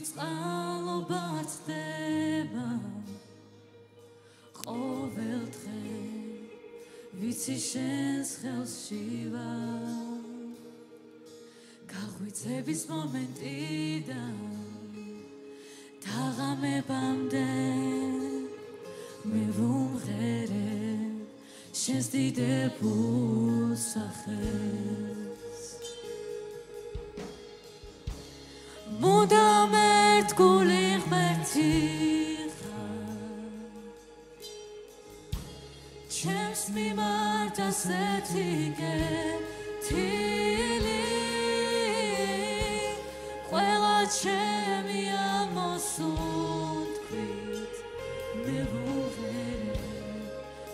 წყალობა წდება ყოველ დღე ვიცი შენს ხელში ვარ გაღვიძების მომენტიდან თაღამებამდე მე ვუმღერე შენს დიდებულ სახელს მუდამ ერთგული ღმერთი ჩემს მიმართ ასეთი კეთილი ყველა ჩემი ამოსუნთქვით მე ვუმღერე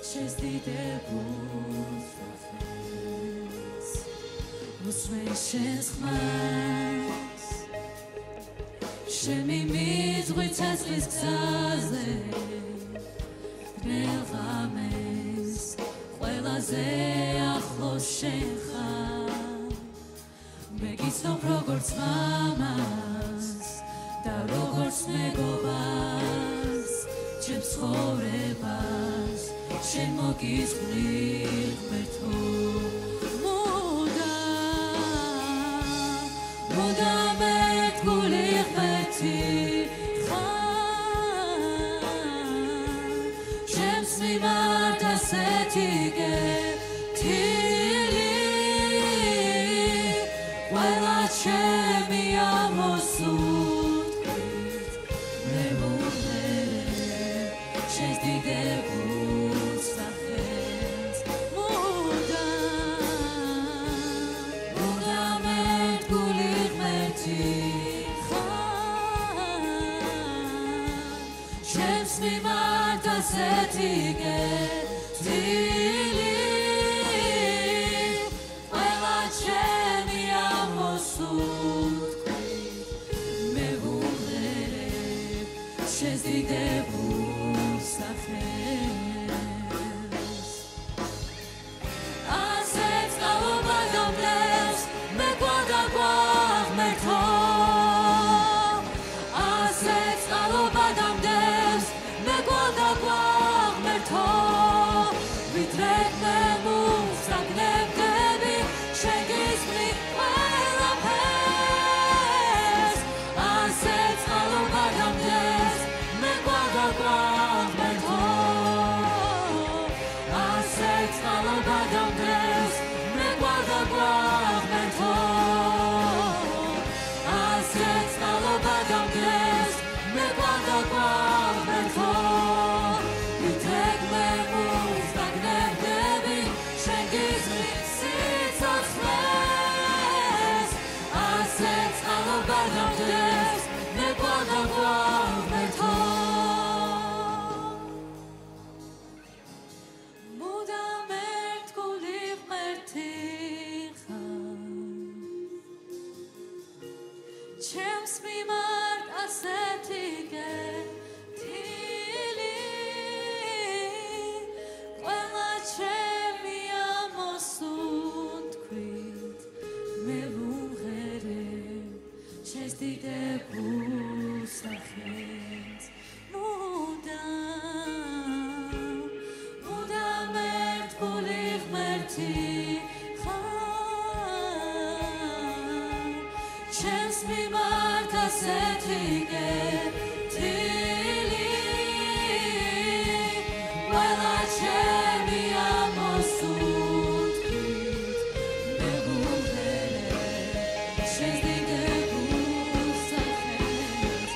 შენს დიდებულ სახელს უსმენ შენს ხმას შენი მიზღვი ცეცხლის გზაზე მელღამეს ყველაზე ახლოს შენ ხარ მე გიცნობ როგორც მამას და როგორც მეგობარს ჩემს ცხოვრებას შენ მოგიზღვნილ ღმერთო მუდამ ერთგული ღმერთი მიმართ ასეთი კეთილი ყველა ჩემი ამოსუნთქვით მე ვუმღერე შენს დიდებულ სახელს მუდამ ერთგული ღმერთი ჩემს მიმართ ასეთი კეთილი ყველა ჩემი ამოსუნთქვით მე ვუმღერე შენს დიდებულ სახელს ასე წყალობა დამდევს მე გვადაგვა ღმერთო ასე წყალობა დამდევს მე გვადაგვა ღმერთო ვიდრე მე მუსაგნებდები შენ გიზმნი ყველაფერს ასე წყალობა დამდევს მე გვადაგვა ღმერთო ასე წყალობა დამდევს მე გვადაგვა ღმერთო ასე წყალობა დამდევს მე გვადაგვა ღმერთო მუდამ ერთგული ღმერთი ჩემს მიმართ ასეთი კეთილი ყველა ჩემი ამოსუნთქვით მე ვუმღერე შენს დიდებულ სახელს მუდამ ერთგული ღმერთი ჩემს მიმართ ასეთი კეთილი ყველა ჩემი ამოსუნთქვით მე ვუმღერე შენს დიდებულ სახელს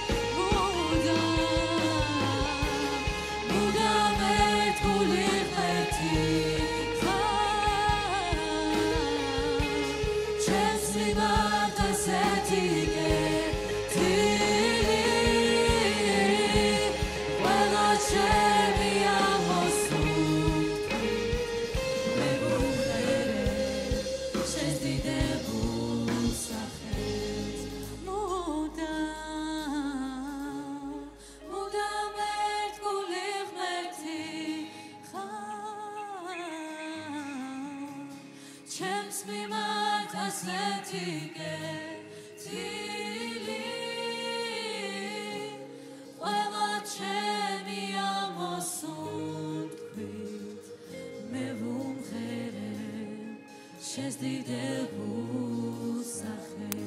მუდამ ერთგული ღმერთი ჩემს მიმართ ასეთი კეთილი ყველა ჩემი ამოსუნთქვით მე ვუმღერე შენს დიდებულ სახელს მუდამ ერთგული ღმერთი ჩემს მიმართ ასეთი კეთილი შეძიდებულ სახელს.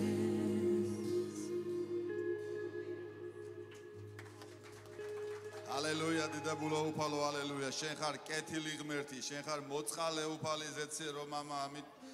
Hallelujah, დიდებულო უფალო, hallelujah. შენ ხარ კეთილი ღმერთი, შენ ხარ მოწყალე უფალი ზეცირო მამა,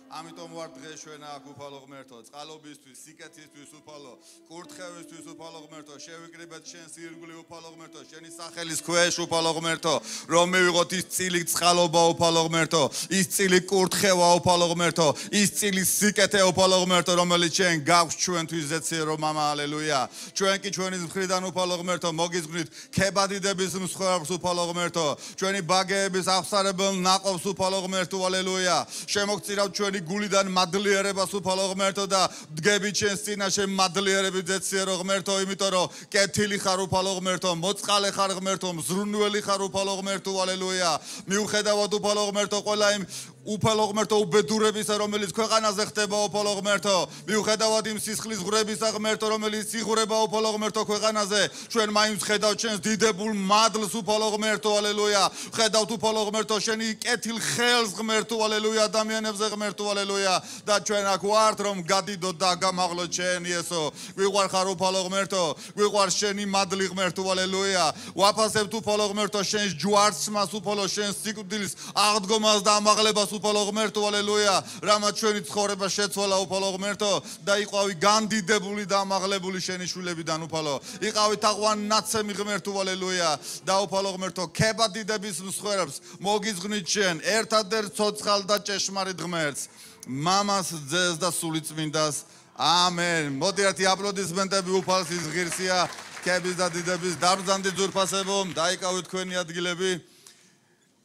ამიტომ ვარ დღეს ჩვენ აქ უფალო ღმერთო, წყალობისთვის, სიკეთისთვის უფალო, კურთხევისთვის უფალო ღმერთო, შევიკრიბეთ შენს ირგვლივ უფალო ღმერთო, შენი სახელის ქვეშ უფალო ღმერთო, რომ მივიღოთ ის წილი წყალობა უფალო ღმერთო, ის წილი კურთხევა უფალო ღმერთო, ის წილი სიკეთე უფალო ღმერთო, რომელიც შენ გაქვს ჩვენთვის ზეცირო მამა, hallelujah. ჩვენ კი ჩვენი მხრიდან უფალო ღმერთო, მოგიზგვნით ქებადიდების მსხვერპლს უფალო ღმერთო, ჩვენი ბაგეების აღსარებელ ნაყოფს უფალო ღმერთო, hallelujah. შემოგწირავთ ჩვენი გულიდან მადლიერებას უფალო ღმერთო და დგებით შენს წინაშე მადლიერებით ზეცირო ღმერთო, იმიტომ რომ კეთილი ხარ უფალო ღმერთო, მოწყალე ხარ ღმერთო, მზრუნველი ხარ უფალო ღმერთო, hallelujah. მიუხედავად უფალო ღმერთო ყველა იმ უფალო ღმერთო უბედურებისა, რომელიც ქვეყანაზე ხდება უფალო ღმერთო, მიუხედავად იმ სისხლის ღვრებისა ღმერთო, რომელიც იღვრება უფალო ღმერთო ქვეყანაზე, ჩვენ მაინც ხედავთ შენს დიდებულ მადლს უფალო ღმერთო, hallelujah. ხედავთ უფალო ღმერთო შენი კეთილ ხელს ღმერთო, hallelujah, ადამიანებზე ღმერთო, hallelujah. და ჩვენ აქ ვართ რომ გადიდოთ და გამაღლოთ შენ იესო. გვიყვარ ხარ უფალო ღმერთო, გვიყვარ შენი მადლი ღმერთო, hallelujah. ვაფასებთ უფალო ღმერთო შენს ჯვარცმას უფალო შენს სიკვდილის აღდგომას და ამაღლებას უფალო ღმერთო, hallelujah. რამაც ჩვენი ცხოვრება შეცვალა უფალო ღმერთო და იყავი განდიდებული და ამაღლებული შენი შვილებიდან უფალო. იყავი თაყვან ნაცემი ღმერთო, hallelujah. და უფალო ღმერთო ქებადიდების მსხვერპლს მოგიზღვნით შენ ერთადერთ ცოცხალ და ჭეშმარიტ ღმერთს. მამას, ძეს და სულიწმინდას. ამენ. მოდი ერთი აპლოდისმენტები უფალსის ღირსია, ქების და დიდების დაბრძანდი ძურფასებო, დაიკავეთ თქვენი ადგილები.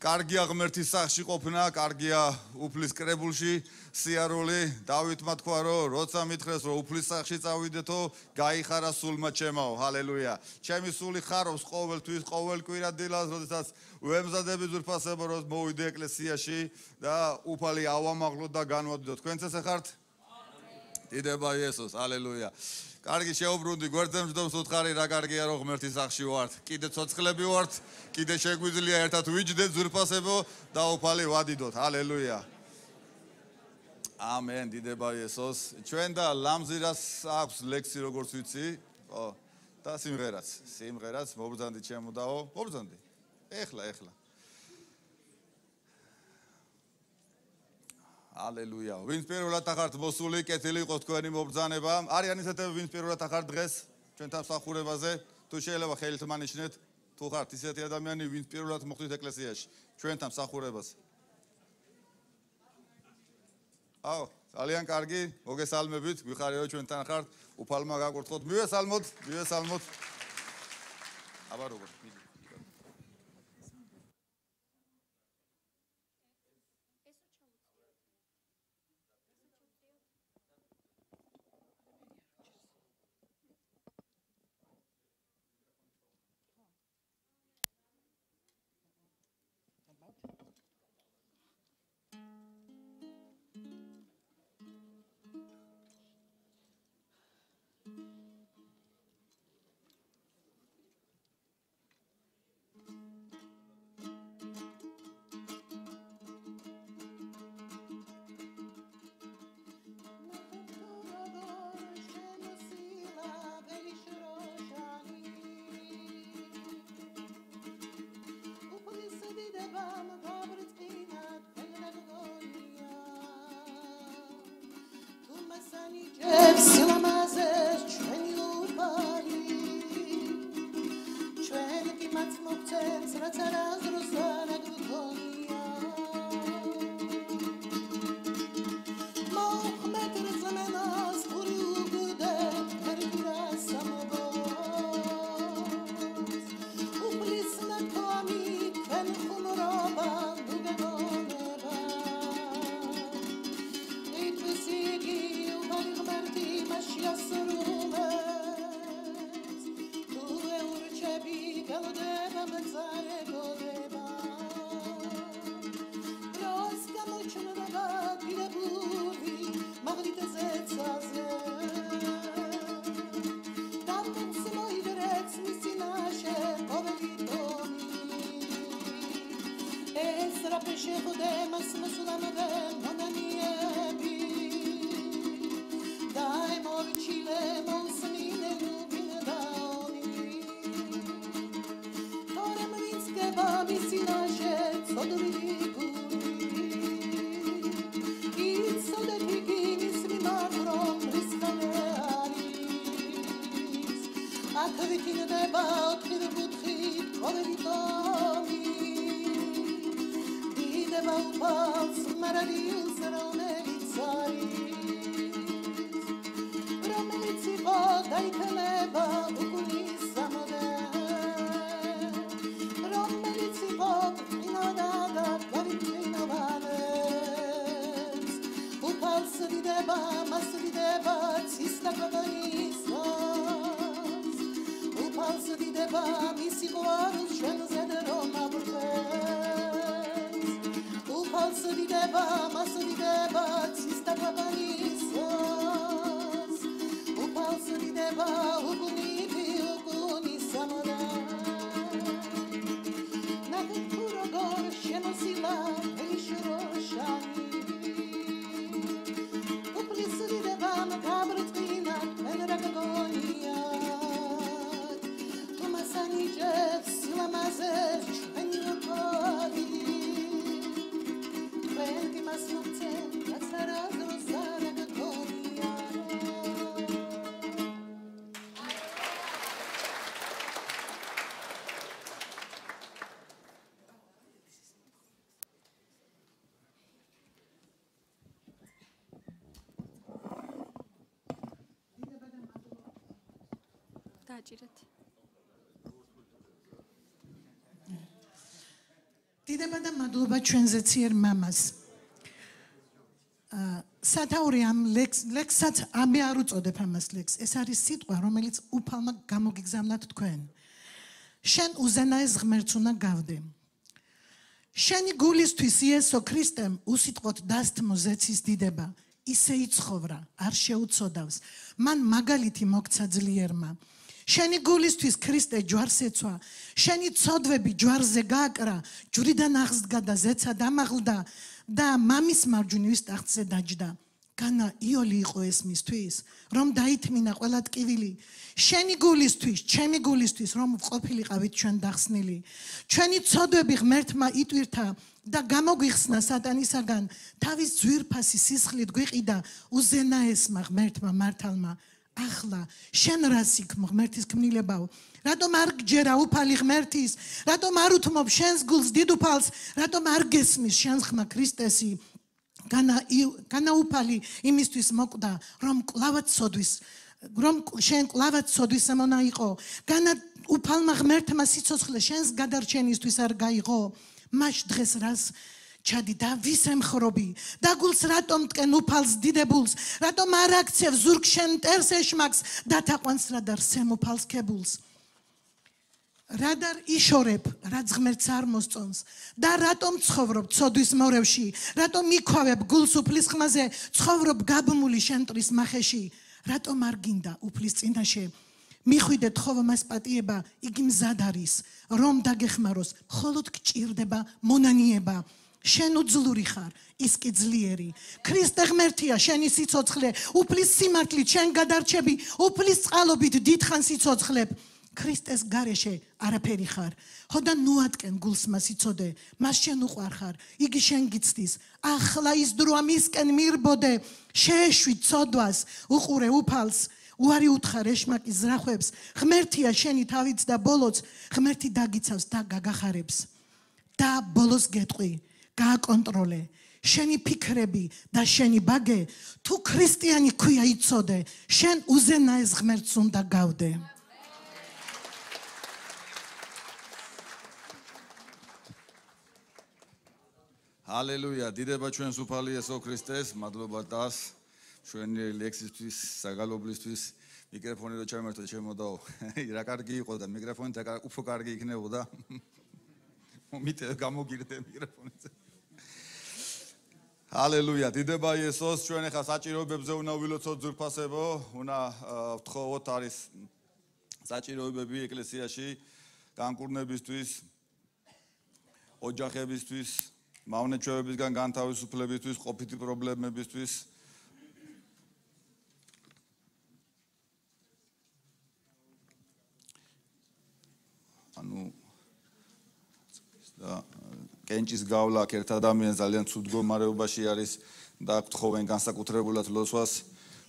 კარგია ღმერთის სახში ყოფნა, კარგია უფლის კრებულში სიარული. დავითმა თქვა რომ როცა მითხრეს რომ უფლის სახში წავიდეთო, გაიხარა სულმა ჩემაო, hallelujah. ჩემი სული ხარობს ყოველთვის, ყოველ კვირა დილას, როდესაც ვემზადები ძურფასებო, რომ მოვიდე ეკლესიაში და უფალი ავამაღლოთ და განვადიდოთ. თქვენც ესე ხართ? დიდება იესოს, hallelujah. კარგი შეუბრუნდი გვერდზე მჯდომს უთხარი რა კარგია რომ ღმერთის სახში ვართ. კიდე ცოცხლები ვართ, კიდე შეგვიძლია ერთად ვიჯდეთ ძურფასებო და უფალი ვადიდოთ. hallelujah. ამენ, დიდება იესოს. ჩვენ და ლამზირას აქვს ლექსი როგორც ვიცი, ხო, და სიმღერაც მობრძანდი ჩემო დაო, მობრძანდი. ეხლა. Hallelujah. ვინც პირველად ახართ მოსული, კეთილი იყოს თქვენი მობრძანება. არიან ისეთები, ვინც პირველად ახართ დღეს ჩვენთან მსახურებაზე, თუ შეიძლება ხელით მანიშნეთ, თუ ხართ ისეთი ადამიანი, ვინც პირველად მოხვდით ეკლესიაში, ჩვენთან მსახურებაზე. აუ, ძალიან კარგი, მოგესალმებით, გვიხარია რომ ჩვენთან ხართ, უფალმა გაკურთხოთ. მივესალმოთ. აბა როგორ? Rapesce Godema, Sulamade, Monanie. წინაშე წოდვილი გული იცოდეთ იგინის მიმართ რომ რისხანე არის აქ ვიქინდება ოთხივუთხით ყოველი ტომი დიდება უფალს მარადილს რომელიც იყო დაითელება უგულის სამოდე რომელიც იყო ყინოდა და გავიტვინოვანებს უფალს დიდება მას დიდება ცისდა გოგონისოს უფალს დიდება მისი ყვავილს შენზე რომ აბრწევს უფალს დიდება მას დიდება ცისდა გოგონისოს უფალს დიდება უგუნი სამოდა ნახეთ თუ როგორ შემოსილა ელიშროშანი უფლის დიდება გაბრწყინა მენ რა გოგონია თომასანი ჯებს სილამაზეს ჩვენი უფალი ჩვენ გიმას მოგცემ გაცარადოს არა გოგონია დააჭირეთ. დიდება და მადლობა ჩვენზე ციერ მამას. სათაური ამ ლექსსაც ამე არ უწოდებ ამას ლექს. ეს არის სიტყვა, რომელიც უფალმა გამოგიგზავნათ თქვენ. შენ უზენაეს ღმერთს უნდა გავდე. შენი გულისთვის იესო ქრისტემ უსიტყვოდ დასთმო ზეცის დიდება. ისე იცხოვრა, არ შეუწოდავს. მან მაგალითი მოგცა ძლიერმა. შენი გულისთვის ქრისტე ჯვარს ეცვა. შენი ცოდვები ჯვარზე გააკრა, ჯვრიდან აღსდგა და ზეცა დამაღლდა და მამის მარჯვნივ ტახტზე დაჯდა. განა იოლი იყო ეს მისთვის, რომ დაითმინა ყველა ტკივილი. შენი გულისთვის, ჩემი გულისთვის, რომ ყოფილიყავით ჩვენ დახსნილი. ჩვენი ცოდვები ღმერთმა იტვირთა და გამოგვიხსნა სატანისაგან, თავის ძვირფასი სისხლით გვიყიდა უზენაესმა ღმერთმა მართალმა. ახლა შენ რას იქმ ღმერთის ქმნილებაო? რატომ არ გჯერა უფალი ღმერთის? რატომ არ უთმობ შენს გულს დიდ უფალს? რატომ არ გესმის შენს ხმა ქრისტესი? განა უფალი იმისთვის მოკვდა, რომ შენ კლავად სოდვის ამონა იყო. განა უფალმა ღმერთმა სიცოცხლე შენს გადარჩენისთვის არ გაიღო. მაშ დღეს რას ჩადი და ვის ემხრობი? და გულს რატომ ტკენ უფალს დიდებულს? რატომ არ აქცევ ზურგ შენ მტერს ეშმაკს და თაყვანს რადარ სემ უფალს ქებულს? რადარ იშორებ, რაც ღმერთს არ მოსწონს და რატომ ცხოვრობ ცოდვის მორევში? რატომ მიქავებ გულს უფლის ხმაზე, ცხოვრობ გაბმული შენ მტრის მახეში? რატომ არ გინდა უფლის წინაშე მიხვიდეთ ხოვო მას პატიება? იგი მზად არის რომ დაგეხმაროს, მხოლოდ გჭირდება მონანიება. შენ უძლური ხარ, ის კი ძლიერი. ქრისტე ღმერთია შენი სიცოცხლე, უფლის სიმართლით შენ გადარჩები, უფლის წყალობით დიდხანს სიცოცხლებ. ქრისტეს გარეშე არაფერი ხარ. ხოდა ნუატკენ გულს მას იცოდე, მას შენ უყვარ ხარ, იგი შენ გიცდის. ახლა ის დროა მისკენ მირბოდე, შეეშვი ცოდვას, უყურე უფალს. უარი უთხარ ეშმაკის ზრახვებს, ღმერთია შენი თავიც და ბოლოც, ღმერთი დაგიცავს და გაგახარებს. და ბოლოს გეტყვი, გააკონტროლე შენი ფიქრები და შენი ბაგე, თუ ქრისტიანი ქვია იცოდე, შენ უზენაეს ღმერთს უნდა გავდე. ჰალელუია, დიდება ჩვენს უფალი იესო ქრისტეს, მადლობა დას ჩვენი ლექსისთვის, საგალობლისთვის. მიკროფონი რო ჩამერთო შემოდაო. რა კარგი იყო და მიკროფონით უფრო კარგი იქნებოდა. მომიტე გამოგირდე მიკროფონით. ჰალელუია, დიდება იესოს, ჩვენ ახლა საჭიროებებზე უნდა ვილოცოთ ძვირფასებო, უნდა ვთხოვოთ არის საჭიროებები ეკლესიაში განკურნებისთვის, ოჯახებისთვის, მავნეჩვევებისგან განთავისუფლებისთვის, ყოფითი პრობლემებისთვის. ანუ კენჭის გავლა ერთ ადამიანს ძალიან ცუდ მდგომარეობაში არის და გთხოვენ განსაკუთრებულად ლოცვას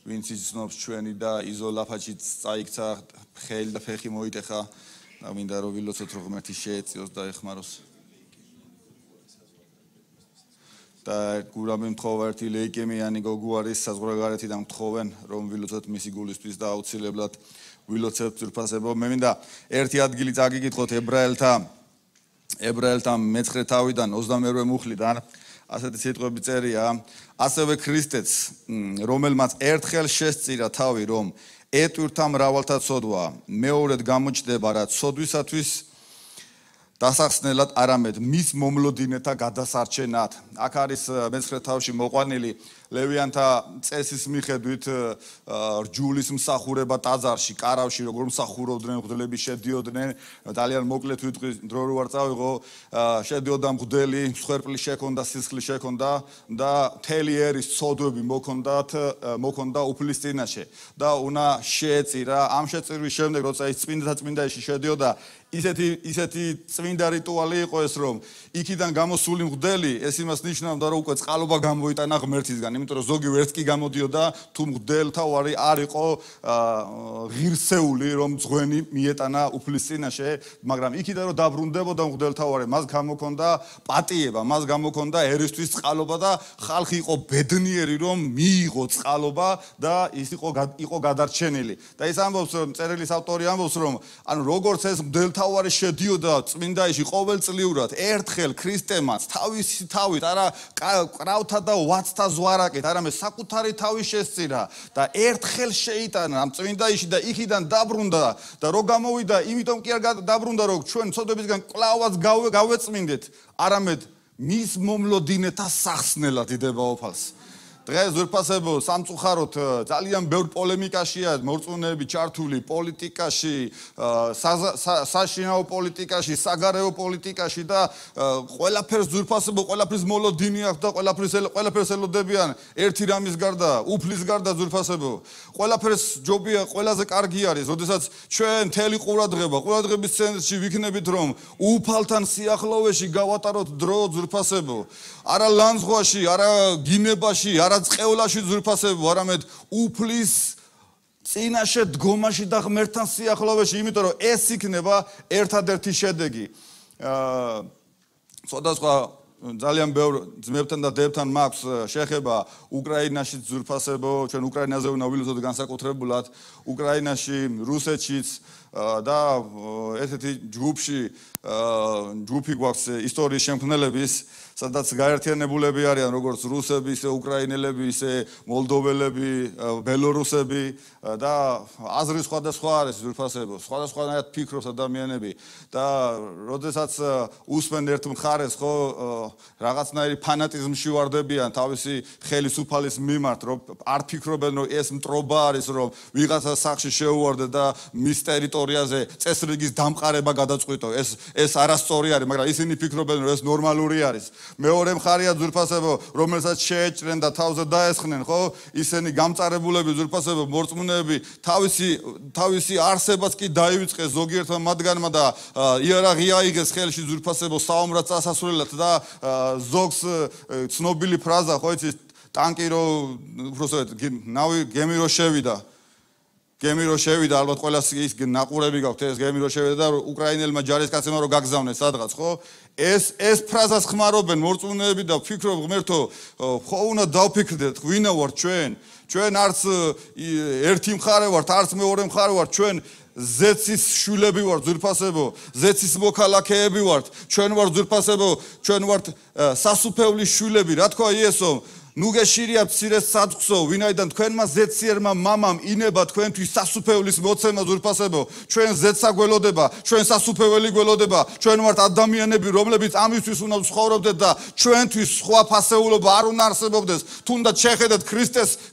ვინც იცნობს ჩვენი და იზოლაფაჩიც წაიქცა ხელი და ფეხი მოიტეხა და მინდა რომ ვილოცოთ რომ ღმერთი შეეწიოს და ეხმაროს და გურამი მთხოვა ერთი ლეიკემიანი გოგო არის საზღვარგარეთიდან მთხოვენ რომ ვილოცოთ მისი გულისთვის და აუცილებლად ვილოცებთ ძვირფასებო მე მინდა ერთი ადგილი წაგიკითხოთ ებრაელთა მე-9 თავიდან 22 მუხლიდან ასეთი სიტყვები წერია ასევე ქრისტეც რომელმაც ერთხელ შესწირა თავი რომ ეტვირთა მრავალთა ცოდვა მეორედ გამოჩნდება რა ცოდვისათვის დასახსნელად არამედ მის მომლოდინეთა გადასარჩენად აქ არის მე-9 თავში მოყვანილი ლევიანთა წესის მიხედვით რჯულის მსახურება ტაძარში კარავში როგორ მსახურობდნენ მღვდლები შედიოდნენ ძალიან მოკლედ ვიტყვი დრო რო არ წავიღო შედიოდა მღვდელი მსხვერპლი შექონდა სისხლი შექონდა და მთელი ერის ცოდვები მოქონდა უფლის წინაშე და უნდა შეეწირა ამ შეწირვის შემდეგ როცა ის წმინდაში შედიოდა ისეთი წმინდა რიტუალი იყო ეს რომ იქიდან გამოსული მღვდელი ეს იმას ნიშნავდა რომ უკვე წყალობა გამოიტანა ღმერთისგან იმიტომ რომ ზოგი ვერც კი გამოდიოდა თუ მღვდელთა ვარი არ იყო ღირსეული რომ ძღვენი მიეტანა უფლის წინაშე მაგრამ იქიდან რომ დაბრუნდებოდა მღვდელთა ვარი მას გამოქონდა პატიება მას გამოქონდა ერისთვის წყალობა და ხალხი იყო ბედნიერი რომ მიიღო წყალობა და ის იყო გადარჩენილი და ის ამბობს წერილის ავტორი ამბობს რომ ანუ როგორც ეს მღვდელთა ვარი შედიოდა წმინდაში ყოველწლიურად ერთხელ ქრისტემაც თავისი თავით არა კრავთა და ვაცთა ზვარაკით არამედ საკუთარი თავი შესწირა და ერთხელ შეიტანა ამ წმინდაში და იქიდან დაბრუნდა და რო გამოვიდა იმიტომ კი არ დაბრუნდა რომ ჩვენ ცოდვებისგან კლავაც გავეწმინდეთ არამედ მის მომლოდინეთა სახსნელად იდება ოფალს დღეს ზურფასებო სამწუხაროდ ძალიან ბევრ პოლემიკაშია მორწმუნეები ჩართული პოლიტიკაში საშინაო პოლიტიკაში საგარეო პოლიტიკაში და ყველაფერს ზურფასებო ყველაფრის მოლოდინი აქვს და ყველაფერს ელოდებიან ერთი რამის გარდა უფლის გარდა ზურფასებო ყველაფერს ჯობია ყველაზე კარგი არის როდესაც ჩვენ მთელი ყურადღების ცენტრში ვიქნებით რომ უფალთან სიახლოვეში გავატაროთ დრო ზურფასებო არა ლანძღვაში არა გინებაში არა წყევლაში ზურფასებო არამედ უფლის წინაშე დგომაში და ღმერთთან სიახლოვეში იმიტომ რომ ეს იქნება ერთადერთი შედეგი სხვადასხვა ძალიან ბევრ ძმებთან და დებთან მაქვს შეხება უკრაინაში ზურფასებო ჩვენ უკრაინაზე უნდა ვილოცოთ განსაკუთრებულად უკრაინაში რუსეთშიც და ესეთი ჯგუფი გვაქვს ისტორიის შემქმნელების სადაც გაერთიანებულები არიან როგორც რუსები, ისე უკრაინელები, ისე მოლდოველები, ბელორუსები და აზრი სხვადასხვა არის ზურფასებო, სხვადასხვანაირად ფიქრობს ადამიანები და როდესაც უსმენ ერთ მხარეს ხო რაღაცნაირი ფანატიზმში ვარდებიან თავისი ხელისუფალის მიმართ, რომ არ ფიქრობენ რომ ეს მტრობა არის, რომ ვიღაცა სახში შეუვარდე და მის ტერიტორიაზე წესრიგის დამყარება გადაწყვიტო. ეს არასწორი არის, მაგრამ ისინი ფიქრობენ რომ ეს ნორმალური არის. მეორე მხარია ზურფასებო, რომელსაც შეეჭრენ და თავზე დაესხნენ, ხო? ისინი გამწარებულები ზურფასებო, მორწმუნეები, თავისი არსებაც კი დაივიწყეს ზოგიერთმა მათგანმა და იარაღი აიღეს ხელში ზურფასებო, საომრად წასასვლელად და ზოგს ცნობილი ფრაზა, ხო იცით, ტანკი რო უბრალოდ ნავი გემი რო შევიდა. გემი რო შევიდა, ალბათ ყველას ის ნაყურები გაქვთ, ეს გემი რო შევიდა და უკრაინელმა ჯარისკაცებმა რო გაგზავნეს სადღაც, ხო? ეს ფრაზას ხმარობენ მორწმუნეები და ფიქრობ ღმერთო, ხო უნდა დავფიქრდეთ, ვინა ვარ ჩვენ? ჩვენ არც ერთი მხარე ვართ, არც მეორე მხარე ვართ, ჩვენ ზეცის შვილები ვართ ზურფასებო, ზეცის მოქალაქეები ვართ, ჩვენ ვართ ზურფასებო, ჩვენ ვართ სასუფევლის შვილები, რა თქვა იესომ? ნუ გეშირია მცირეს საწყსო, ვინაიდან თქვენმა ზეციერმა მამამ ინება თქვენთვის სასუფეველის მოცემა ზურფასებო, ჩვენ ზეცა გველოდება, ჩვენ სასუფეველი გველოდება, ჩვენ ვართ ადამიანები, რომლებიც ამისთვის უნდა ვცხოვრობდეთ და ჩვენთვის სხვა ფასეულობა არ უნდა არსებობდეს. თუნდაც შეხედეთ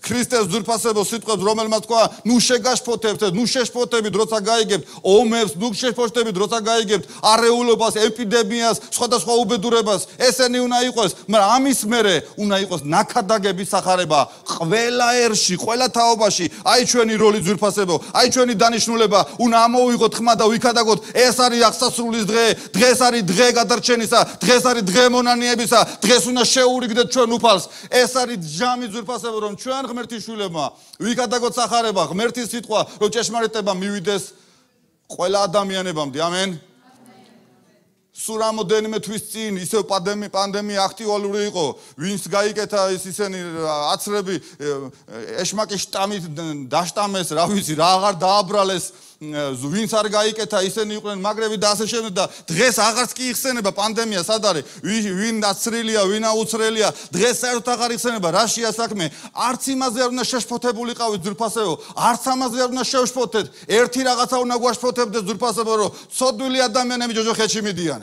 ქრისტეს ზურფასებო სიტყვებს, რომელმაც თქვა, ნუ შეგაშფოთებთ, ნუ შეშფოთებით, როცა გაიგებთ ომებს, ნუ შეშფოთებით, როცა გაიგებთ არეულობას, ეპიდემიას, სხვადასხვა უბედურებას. ესენი უნდა იყოს, მაგრამ ამის მერე უნდა იყოს აქადაგების სახარება ყველა ერში, ყველა თაობაში, აი ჩვენი როლი ძვირფასებო, აი ჩვენი დანიშნულება უნდა ამოვიღოთ ხმა და ვიქადაგოთ, ეს არის აღსასრულის დღე, დღეს არის დღე გადარჩენისა, დღეს არის დღე მონანიებისა, დღეს უნდა შეურიგდეთ ჩვენ უფალს. ეს არის ჯამი ძვირფასებო, რომ ჩვენ ღმერთის შვილებმა ვიქადაგოთ სახარება, ღმერთის სიტყვა, რომ ჭეშმარიტება მივიდეს ყველა ადამიანებამდე. ამენ. სულ რამოდენიმე თვის წინ ისევ პანდემია აქტუალური იყო, ვინც გაიკეთა ისინი აცრები ეშმაკის შტამით დაშტამეს, რა ვიცი, რა აღარ დააბრალეს, ვინც არ გაიკეთა ისინი იყვნენ მაგრები და ასე შემდეგ და დღეს აღარც კი იხსენება პანდემია სად არის, ვინ აცრილია, ვინ აუცრელია, დღეს საერთოდ აღარ იხსენება, რაშია საქმე, არც იმაზე არ უნდა შეშფოთებულიყავით ძვირფასებო, არც ამაზე არ უნდა შევშფოთეთ, ერთი რაღაცა უნდა გვაშფოთებდეს ძვირფასებო, რომ ცოდვილი ადამიანები ჯოჯოხეთში მიდიან.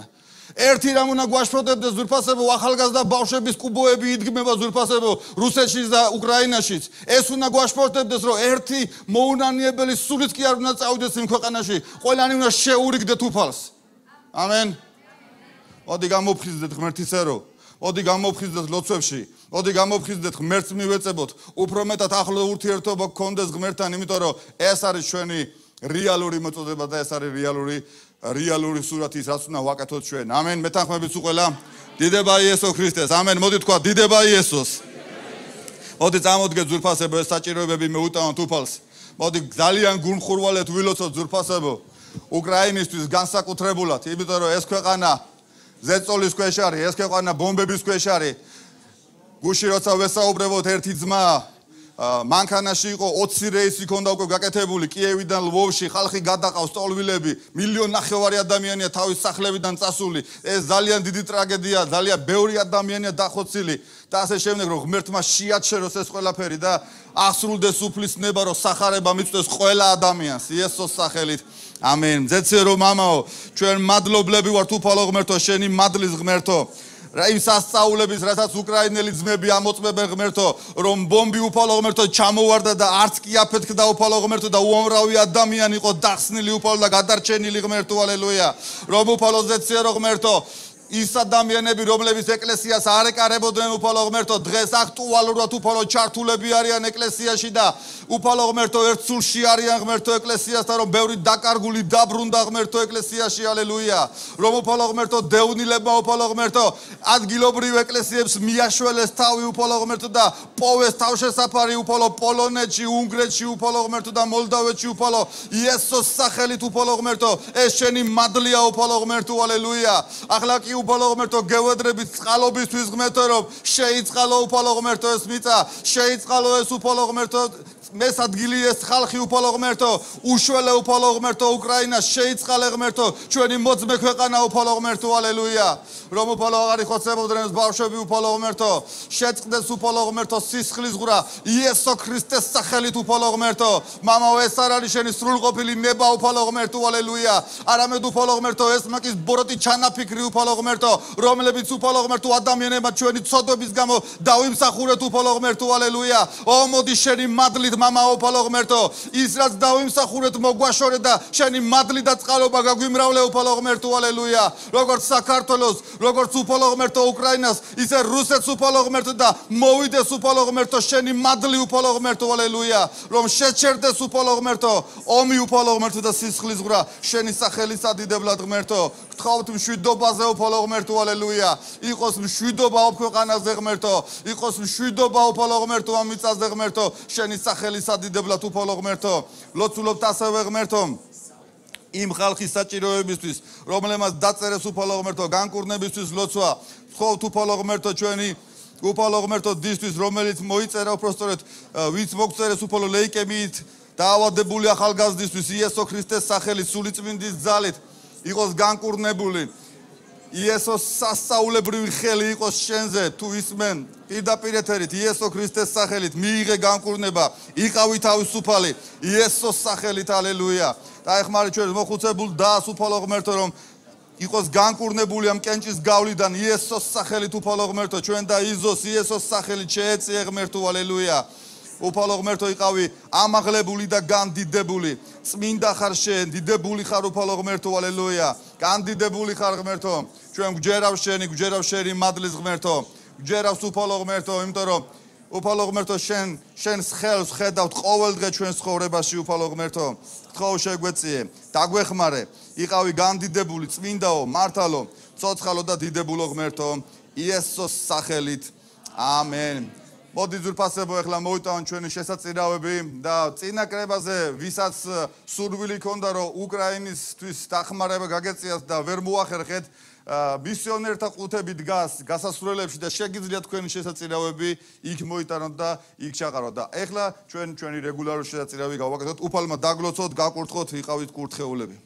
ერთი რამ უნდა გვაშფოთებდეს ძვირფასებო, ახალგაზრდა ბავშვების კუბოები იდგმება ძვირფასებო, რუსეთშიც და უკრაინაშიც. ეს უნდა გვაშფოთებდეს, რომ ერთი მოუნანიებელი სულიც კი არ უნდა წავიდეს იმ ქვეყანაში, ყველანი უნდა შეურიგდეთ უფალს. ამენ. მოდი გამოფხიზდეთ ღმერთის ერო, მოდი გამოფხიზდეთ ლოცვებში, მოდი გამოფხიზდეთ ღმერთს მივეწებოთ, უფრო მეტად ახლო ურთიერთობა გქონდეს ღმერთთან, იმიტომ რომ ეს არის ჩვენი რეალური მოწოდება და ეს არის რეალური სურათი, რაც უნდა ვაკეთოთ ჩვენ. ამენ. მეთანხმებით უყველა. დიდება იესო ქრისტეს. ამენ. მოდი თქვა დიდება იესოს. მოდი წამოდგეთ ძვირფასებო, ეს საჭიროებები მეუტანოთ უფალს. მოდი ძალიან გულმხურვალეთ ვილოცოთ ძვირფასებო უკრაინისთვის განსაკუთრებულად, იმიტომ რომ ეს ქვეყანა ზეწოლის ქვეშ არის, ეს ქვეყანა ბომბების ქვეშ არის. გუში როცა ვესაუბრებოთ, ერთი ძმა მანქანაში იყო 20 რეისი ქონდა უკვე გაკეთებული კიევიდან ლვოვში, ხალხი გადაყავს სტოლვილები, 1.5 მილიონი ადამიანია თავის სახლებიდან წასული. ეს ძალიან დიდი ტრაგედია, ძალიან ბევრი ადამიანია დახოცილი და ასე შემდეგ, რომ ღმერთმა შეაჩეროს ეს ყველაფერი და აღსრულდეს უფლის ნება, რომ სახარება მიწვდეს ყველა ადამიანს იესოს სახელით. ამენ. ძეცე რომ მამაო, ჩვენ მადლობლები ვართ უფალო ღმერთო, შენი მადლის ღმერთო. იმ სასწაულების, რასაც უკრაინელი ძმები ამოწმებენ ღმერთო, რომ ბომბი უფალო ღმერთო ჩამოვარდა და არც კი აფეთქდა უფალო ღმერთო და უამრავი ადამიანი იყო დახსნილი უფალო და გადარჩენილი ღმერთო, ალელუია. რომ უფალო ზეცირო ღმერთო, ის ადამიანები, რომლებიც ეკლესიას არ ეკარებოდნენ უფალო ღმერთო, დღეს აქტუალურად უფალო ჩართულები არიან ეკლესიაში და უფალო ღმერთო ერთ სულში არიან ღმერთო ეკლესიასთან, რომ ბევრი დაკარგული დაბრუნდა ღმერთო ეკლესიაში, ალელუია. რომ უფალო ღმერთო დევნილებმა უფალო ღმერთო ადგილობრივ ეკლესიებს მიაშველეს თავი უფალო ღმერთო და პოვეს თავშესაფარი უფალო პოლონეთში, უნგრეთში უფალო ღმერთო და მოლდავეთში უფალო იესოს სახელით უფალო ღმერთო, ეს შენი მადლია უფალო ღმერთო, ალელუია. ახლა კი უფალო ღმერთო გევედრებით წყალობისთვის ღმერთო, რომ შეიწყალო უფალო ღმერთო ეს მიწა, შეიწყალო ეს უფალო ღმერთო ეს ადგილი, ეს ხალხი უფალო ღმერთო, უშველე უფალო ღმერთო უკრაინას, შეიწყალე ღმერთო ჩვენი მოძმე ქვეყანა უფალო ღმერთო, ალელუია. რომ უფალო აღარ იხოცებოდნენ ეს ბავშვები უფალო ღმერთო, შეწყდეს უფალო ღმერთო სისხლის ღრა იესო ქრისტეს სახელით უფალო ღმერთო. მამაო, ეს არ არის შენი სრულყოფილი ნება უფალო ღმერთო, ალელუია. არამედ უფალო ღმერთო ეს მაკის ბოროტი ჩანაფიქრი უფალო ღმერთო, რომლებიც უფალო ღმერთო ადამიანებმა ჩვენი ცოდვების გამო დავიმსახურეთ უფალო ღმერთო, ალელუია. ო მოდი შენი მადლით მამაო უფალო ღმერთო, ის რაც დავიმსახურეთ მოგვაშორე და შენი მადლი და წყალობა გაგვიმრავლე უფალო ღმერთო, ალელუია. როგორც საქართველოს, როგორც უფალო ღმერთო უკრაინას, ისე რუსეთს უფალო ღმერთო და მოვიდეს უფალო ღმერთო შენი მადლი უფალო ღმერთო, ალელუია. რომ შეჩერდეს უფალო ღმერთო ომი უფალო ღმერთო და სისხლის ღრა შენი სახელის ადიდებლად ღმერთო. გთხოვთ მშვიდობაზე უფალო ღმერთო, ალელუია. იყოს მშვიდობა ქვეყანაზე ღმერთო, იყოს მშვიდობა უფალო ღმერთო ამ მიწაზე ღმერთო, შენი სახელის ადიდებლად უფალო ღმერთო. ლოცულობთ ასევე ღმერთო იმ ხალხის საჭიროებისთვის, რომლებმაც დაწერეს უფალო ღმერთო განკურნებისთვის ლოცვა. გთხოვთ უფალო ღმერთო ჩვენი უფალო ღმერთო დისთვის, რომელიც მოიწერა უпростоრეთ, ვინც მოგწერეს უფალო ლეიკემიით დაავადებული ახალგაზრდისთვის იესო ქრისტეს სახელით, სულიწმინდის ძალით იყოს განკურნებული. იესოს სასწაულებრივი ხელი იყოს შენზე, თუ ისმენ პირდაპირ ეთერით იესო ქრისტეს სახელით მიიღე განკურნება, იყავი თავისუფალი იესოს სახელით, ალელუია. დაეხმარი ჩვენ მოხუცებულ დას უფალო ღმერთო, რომ იყოს განკურნებული ამ კენჭის გავლიდან იესოს სახელით უფალო ღმერთო, ჩვენ და იზოს იესოს სახელით შეეწიე ღმერთო, ალელუია. უფალო ღმერთო იყავი ამაღლებული და განდიდებული, წმინდა ხარ შენ, დიდებული ხარ უფალო ღმერთო, ალელუია. განდიდებული ხარ ღმერთო, ჩვენ გვჯერავ შენი მადლის ღმერთო, გჯერავს უფალო ღმერთო, იმიტომ რომ უფალო ღმერთო შენს ხელს ხედავთ ყოველ დღე ჩვენს ცხოვრებაში უფალო ღმერთო. გთხოვ შეგვეციე, დაგვეხმარე, იყავი გამდიდებული, წმინდაო, მართალო, ცოცხალო და დიდებულო ღმერთო, იესოს სახელით. ამენ. მოდი ძვირფასებო ახლა მოვიტანოთ ჩვენი შესაწირავები და წინა კრებაზე ვისაც სურვილი ჰქონდა რომ უკრაინისთვის დახმარება გაგეწიათ და ვერ მოახერხეთ მისიონერთა ყუთები დგას გასასვლელებში და შეგიძლიათ თქვენი შესაწირავები იქ მოიტანოთ და იქ ჩაყაროთ და ახლა ჩვენი რეგულარული შესაწირავი გავაკეთოთ უფალმა დაგლოცოთ გაკურთხოთ იყავით კურთხეულები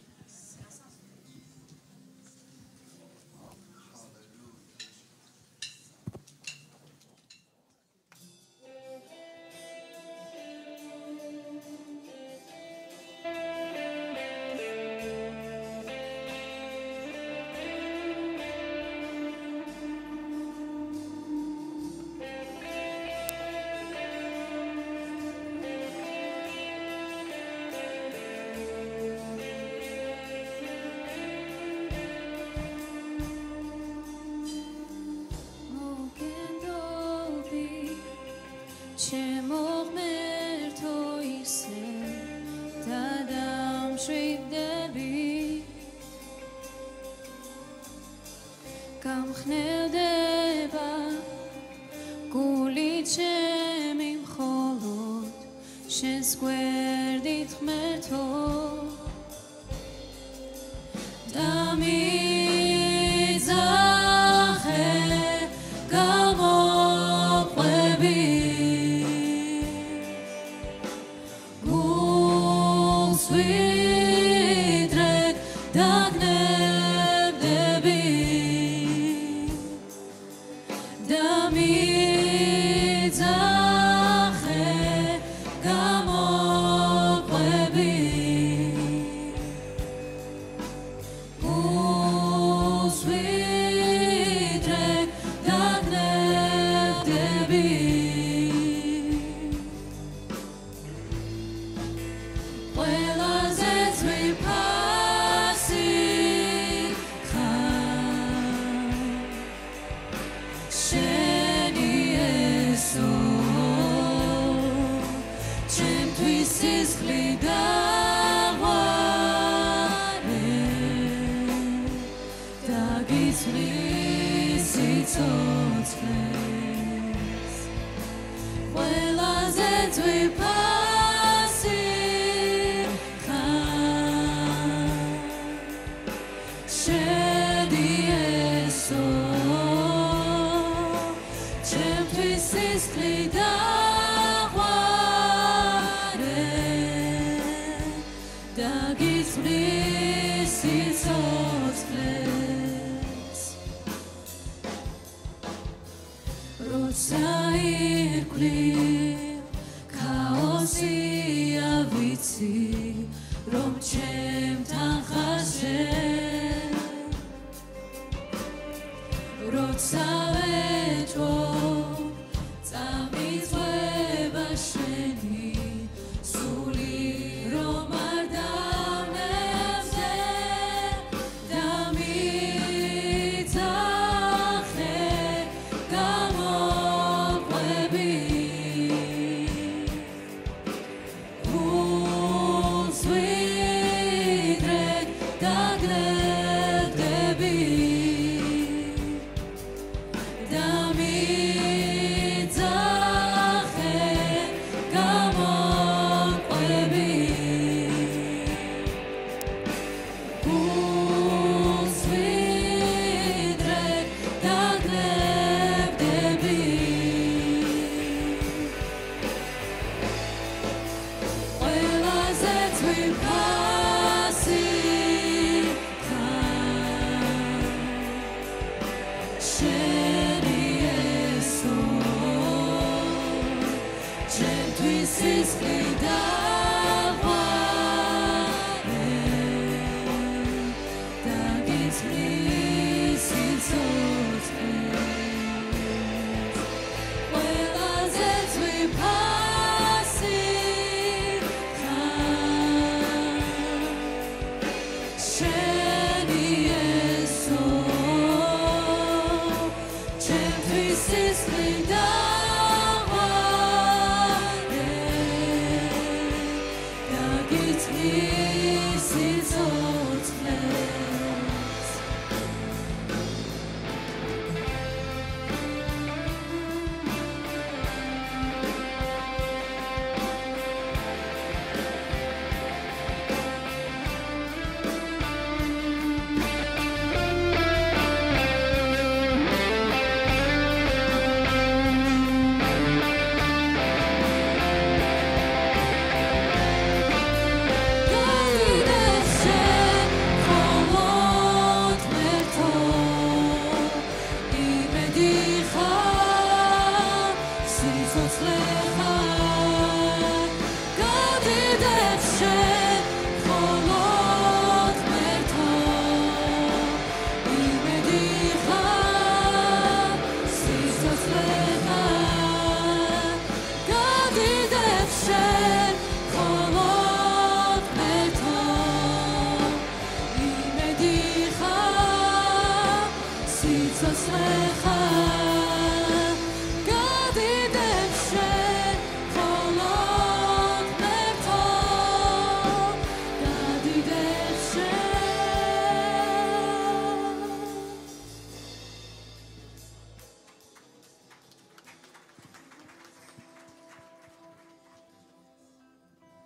This is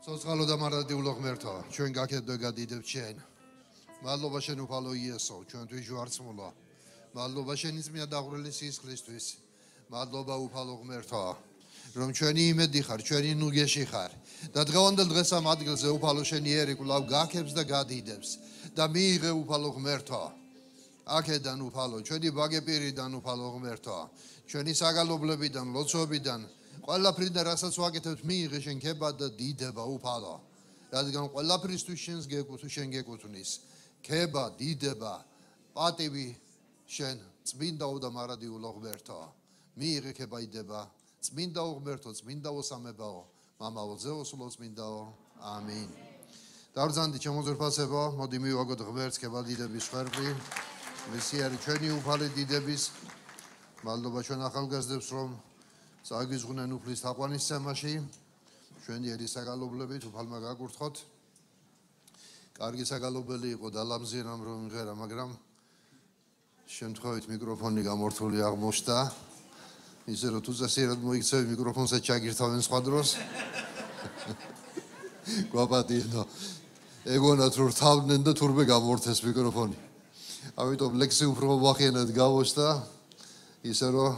Სოცხალო და მარადიულო ღმერთო, ჩვენ გაქედვ და გადიდებთ შენ. მადლობა შენ უფალო იესო, ჩვენთვის ჯვარცმულა. მადლობა შენი წმინდა დაღვრილი სისხლისთვის. მადლობა უფალო ღმერთო, რომ ჩვენი იმედი ხარ, ჩვენი ნუგეში ხარ. და დღევანდელ დღეს ამ ადგილზე უფალო შენი ერი კვლავ გაქებს და გადიდებს და მიიღე უფალო ღმერთო. აქედან უფალო, ჩვენი ბაგეპირიდან უფალო ღმერთო, ჩვენი საგალობლებიდან, ლოცვებიდან ყველაფრიდან რასაც ვაკეთებთ მიიღე შენ ქება და დიდება უფალო. რადგან ყველაფრისთვის შენ გეკუთვნის. ქება, დიდება, პატივი შენ წმინდაო და მარადიულო ღმერთო. მიიღე ქება იდება წმინდაო ღმერთო, წმინდაო სამებაო, მამაო ზეოსულო წმინდაო. ამინ. დავბრძანდი ჩემოძვირფასებო, მოდი მივაგოთ ღმერთს ქება დიდების ხვერპლი. მისი არის ჩვენი უფალი დიდების. მადლობა ჩვენ ახალგაზრდებს რომ წაგვიზღუნენ უფლის თაყვანისცემაში, ჩვენი ერის საგალობლებით უფალმა გაკურთხოთ. კარგი საგალობელი იყო დალამზიერამ რომ იმღერა, მაგრამ შემთხვევით მიკროფონი გამორთული აღმოჩნდა. ისე რომ თუ წესიერად მოიქცევი მიკროფონსაც ჩაგირთავენ სხვა დროს. გვაპატიენო. ეგონათ რომ რთავდნენ და თურმე გამორთეს მიკროფონი. ამიტომ ლექსი უფრო ვახენად გავოჩნდა. ისე რომ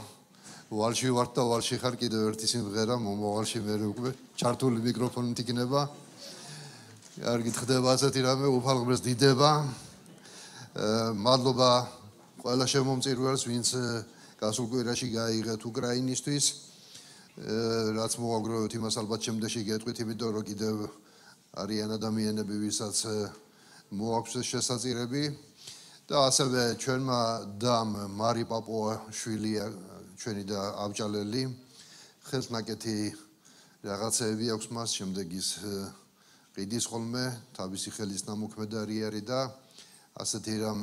ვალში ვარ და ვალში ხარ კიდევ ერთი სიმღერა მომავალში მე უკვე ჩართული მიკროფონით იქნება. კარგით ხდება ასეთი რამე უფალ ღმერთს დიდება. მადლობა ყველა შემომწირველს ვინც გასულ კვირაში გაიღეთ უკრაინისთვის. რაც მოაგროვეთ იმას ალბათ შემდეგში გეტყვით, იმიტომ რომ კიდევ არიან ადამიანები ვისაც მოაქვს შესაძირები და ასევე ჩვენმა დამ მარი პაპუაშვილი ჩვენი და ავჭალელი ხელნაკეთი რაღაცეები აქვს მას შემდეგ ის ყიდის ხოლმე თავისი ხელის ნამოქმედარი არის და ასეთი რამ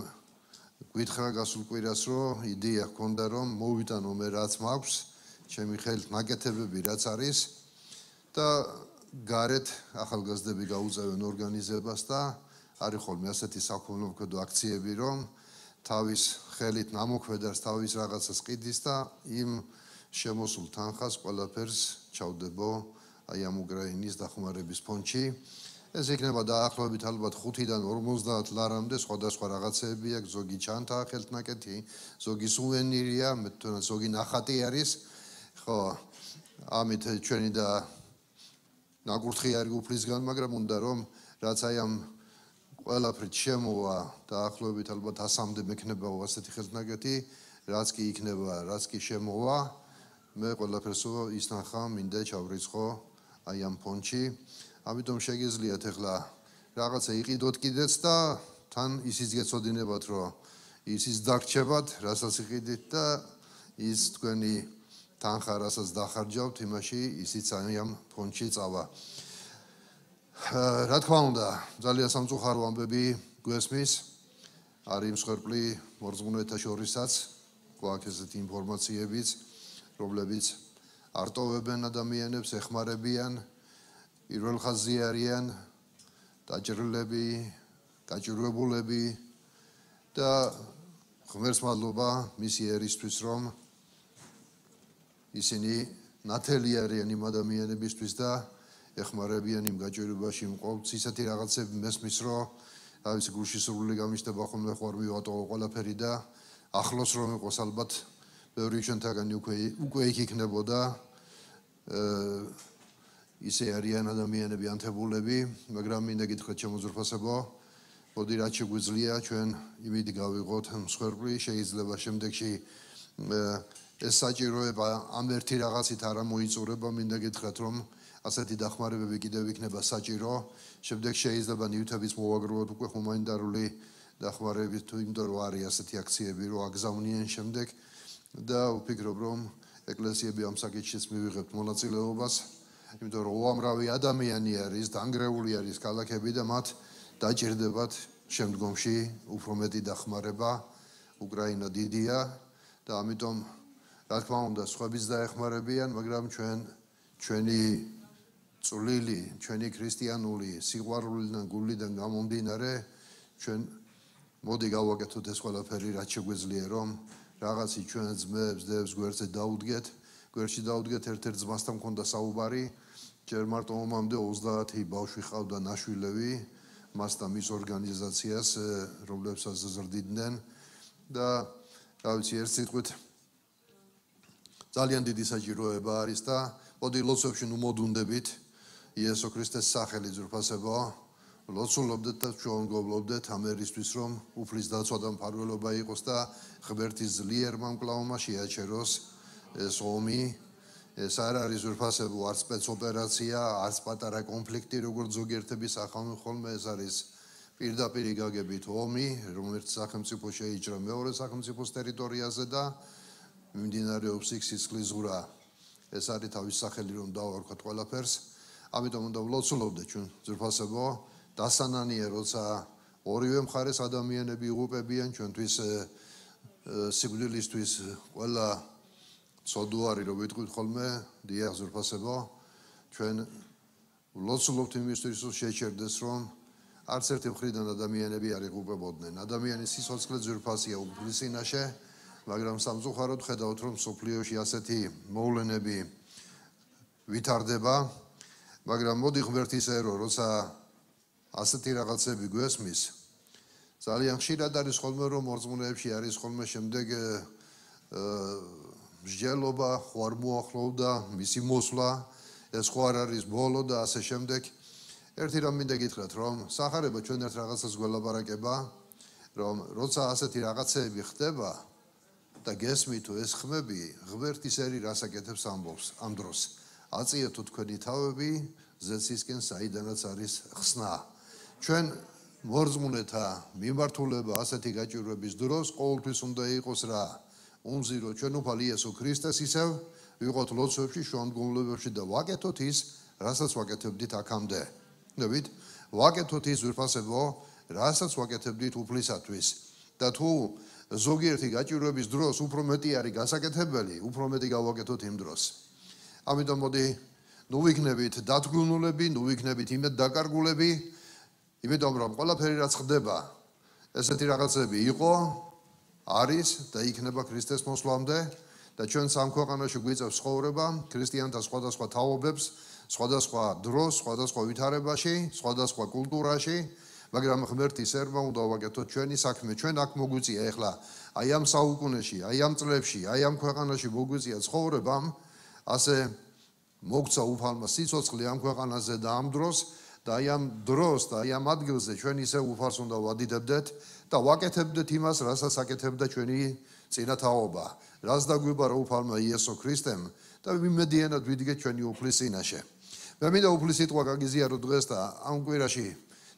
გვითხრა გასულ კვირას რომ იდეა ჰქონდა რომ მოვიტანო მე რაც მაქვს ჩემი ხელით ნაკეთებები რაც არის და გარეთ ახალგაზრდები გაუწევენ ორგანიზებას და არის ხოლმე ასეთი საქველმოქმედო აქციები რომ თავის ხელით ნამოქმედას თავის რაღაცას ყიდის და იმ შემოსულ თანხას ყველაფერს ჩავდებო აი ამ უკრაინის დახმარების ფონდში. ეს იქნება დაახლოებით ალბათ 5-დან 50 ლარამდე სხვადასხვა რაღაცეები აქვს, ზოგი ჩანთა ხელთნაკეთი, ზოგი სუვენირია, ზოგი ნახატი არის. ხო, ამით ჩვენი და ნაკურთხი არის უფლისგან, მაგრამ უნდა რომ რაც აი ამ ყველაფრით შემოვა დაახლოებით ალბათ 100-მდე მექნებაო ასეთი ხელთნაკეთი, რაც კი იქნება, რაც კი შემოვა, მე ყველაფერსო ის ნახა მინდა ჩავრიცხო აი ამ ფონდში. ამიტომ შეგიძლიათ ახლა რაღაცა იყიდოთ კიდეც და თან ისიც გეცოდინებათ რომ ისიც დაგრჩებათ, რასაც იყიდით და ის თქვენი თანხა რასაც დახარჯავთ იმაში ისიც აი ამ ფონდში წავა. რა თქმა უნდა, ძალიან სამწუხარო ამბები გვესმის. არის მსხვერპლი მორწმუნეთა შორისაც, გვაქვს ესეთი ინფორმაციებიც, რომლებიც არტოვებენ ადამიანებს, ეხმარებიან, პირველ ხაზზე არიან დაჭრილები, გაჭირვებულები და ღმერთს მადლობა მისი ერისთვის, რომ ისინი ნათელი არიან იმ ადამიანებისთვის და ეხმარებიან იმ გაჭირვებაში მყოფს. ისეთი რაღაცები მესმის, რომ თავისი გულში სრული გამიშდება ხოლმე ხوار მივატოვო ყველაფერი და ახლოს რომ იყოს ალბათ ბევრი ჩვენთაგანი უკვე იქ იქნებოდა ისე არიან ადამიანები ანთებულები, მაგრამ მინდა გითხრათ შემოძვრფასებო, მოდი რაც შეგვიძლია ჩვენ იმით გავიღოთ მსხვერპლი, შეიძლება შემდეგში ეს საჭიროება ამ ერთი რაღაცით არ მოიწურება, მინდა გითხრათ რომ ასეთი დახმარებები კიდევ იქნება საჭირო. შემდეგ შეიძლება ნივთების მოვაგროვოთ უკვე ჰუმანიტარული დახმარებით, თუ იმიტომ რომ არის ასეთი აქციები, რომ აგზავნიან შემდეგ და ვფიქრობ რომ ეკლესიები ამ საკითხშიც მივიღებთ მონაწილეობას, იმიტომ რომ უამრავი ადამიანი არის, დანგრეული არის ქალაქები და მათ დაჭირდებათ შემდგომში უფრო მეტი დახმარება, უკრაინა დიდია და ამიტომ რა თქმა უნდა სხვაებიც დაეხმარებიან, მაგრამ ჩვენი წვლილი, ჩვენი ქრისტიანული სიყვარულიდან გულიდან გამომდინარე ჩვენ მოდი გავაკეთოთ ეს ყველაფერი რაც შეგვეძლია რომ რაღაცი ჩვენ ძმებს, დევს გვერდზე დაუდგეთ, გვერდში დაუდგეთ ერთ-ერთ ძმასთან მქონდა საუბარი, ჯერ მარტო ომამდე 30 ბავშვი ყავდა ნაშვილები, მას და მის ორგანიზაციას, რომლებსაც ზრდიდნენ და რა ვიცი, ერთ სიტყვით ძალიან დიდი საჭიროება არის და მოდი ლოცვებში ნუ მოდუნდებით იესო ქრისტეს სახელი ძვირფასებო ლოცულობდეთ და ჩვენ გობლობდეთ ამ ერისთვის რომ უფლის დაცვა და მფარველობა იყოს და ღმერთის ძლიერმა მკლავმა შეაჩეროს ეს ომი ეს არ არის ძვირფასებო არც სპეცოპერაცია არც პატარა კონფლიქტი როგორც ზოგიერთების ახალ ხოლმე ეს არის პირდაპირ გაგებით ომი რომელიც სახელმწიფო შეიჭრა მეორე სახელმწიფოს ტერიტორიაზე და მიმდინარეობს სიცოცხლის ზღვრა ეს არის თავის სახელი რომ დავარქვათ ყველაფერს ამიტომ უნდა ვლოცულობდეთ ჩვენ ძვირფასებო დასანანია როცა ორივე მხარეს ადამიანები იღუპებიან ჩვენთვის სიკვდილისთვის ყველა ცოდვარი რომ ვიტყვით ხოლმე დიახ ძვირფასებო ჩვენ ვლოცულობთ იმისთვის რომ შეჩერდეს რომ არც ერთი მხრიდან ადამიანები არ იღუპებოდნენ ადამიანის სიცოცხლე ძვირფასია უფლის წინაშე მაგრამ სამწუხაროდ ხედავთ რომ სოფლიოში ასეთი მოვლენები ვითარდება მაგრამ მოდი ღმერთის ერო როცა ასეთი რაღაცები გვესმის ძალიან ხშირად არის ხოლმე რომ მორწმუნეებში არის ხოლმე შემდეგ მსჯელობა ხო არ მოახლოვდა მისი მოსვლა ეს ხო არ არის ბოლო და ასე შემდეგ ერთი რამ მინდა გითხრათ რომ სახარება ჩვენ ერთ რაღაცას გველაპარაკება რომ როცა ასეთი რაღაცები ხდება და გესმით ეს ხმები ღმერთის ერი რას აკეთებს ამბობს ამ დროს აწიეთო თქვენი თავები ზეცისკენ საიდანაც არის ხსნა ჩვენ მორწმუნეთა მიმართულება ასეთი გაჭირვების დროს ყოველთვის უნდა იყოს რა უმზირო ჩვენ უფალი იესო ქრისტეს ისევ ვიყოთ ლოცვებში შუამდგომლობებში და ვაკეთოთ ის რასაც ვაკეთებდით აქამდე ნებით ვაკეთოთ ის ვირფასებო რასაც ვაკეთებდით უფლისათვის და თუ ზოგიერთი გაჭირვების დროს უფრო მეტი არის გასაკეთებელი უფრო მეტი გავაკეთოთ იმ დროს ამიტომ მოდი ნუ ვიქნებით დათგუნულები ნუ ვიქნებით იმედ დაკარგულები იმიტომ რომ ყველაფერი რაც ხდება ესეთი რაღაცები იყო არის და იქნება ქრისტეს მოსვლამდე და ჩვენ სამ ქვეყანაში გვიწევს ცხოვრება ქრისტიანთა სხვადასხვა თაობებს სხვადასხვა დროს სხვადასხვა ვითარებაში სხვადასხვა კულტურაში მაგრამ ღმერთის ერმა უნდა ვაკეთოთ ჩვენი საქმე ჩვენ აქ მოგვიწია ეხლა აი ამ საუკუნეში აი ამ წლებში აი ამ ქვეყანაში მოგვიწია ცხოვრებამ ასე მოგცა უფალმა სიცოცხლე ამ ქვეყანაზე და ამ დროს და აი ამ დროს და აი ამ ადგილზე ჩვენ ისე უფალს უნდა ვადიდებდეთ და ვაკეთებდეთ იმას რასაც აკეთებდა ჩვენი წინათაობა რაც დაგვიბარა უფალმა იესო ქრისტემ და ვიმედიანად ვიდგეთ ჩვენი უფლის წინაშე მე მინდა უფლის სიტყვა გაგიზიარო დღეს და ამ კვირაში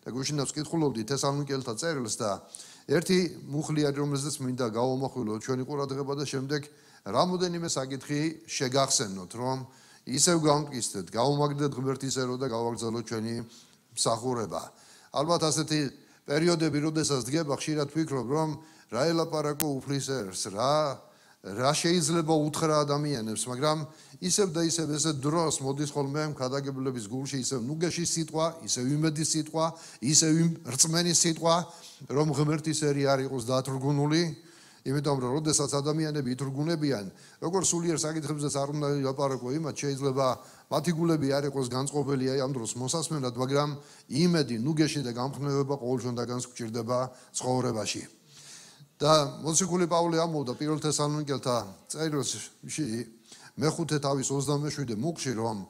და გუშინავს კითხულობდი თესალონიკელთა წერილს და ერთი მუხლი არის რომელზეც მინდა გავამახვილოთ ჩვენი ყურადღება და შემდეგ რამოდენიმე საკითხი შეგახსენოთ რომ ისევ გავმკისდეთ გავუმაგდეთ ღმერთის ერო და გავაგრძელოთ ჩვენი მსახურება ალბათ ასეთი პერიოდები როდესაც დგება ხშირად ვფიქრობ რომ რა ელაპარაკო უფლის ერს რა შეიძლება უთხრა ადამიანებს მაგრამ ისევ და ისევ ესე დროს მოდის ხოლმე ქადაგებლების გულში ისევ ნუგეშის სიტყვა ისევ იმედის სიტყვა ისევ რწმენის სიტყვა რომ ღმერთის ერი არ იყოს დათრგუნული იმიტომ რომ როდესაც ადამიანები ითრგუნებიან როგორ სულიერ საკითხებზეც არ უნდა ილაპარაკო იმათ შეიძლება მათი გულები არ იყოს განწყობილი აი ამ დროს მოსასმენად მაგრამ იმედი ნუგეში და გამხნევება ყოველშონ დაგანს გვჭირდება ცხოვრებაში და მოციქული პავლე ამბობდა პირველ თესალონიკელთა წერილში მეხუთე თავის 27 მუხში რომ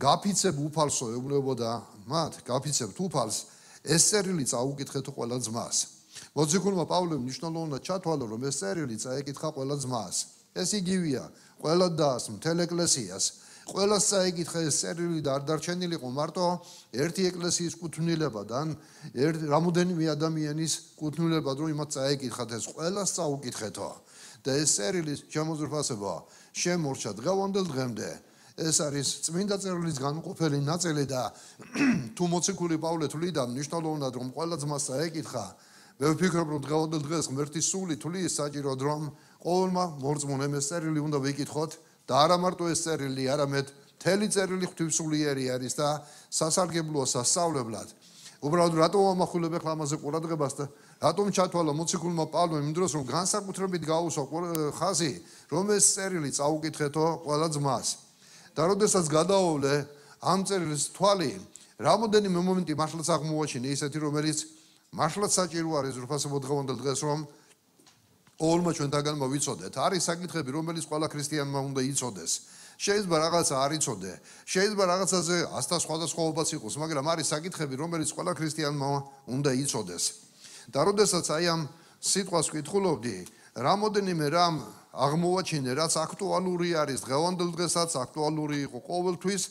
გაფიცებ უფალსო ეუბნებოდა მათ გაფიცებთ უფალს ეს წერილი წაუკითხეთ ყველა ძმას მოციქულმა პავლემ მნიშვნელოვნად ჩათვალა რომ ეს წერილი წაეკითხა ყველა ძმას ეს იგივეა ყველა დას მთელ ეკლესიას ყველას წაეკითხა ეს წერილი და არ დარჩენილიყო მარტო ერთი ეკლესიის კუთვნილებიდან რამოდენიმე ადამიანის კუთვნილებად რომ იმათ წაეკითხათ ეს ყველას წაუკითხეთო და ეს წერილი შემოძრფასება შემორჩა დღევანდელ დღემდე ეს არის წმინდა წერილის განუყოფელი ნაწილი და თუ მოციქული პავლე თვლიდა მნიშვნელოვნად რომ ყველა ძმას წაეკითხა მე ვფიქრობ, რომ დღევანდელ დღეს ღმერთის სული თulis საჭიროდ რომ ყოველმა მორწმუნემ ეს წერილი უნდა ვიკითხოთ და არა მარტო ეს წერილი, არამედ მთელი წერილი ღვთისმსულიერი არის და სასარგებლოა სასწავლებლად. უბრალოდ რატომ ამახვილებ ახლა ამაზე ყურადღებას და რატომ ჩათვალა მოციქულმა პავლემ იმ დროს რომ განსაკუთრებით გაუსვა ხაზი რომ ეს წერილი წაუკითხეთო ყველა ძმას და როდესაც გადავავლე ამ წერილის თვალი რამოდენიმე მომენტი მართლაც აღმოაჩინე ისეთი რომელიც მართლაც საჭირო არის ზრფასებო დღევანდელ დღეს რომ ყოველმა ჩვენთაგანმა ვიცოდეთ არის საკითხები რომელიც ყველა ქრისტიანმა უნდა იცოდეს შეიძლება რაღაცა არ იცოდე შეიძლება რაღაცაზე ასთა სხვადასხვაობაც იყოს მაგრამ არის საკითხები რომელიც ყველა ქრისტიანმა უნდა იცოდეს და როდესაც აი ამ სიტყვას ვკითხულობდი რამოდენიმე რამ აღმოვაჩინე რაც აქტუალური არის დღევანდელ დღესაც აქტუალური იყო ყოველთვის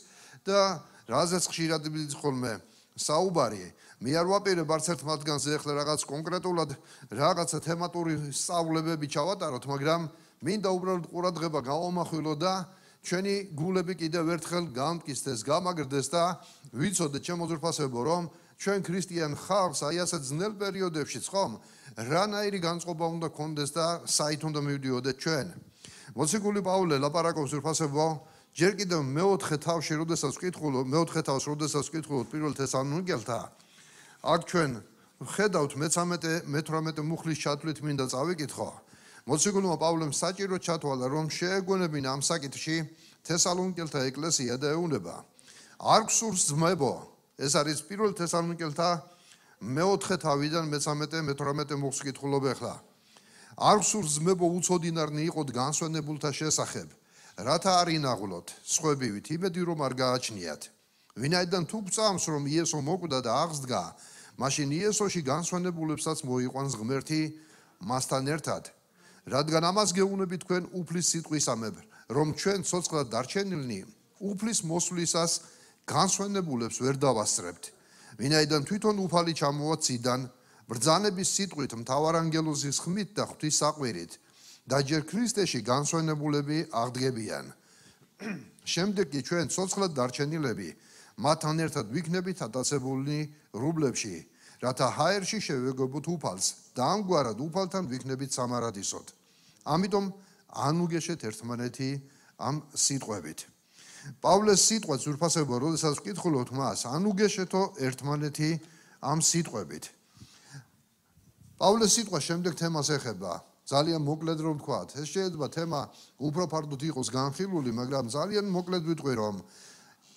და რაზეც ხშირად ხოლმე საუბარი მე არ ვაპირებ არც ერთ მათგანზე ახლა რაღაც კონკრეტულად რაღაცა თემატური სწავლებები ჩავატაროთ მაგრამ მინდა უბრალოდ ყურადღება გავამახვილო და ჩვენი გულები კიდევ ერთხელ გამტკიცდეს გამაგრდეს და ვიცოდეთ ჩემო ძვირფასებო რომ ჩვენ ქრისტიან ხალხს აი ასეთ ძნელ პერიოდებშიც ხომ რანაირი განწყობა უნდა გქონდეს და საით უნდა მივდიოდეთ ჩვენ მოციქული პავლე ლაპარაკობს ძვირფასებო ჯერ კიდევ მეოთხე თავში როდესაც ვკითხულობ პირველ თესალონიკელთა აქ ჩვენ ხედავთ მე-18 მუხლის ჩათვლით მინდა წავიკითხო მოციქულმა პავლემ საჭირო ჩათვალა რომ შეეგონებინა ამ საკითხში თესალონიკელთა ეკლესია და ეუბნება არ გსურს ძმებო ეს არის პირველ თესალონიკელთა მეოთხე თავიდან მე-18 მუხლს ვკითხულობ ახლა არ გსურს ძმებო უცოდინარნი იყოთ განსვენებულთა შესახებ რათა არ ინაღვლოთ სხვებივით იმედი რომ არ გააჩნიათ ვინაიდან თუ გწამს რომ იესო მოკვდა და აღსდგა მაშინ იესოში განსვენებულებსაც მოიყვანს ღმერთი მასთან ერთად რადგან ამას გეუბნები თქვენ უფლის სიტყვისამებრ რომ ჩვენ ცოცხლად დარჩენილნი უფლის მოსვლისას განსვენებულებს ვერ დავასწრებთ ვინაიდან თვითონ უფალი ჩამოვა ციდან ბრძანების სიტყვით მთავარ ანგელოზის ხმით და ღვთის საყვირით და ჯერ ქრისტეში განსვენებულები აღდგებიან შემდეგ კი ჩვენ ცოცხლად დარჩენილები მათთან ერთად ვიქნებით ატაცებულნი რუბლებში რათა ჰაერში შევეგებოთ უფალს და ამგვარად უფალთან ვიქნებით სამარადისოდ ამიტომ ანუგეშეთ ერთმანეთი ამ სიტყვებით პავლეს სიტყვა ძვირფასებო როდესაც ვკითხულობთ მას ანუგეშეთო ერთმანეთი ამ სიტყვებით პავლეს სიტყვა შემდეგ თემას ეხება ძალიან მოკლედ რომ ვთქვათ ეს შეიძლება თემა უფრო ფარდოდ იყოს განხილული მაგრამ ძალიან მოკლედ ვიტყვი რომ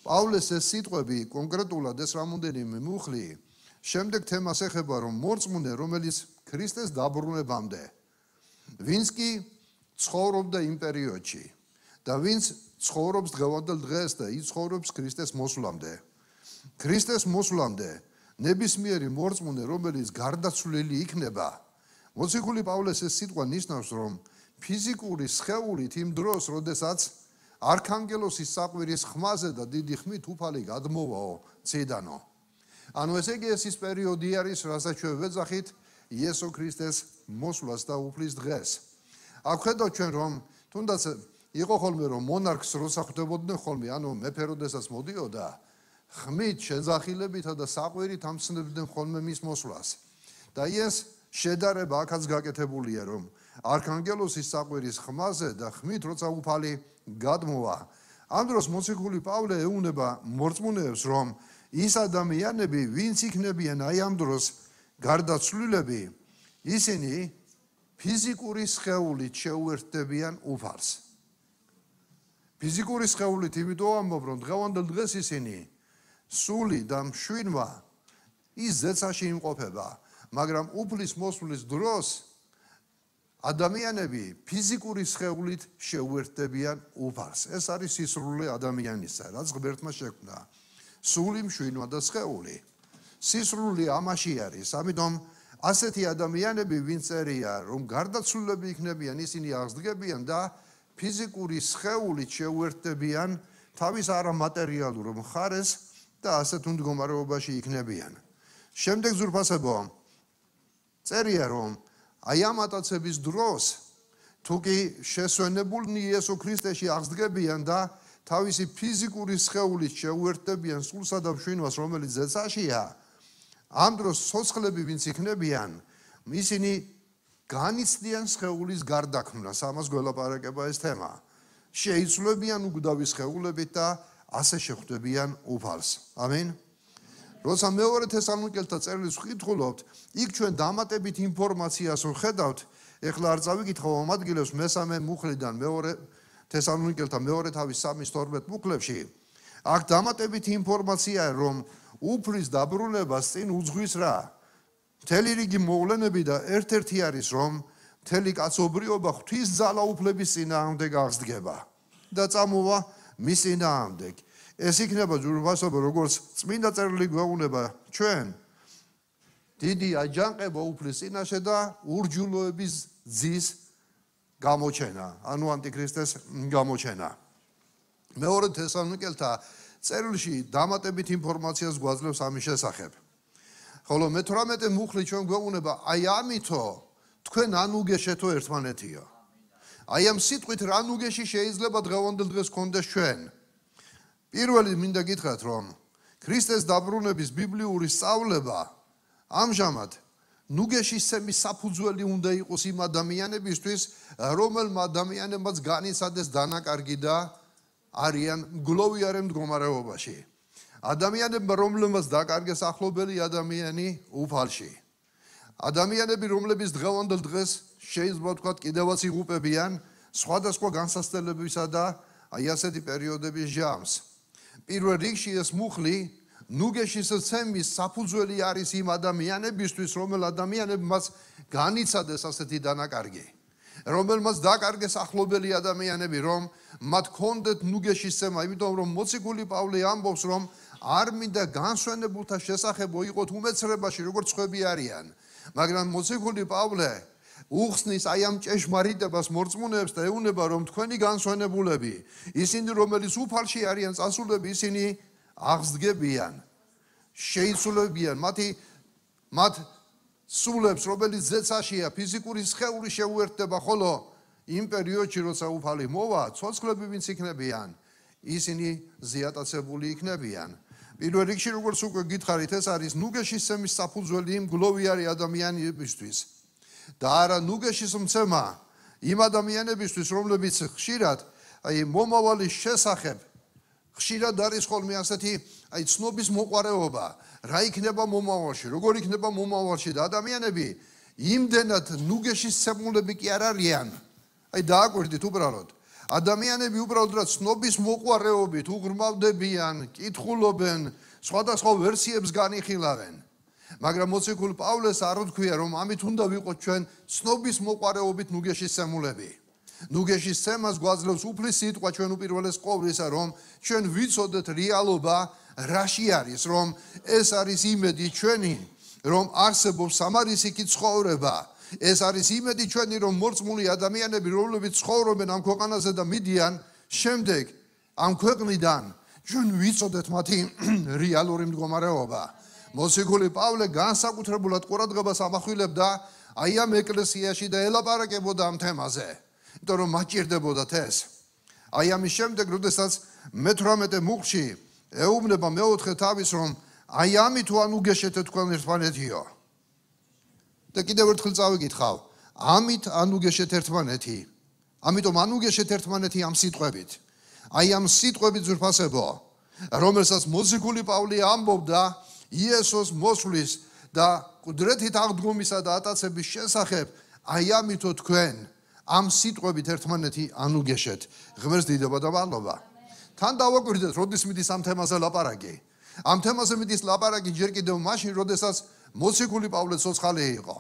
პავლეს ეს სიტყვები კონკრეტულად ეს რამოდენიმე მუხლი შემდეგ თემას ეხება რომ მორწმუნე რომელიც ქრისტეს დაბრუნებამდე ვინც კი ცხოვრობდა იმ პერიოდში და ვინც ცხოვრობს დღევანდელ დღეს და იცხოვრობს ქრისტეს მოსვლამდე ქრისტეს მოსვლამდე ნებისმიერი მორწმუნე რომელიც გარდაცვლილი იქნება მოციქული პავლეს ეს სიტყვა ნიშნავს რომ ფიზიკური სხეულით იმ დროს როდესაც არქანგელოსის საყვირის ხმაზე და დიდი ხმით უფალი გადმოვაო ციდანო ანუ ესე იგი ეს ის პერიოდი არის რასაც ჩვენ ვეძახით იესო ქრისტეს მოსვლას და უფლის დღეს აქ ხედავთ ჩვენ რომ თუნდაც იყო ხოლმე რომ მონარქს როცა ხვდებოდნენ ხოლმე ანუ მეფე როდესაც მოდიოდა ხმით შეძახილებითა და საყვირით ამცნებდნენ ხოლმე მის მოსვლას და ეს შედარება აქაც გაკეთებულია რომ არქანგელოსის საყვირის ხმაზე და ხმით როცა უფალი გადმოვა ამ დროს მოციქული პავლე ეუბნება მორწმუნეებს რომ ის ადამიანები ვინც იქნებიან აი ამ დროს გარდაცვლილები ისინი ფიზიკური სხეულით შეუერთდებიან უფალს ფიზიკური სხეულით იმიტომ ამბობ რომ დღევანდელ დღეს ისინი სული და მშვიდმა ის ზეცაში იმყოფება მაგრამ უფლის მოსვლის დროს ადამიანები ფიზიკური სხეულით შეუერთდებიან უფალს ეს არის სისრულე ადამიანისა რაც ღმერთმა შექმნა სული მშვიდმა და სხეული სისრული ამაში არის ამიტომ ასეთი ადამიანები ვინც წერია რომ გარდაცვლილები იქნებიან ისინი აღსდგებიან და ფიზიკური სხეულით შეუერთდებიან თავის არამატერიალურ მხარეს და ასეთ მდგომარეობაში იქნებიან შემდეგ ზურფასებო წერია რომ აი ამ ატაცების დროს თუ კი შესვენებულნი იესო ქრისტეში აღსდგებიან და თავისი ფიზიკური სხეულით შეუერთდებიან სულსა და მშვიდობას რომელიც ზეცაშია ამ დროს ცოცხლები ვინც იქნებიან ისინი განიცდიან სხეულის გარდაქმნას, ამას გველაპარაკება ეს თემა. შეიცვლებიან უგდავი სხეულებით და ასე შეხვდებიან უფალს. ამინ. როცა მეორე თესალონიკელთა წერილს ვკითხულობთ, იქ ჩვენ დამატებით ინფორმაციას ვხედავთ. ეხლა არ წავიკითხავ ამ ადგილებს მესამე მუხლიდან მეორე თესალონიკელთა მეორე თავის 3:12 მუხლებში. აქ დამატებით ინფორმაციაა, რომ უფლის დაბრუნებას წინ უძღვის რა. მთელი რიგი მოვლენები და ერთ-ერთი არის, რომ მთელი კაცობრიობა ღვთის ძალაუფლების წინააღმდეგ აღსდგება და წამოვა მის წინააღმდეგ. ეს იქნება ჯურვასობა, როგორც წმინდა წერილი გვეუბნება ჩვენ. დიდი აჯანყება უფლის წინაშე და ურჯულოების ძის გამოჩენა, ანუ ანტიქრისტეს გამოჩენა. მეორე თესალონიკელთა წერილში დამატებით ინფორმაციას გვაძლევს ამის შესახებ. ხოლო მე-18 მუხლი ჩვენ გვეუბნება, აი ამითო თქვენ ან უგეშეთო ერთმანეთიო. აი ამ სიტყვით რა ნუგეში შეიძლება დღევანდელ დღეს გქონდეს ჩვენ. პირველი მინდა გითხრათ, რომ ქრისტეს დაბრუნების ბიბლიური სწავლება ამჟამად ნუგეშისცემის საფუძველი უნდა იყოს იმ ადამიანებისთვის, რომელმა ადამიანებმაც განიცადეს დანაკარგი და არიან გლოვიარე მდგომარეობაში. ადამიანებმა, რომლებმაც დაკარგეს ახლობელი ადამიანი უფალში. ადამიანები, რომლებიც დღევანდელ დღეს შეიძლება ვთქვათ კიდევაც იღუპებიან სხვადასხვა განსაცდელებისა და აი ასეთი პერიოდების ჟამს. პირველ რიგში ეს მუხლი ნუგეშის ცემის საფუძველი არის იმ ადამიანებისთვის, რომელ ადამიანებმაც განიცადეს ასეთი დანაკარგი. რომელმაც დაკარგეს ახლობელი ადამიანები, რომ მათ ქონდეთ ნუგეშის ცემა, იმიტომ რომ მოციქული პავლე ამბობს, რომ არ მინდა განსვენებულთა შესახებ მოიყოთ უმეცრებაში, როგორც ხვები არიან. მაგრამ მოციქული პავლე უხსნის აი ამ ჭეშმარიტებას მორწმუნეებს და ეუბნება, რომ თქვენი განსვენებულები, ისინი რომელიც უფალში არიან წასულები, ისინი აღსდგებიან, შეიცვლებიან მათ სულებს, რომელიც ზეცაშია, ფიზიკური სხეული შეუერთდება, ხოლო იმ პერიოდში, როცა უფალი მოვა, ცოცხლები ვინც იქნებიან, ისინი ზიატაცებული იქნებიან. პირველ რიგში, როგორც უკვე გითხარით, ეს არის ნუგეშის ცემის საფუძველი იმ გლოვიარი ადამიანებისთვის. და არა ნუგეშის მცემა იმ ადამიანებისთვის, რომლებიც ხშირად აი მომავალის შესახებ ხშირად არის ხოლმე ასეთი აი ცნობის მოყარეობა, რა იქნება მომავალში, როგორ იქნება მომავალში და ადამიანები იმდენად ნუგეშის ცემულები კი არ არიან. აი დააკვირდით უბრალოდ. ადამიანები უბრალოდ რა ცნობის მოყარეობით უღრმავდებიან, კითხულობენ, სხვადასხვა ვერსიებს განიხილავენ. მაგრამ მოციქულ პავლეს არ ვთქვია, რომ ამით უნდა ვიყოთ ჩვენ ცნობის მოყარეობით ნუგეშის ცემულები. ნუგეშის ცემას გვაძლევს უფლის სიტყვა ჩვენ უპირველეს ყოვლისა, რომ ჩვენ ვიცოდეთ რეალობა რაში არის, რომ ეს არის იმედი ჩვენი, რომ არსებობს სამარისიქი ცხოვრება. ეს არის იმედი ჩვენი, რომ მორწმუნე ადამიანები, რომლებიც ცხოვრობენ ამ ქვეყანაზე და მიდიან შემდეგ ამ ქვეყნიდან, ჩვენ ვიცოდეთ მათი რეალური მდგომარეობა. მოციქული პავლე განსაკუთრებულად ყურადღებას ამახვილებდა აი ამ ეკლესიაში და ელაპარაკებოდა ამ თემაზე, იმიტომ რომ მათ ჭირდებოდათ ეს. აი ამის შემდეგ, როდესაც მე-18 მუხლში ეუბნება მეოთხე თავის, რომ აი ამით ან უგეშეთე თქვენ ერთმანეთიო. და კიდევ ერთხელ წავიკითხავ, ამით ან უგეშეთ ერთმანეთი. ამიტომ ან უგეშეთ ერთმანეთი ამ სიტყვებით. აი ამ სიტყვებით ძვირფასებო, რომელსაც მოციქული პავლე ამბობდა იესოს მოსვლის და კუდრეთით აღდგომისა და ატაცების შესახებ, აი ამითო თქვენ ამ სიტყვებით ერთმანეთი ან უგეშეთ. ღმერთს დიდება და მადლობა. თან დავაკვირდეთ, როდის მიდის ამ თემაზე ლაპარაკი. ამ თემაზე მიდის ლაპარაკი ჯერ კიდევ მაშინ, როდესაც მოციქული პავლე ცოცხალი იყო.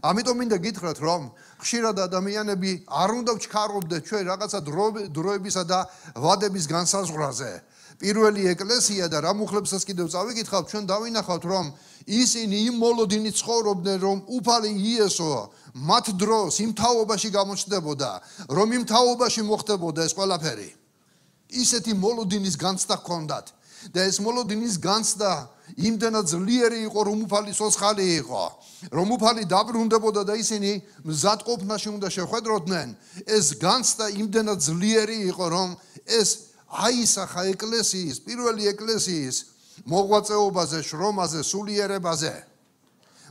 ამიტომ მინდა გითხრათ, რომ ხშირად ადამიანები არ უნდა ვჩქარობდეთ ჩვენ რაღაცა დროებისა და ვადების განსაზღვრაზე. პირველი ეკლესია და რა მუხლებსაც კიდევ წავიკითხავთ, ჩვენ დავინახავთ, რომ ისინი იმ მოლოდინით ცხოვრობდნენ, რომ უფალი იესო მათ დროს იმ თაობაში გამოჩნდებოდა, რომ იმ თაობაში მოხდებოდა ეს ყველაფერი. ისეთი მოლოდინის განცდა ჰქონდათ და ეს მოლოდინის განცდა იმდენად ძლიერი იყო, რომ უფალი ცოცხალი იყო, რომ უფალი დაბრუნდებოდა და ისინი მზადყოფნაში უნდა შეხვედროდნენ. ეს განცდა იმდენად ძლიერი იყო, რომ ეს აისახა ეკლესიის, პირველი ეკლესიის მოღვაწეობაზე, შრომაზე, სულიერებაზე.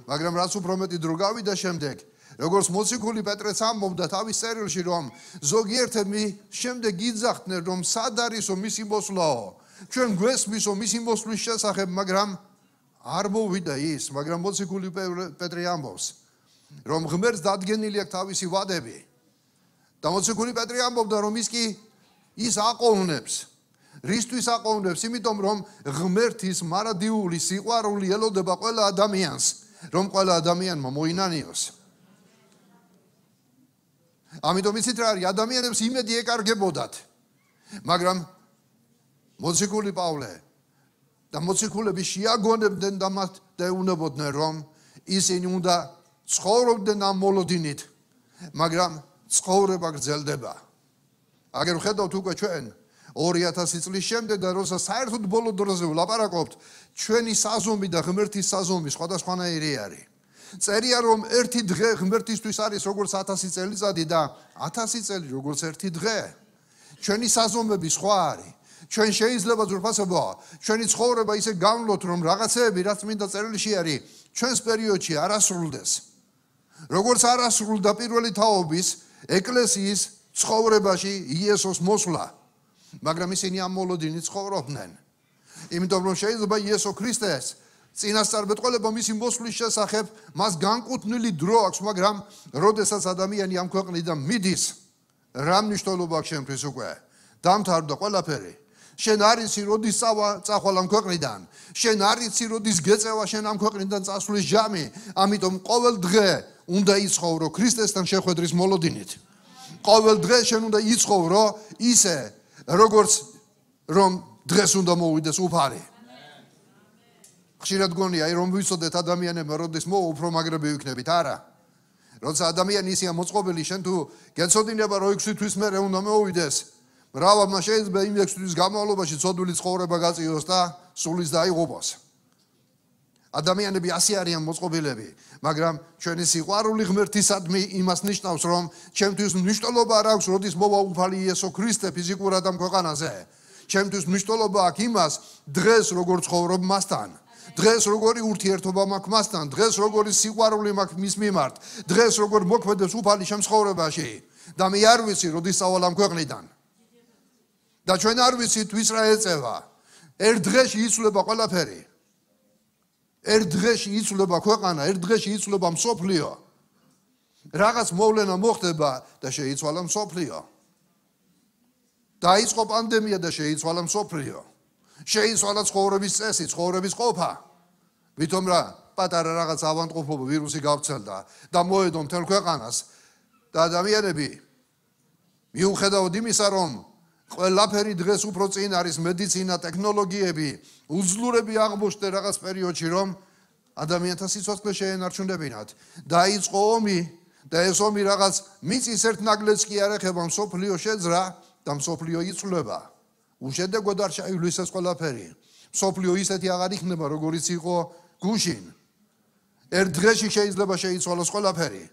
მაგრამ რაც უფრო მეტი დრო გავიდა შემდეგ, როგორც მოციქული პეტრეც ამბობდა თავის წერილში, რომ ზოგიერთები შემდეგ იძახდნენ, რომ სად არისო მისი მოსვლაო, ჩვენ გვესმისო მისი მოსვლის შესახებ, მაგრამ არ მოვიდა ის, მაგრამ მოციქული პეტრე ამბობს, რომ ღმერთს დადგენილი აქვს თავისი ვადები. და მოციქული პეტრე ამბობდა, რომ ის აყოვნებს. რისთვის აყოვნებს? იმიტომ რომ ღმერთის მარადიული სიყვარული ელოდება ყველა ადამიანს, რომ ყველა ადამიანმა მოინანიოს. ამიტომ იცით რა არის, ადამიანებს იმედი ეკარგებოდათ. მაგრამ მოციქული პავლე და მოციქულები შეაგონებდნენ და მათ დაეუნებოდნენ, რომ ისინი უნდა ცხოვრობდნენ ამ მოლოდინით, მაგრამ ცხოვრება გრძელდება. აგერ ვხედავთ უკვე ჩვენ 2000 წლის შემდეგ და როცა საერთოდ ბოლო დროზე ვლაპარაკობთ, ჩვენი საზომი და ღმერთის საზომი სხვადასხვანაირი არის. წერია რომ ერთი დღე ღმერთისთვის არის როგორც 1000 წელიწადი და 1000 წელი როგორც ერთი დღე. ჩვენი საზომები სხვა არის. ჩვენ შეიძლება ზურფასობა, ჩვენი ცხოვრება ისე გამლოთ, რომ რაღაცეები რაც მინდა წერილში არის, ჩვენს პერიოდში არ ასრულდეს. როგორც არ ასრულდა პირველი თაობის ეკლესიის ცხოვრებაში იესოს მოსვლა, მაგრამ ისინი ამ მოლოდინით ცხოვრობდნენ. იმიტომ რომ შეიძლება იესო ქრისტეს წინასწარმეტყველება მისი მოსვლის შესახებ მას განკუთვნილი დრო აქვს, მაგრამ როდესაც ადამიანი ამ ქვეყნიდან მიდის, რა მნიშვნელობა აქვს შემთხვევით უკვე? დამთავრდა ყველაფერი. შენ არ იცი როდის წახვალ ამ ქვეყნიდან, შენ არ იცი როდის გეწევა შენ ამ ქვეყნიდან წასვლის ჟამი, ამიტომ ყოველ დღე უნდა იცხოვრო ქრისტესთან შეხვედრის მოლოდინით. ყოველ დღე შენ უნდა იცხოვრო ისე, როგორც რომ დღეს უნდა მოვიდეს უფალი. ხშირად გონია, რომ ვიცოდეთ ადამიანებმა როდის მოვა უფრო მაგრები ვიქნებით, არა. როცა ადამიანი ისეა მოწყობილი, შენ თუ გეცოდინება რომ 6 თვის მერე უნდა მოვიდეს, მრავალმა შეიძლება იმ 6 თვის განმავლობაში ცოდვილი ცხოვრება გაწიოს და სულის დაიღუპოს. ადამიანები ასე არიან მოწყობილები, მაგრამ ჩვენი სიყვარული ღმერთისადმი იმას ნიშნავს, რომ ჩემთვის მნიშვნელობა არ აქვს, როდის მოვა უფალი იესო ქრისტე ფიზიკურად ამ ქვეყანაზე. ჩემთვის მნიშვნელობა აქვს იმას, დღეს როგორ ცხოვრობ მასთან. დღეს როგორი ურთიერთობა მაქვს მასთან, დღეს როგორი სიყვარული მაქვს მის მიმართ, დღეს როგორ მოქმედებს უფალი ჩემ ცხოვრებაში და მე არ ვიცი როდის წავალ ამ ქვეყნიდან. და ჩვენ არ ვიცით ვის რა ეწევა. ერთ დღეში იცვლება ყველაფერი. ერთ დღეში იცვლება ქვეყანა, ერთ დღეში იცვლება მსოფლიო. რაღაც მოვლენა მოხდება და შეიცვალა მსოფლიო. დაიწყო პანდემია და შეიცვალა მსოფლიო. შეიცვალა ცხოვრების წესი, ცხოვრების ყოფა. ვითომ რა პატარა რაღაც ავანტყოფობა ვირუსი გავრცელდა და მოედო მთელ ქვეყანას და ადამიანები მიუხედავად იმისა, რომ ყველაფერი დღეს უფრო წინ არის, მედიცინა, ტექნოლოგიები, უძლურები აღმოჩნდა რაღაც პერიოდში, რომ ადამიანთა სიცოცხლე შეენარჩუნებინათ. დაიწყო ომი და ეს ომი რაღაც მიწის ერთ ნაგლეც კი არ ეხება, მსოფლიო შეძრა და მსოფლიო იცვლება. უშედეგოდ არ შეივლის ეს ყველაფერი. მსოფლიო ისეთი აღარ იქნება, როგორიც იყო გუშინ. ერთ დღეში შეიძლება შეიცვალოს ყველაფერი.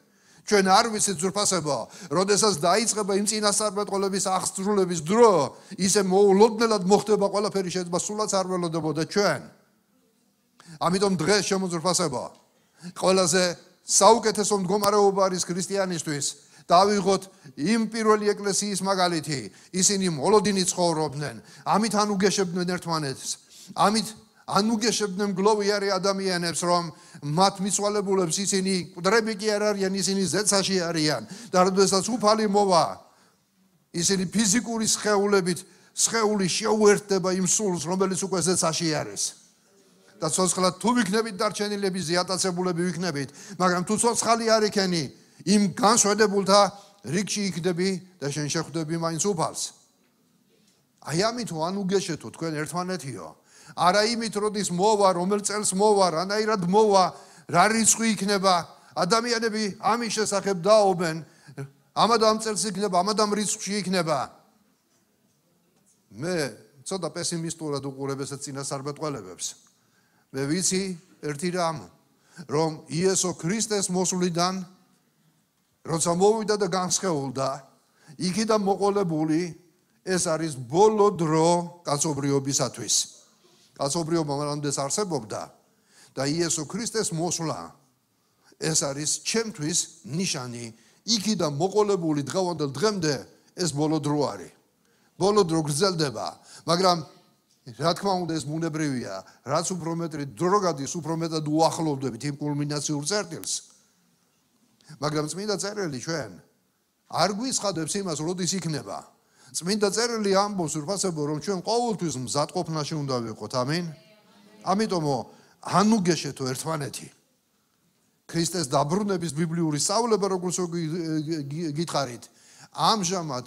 ჩვენ არ ვიცით ზურფასებო, როდესაც დაიწყება იმ წინასწარმეტყველების აღსრულების დრო, ისე მოულოდნელად მოხდება ყველაფერი, შეიძლება სულაც არ ველოდებოდა ჩვენ. ამიტომ დღეს შემოძურფასებო, ყველაზე საუკეთესო მდგომარეობა არის ქრისტიანისთვის. დავიღოთ იმ პირველი ეკლესიის მაგალითი, ისინი მოლოდინით ცხოვრობდნენ, ამით ანუგეშებდნენ ერთმანეთს, ამით ანუგეშებდნენ მგლოვიარე ადამიანებს, რომ მათ მიცვალებულებს ისინი მკვდრები კი არ არიან, ისინი ზეცაში არიან და როდესაც უფალი მოვა, ისინი ფიზიკური სხეული შეუერთდება იმ სულს, რომელიც უკვე ზეცაში არის. და ცოცხლად თუ ვიქნებით დარჩენილები, ზიატაცებულები ვიქნებით, მაგრამ თუ ცოცხალი არ იქენი, იმ განსვედებულთა რიგში იქდები და შენ შეხვდები მაინც უფალს. აი ამით ვანუგეშეთო თქვენ ერთმანეთიო. არა იმით როდის მოვა, რომელ წელს მოვა, რანაირად მოვა, რა რიცხვი იქნება, ადამიანები ამის შესახებ დაობენ, ამად ამ წელს იქნება, ამად ამ რიცხვში იქნება. მე ცოტა პესიმისტურად უყურებ ესეთ წინასწარმეტყველებებს. მე ვიცი ერთი რამ, რომ იესო ქრისტეს მოსვლიდან როცა მოვიდა და განსხეულდა, იქიდან მოყოლებული ეს არის ბოლო დრო კაცობრიობისათვის. კაცობრიობა მანამდე არსებობდა და იესო ქრისტეს მოსვლა ეს არის ჩემთვის ნიშანი, იქიდან მოყოლებული დღევანდელ დღემდე ეს ბოლო დრო არის. ბოლო დრო გრძელდება, მაგრამ რა თქმა უნდა ეს ბუნებრივია, რაც უფრო მეტრი დრო გადის, უფრო მეტად უახლოვდებით იმ კულმინაციურ წერტილს. მაგრამ წმინდა წერილი ჩვენ არ გვიცხადებს იმას, როდის იქნება. წმინდა წერილი ამბობს ურფასებო, რომ ჩვენ ყოველთვის მზადყოფნაში უნდა ვიყოთ. ამინ. ამიტომ ანუ გეშეთო ერთმანეთი. ქრისტეს დაბრუნების ბიბლიური სწავლება როგორც გითხარით, ამჟამად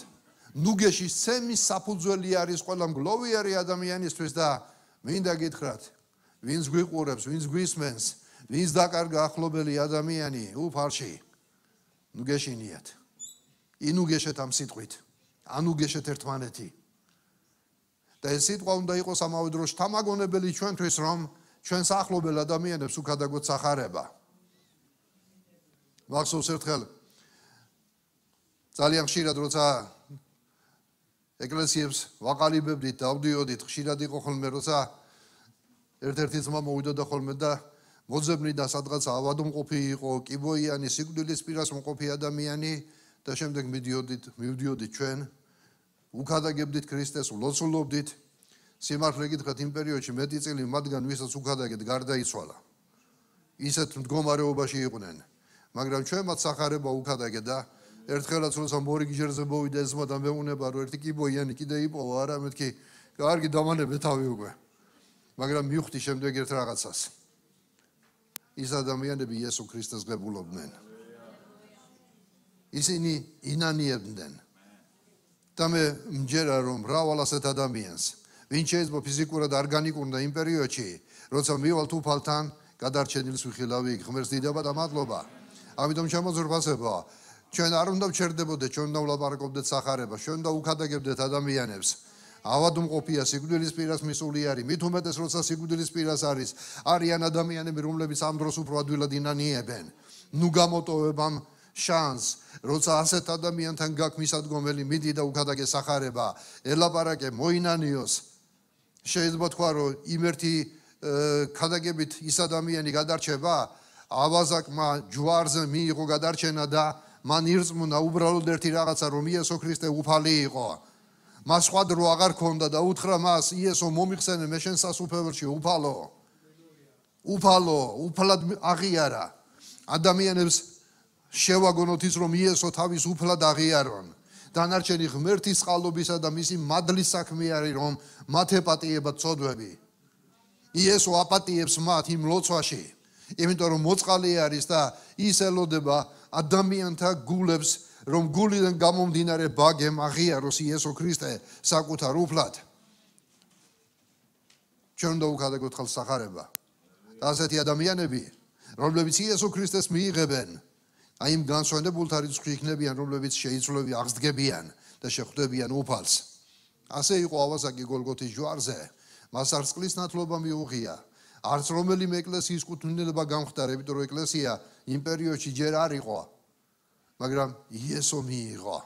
ნუგეში სემის საფუძველი არის ყველა მგლოვიარი ადამიანისთვის და მინდა გითხრათ, ვინც გვიყურებს, ვინც გვისმენს, ვინც დაკარგა ახლობელი ადამიანი, უფალში ნუგეშინიათ. ინუგეშეთ ამ სიტყვით, ანუგეშეთ ერთმანეთი. და ეს სიტყვა უნდა იყოს ამავე დროს შთამაგონებელი ჩვენთვის, რომ ჩვენს ახლობელ ადამიანებს უკადაგოდ სახარება. მახსოვს ერთხელ ძალიან ხშირად როცა ეკლესიებს ვაყალიბებდით, დავდიოდით, ხშირად იყო ხოლმე როცა ერთ-ერთი ძმა მოვიდოდა ხოლმე და მოძებნიდა სადღაც ავადმყოფი იყო, კიბოიანი, სიკვდილის პირას მყოფი ადამიანი და შემდეგ მივდიოდით ჩვენ, უკადაგებდით ქრისტეს, ვლოცულობდით. სიმართლე გითხრათ, იმ პერიოდში მეტი წილი მათგან ვისაც უკადაგეთ გარდაიცვალა. ისეთ მდგომარეობაში იყვნენ. მაგრამ ჩვენ მათ სახარება უკადაგეთ და ერთხელაც როცა მორიგჯერზე მოვიდა ეს ძმა და მეუნება რომ ერთი კიბოიანი კიდე იპოვა არა მეთქი კარგი დამანებე თავი უკვე. მაგრამ მივხვდი შემდეგ ერთ რაღაცას. ის ადამიანები იესო ქრისტეს ღებულობდნენ. ისინი ინანიებდნენ. და მე მჯერა რომ მრავალ ასეთ ადამიანს, ვინც შეიძლება ფიზიკურად არ განიკურნა იმ პერიოდში, როცა მივალთ უფალთან, გადარჩენილს ვიხილავი ღმერთს დიდება და მადლობა. ამიტომ შემოძრფასება, ჩვენ არ უნდა ვჩერდებოდეთ, ჩვენ უნდა ვლაპარაკობდეთ სახარებას, ჩვენ უნდა უკადაგებდეთ ადამიანებს. ავადმყოფია, სიკვდილის პირას მისული არის, მით უმეტეს როცა სიკვდილის პირას არიან ადამიანები, რომლებიც ამ დროს უფრო ადვილად ინანიებენ. ნუ გამოტოვებამ შანს, როცა ასეთ ადამიანთან გაქვს მისადგომელი, მიდი და უკადაგე სახარება, ელაპარაკე, მოინანიოს. შეიძლება თქვა, რომ იმერთი ქადაგებით ის ადამიანი გადარჩება, ავაზაკმა ჯვარზე მიიღო გადარჩენა და მან ირწმუნა უბრალოდ ერთი რაღაცა, რომ იესო ქრისტე უფალი იყო. მას სხვა დრო აღარ ქონდა და უთხრა მას, იესო მომიხსენე მე შენ სასუფეველში უფალო. უფლად აღიარა. ადამიანებს შევაგონოთ ის, რომ იესო თავის უფლად აღიარონ. დანარჩენი ღმერთის წყალობისა და მისი მადლის საქმე არის, რომ მათ ეპატიებათ ცოდვები. იესო აპატიებს მათ იმ ლოცვაში, იმიტომ რომ მოწყალე არის და ის ელოდება ადამიანთა გულებს, რომ გულიდან გამომდინარე ბაგემ აღიაროს იესო ქრისტე საკუთარ უფლად. ჩვენ უნდა უკადაგოთ ხალხს სახარება. და ასეთი ადამიანები, რომლებიც იესო ქრისტეს მიიღებენ, აი იმ განსვენებულთა რიცხვი იქნებიან, რომლებიც შეიცვლები აღსდგებიან და შეხვდებიან უფალს. ასე იყო ავაზაკი გოლგოთის ჯვარზე. მას არც წყლის ნათლობა მიუღია, არც რომელიმე ეკლესიის კუთვნილება გამხდარა, იმიტომ რომ ეკლესია იმ პერიოდში ჯერ არ იყო, მაგრამ იესო მიიღო.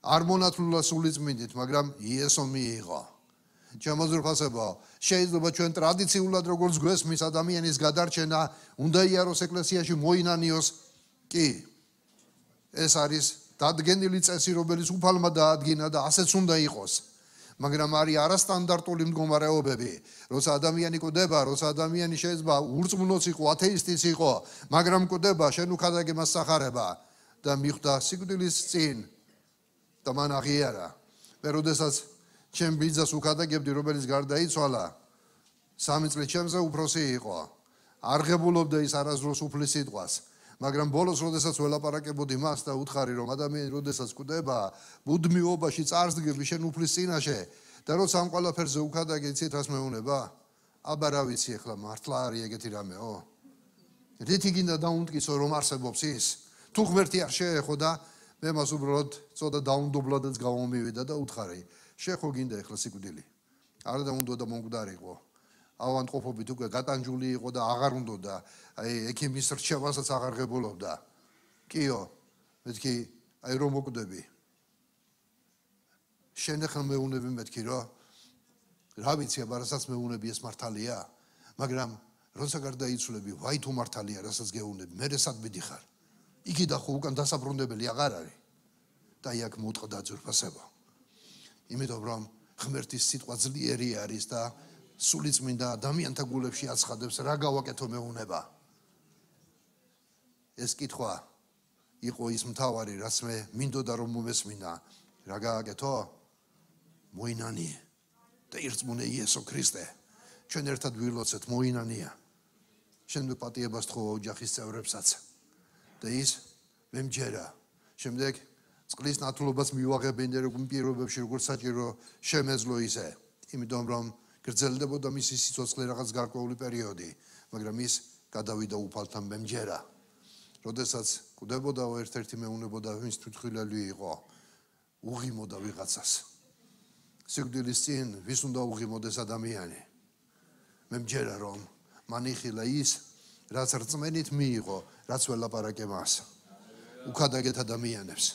არ მონათლულა სულიწმინდით, მაგრამ იესო მიიღო. შემოძრფასება, შეიძლება ჩვენ ტრადიციულად როგორც გვესმის ადამიანის გადარჩენა, უნდა იაროს ეკლესიაში მოინანიოს, კი. ეს არის დადგენილი წესი, რომელიც უფალმა დაადგინა და ასეც უნდა იყოს. მაგრამ არის არასტანდარტული მდგომარეობები, როცა ადამიანი კვდება, როცა ადამიანი შეიძლება ურწმუნოც იყო, ათეისტიც იყო, მაგრამ კვდება, შენ უკადაგე მას სახარება და მიხვდა სიკვდილის წინ და მან აღიარა. მე როდესაც ჩემ ბიძას უკადაგებდი, რომელიც გარდაიცვალა, 3 წლით ჩემზე უფროსი იყო. არ ღებულობდა ის არასდროს უფლის სიტყვას. მაგრამ ბოლოს როდესაც ველაპარაკებოდი მას და უთხარი რომ ადამიანი როდესაც კვდება, ბუდმიობაში წარსდგები შენ უფლის წინაშე და როცა ამ ყველაფერზე უკადაგე იცით რას მეუნება? აბა რა ვიცი ახლა მართლა არის ეგეთი რამეო? რითი გინდა დაუნტკიცო რომ არსებობს ის? თუ ღმერთი არ შეეხო და მე მას უბრალოდ ცოტა დაუნდობლადაც გამომივიდა და უთხარი, შეხო გინდა ახლა სიკვდილი. არ და უნდა და მომკვდარიყო. ავადმყოფობით უკვე გატანჯული იყო და აღარ უნდოდა, აი ექიმის რჩევასაც აღარ ღებულობდა. კიო, მეთქი, აი რომ მოკვდები. შენ ახლა მეუნები მეთქი რა ვიცი, აბა რასაც მეუნები ეს მართალია, მაგრამ როცა გარდაიცვლები, ვაი თუ მართალია, რასაც გეუბნები, მე სად მიდიხარ? იგი და ხო უკან დასაბრუნებელი აღარ არის. და იქ მოტყდა ძვირფასება. იმიტომ რომ ღმერთის სიტყვა ძლიერი არის და სულიწმინდა ადამიანთა გულებში აცხადებს, რა გავაკეთო მეუნება. ეს კითხვა იყო ის მთავარი, რაც მე მინდოდა რომ მომესმინა. რა გააკეთო? მოინანიე და ირწმუნე იესო ქრისტე. ჩვენ ერთად ვილოცეთ, მოინანია. შემდეგ პატიებას თხოვა ოჯახის წევრებსაც. და ის მემჯერა. შემდეგ წყლის ნათლობას მივაღებენ როგორ პირობებში, როგორც საჭირო შემეძლო ისე. იმიტომ რომ გრძელდებოდა მისი სიცოცხლე რაღაც გარკვეული პერიოდი, მაგრამ ის გადავიდა უფალთან მემჯერა. როდესაც კვდებოდაო ერთ-ერთი მეუნებოდა მის თვითმხილველი იყო, უღიმოდა ვიღაცას. სიკვდილის წინ ვის უნდა უღიმოდეს ადამიანი? მემჯერა რომ მან იხილა ის, რაც რწმენით მიიღო, რაც ველაპარაკე მას. უკადაგეთ ადამიანებს.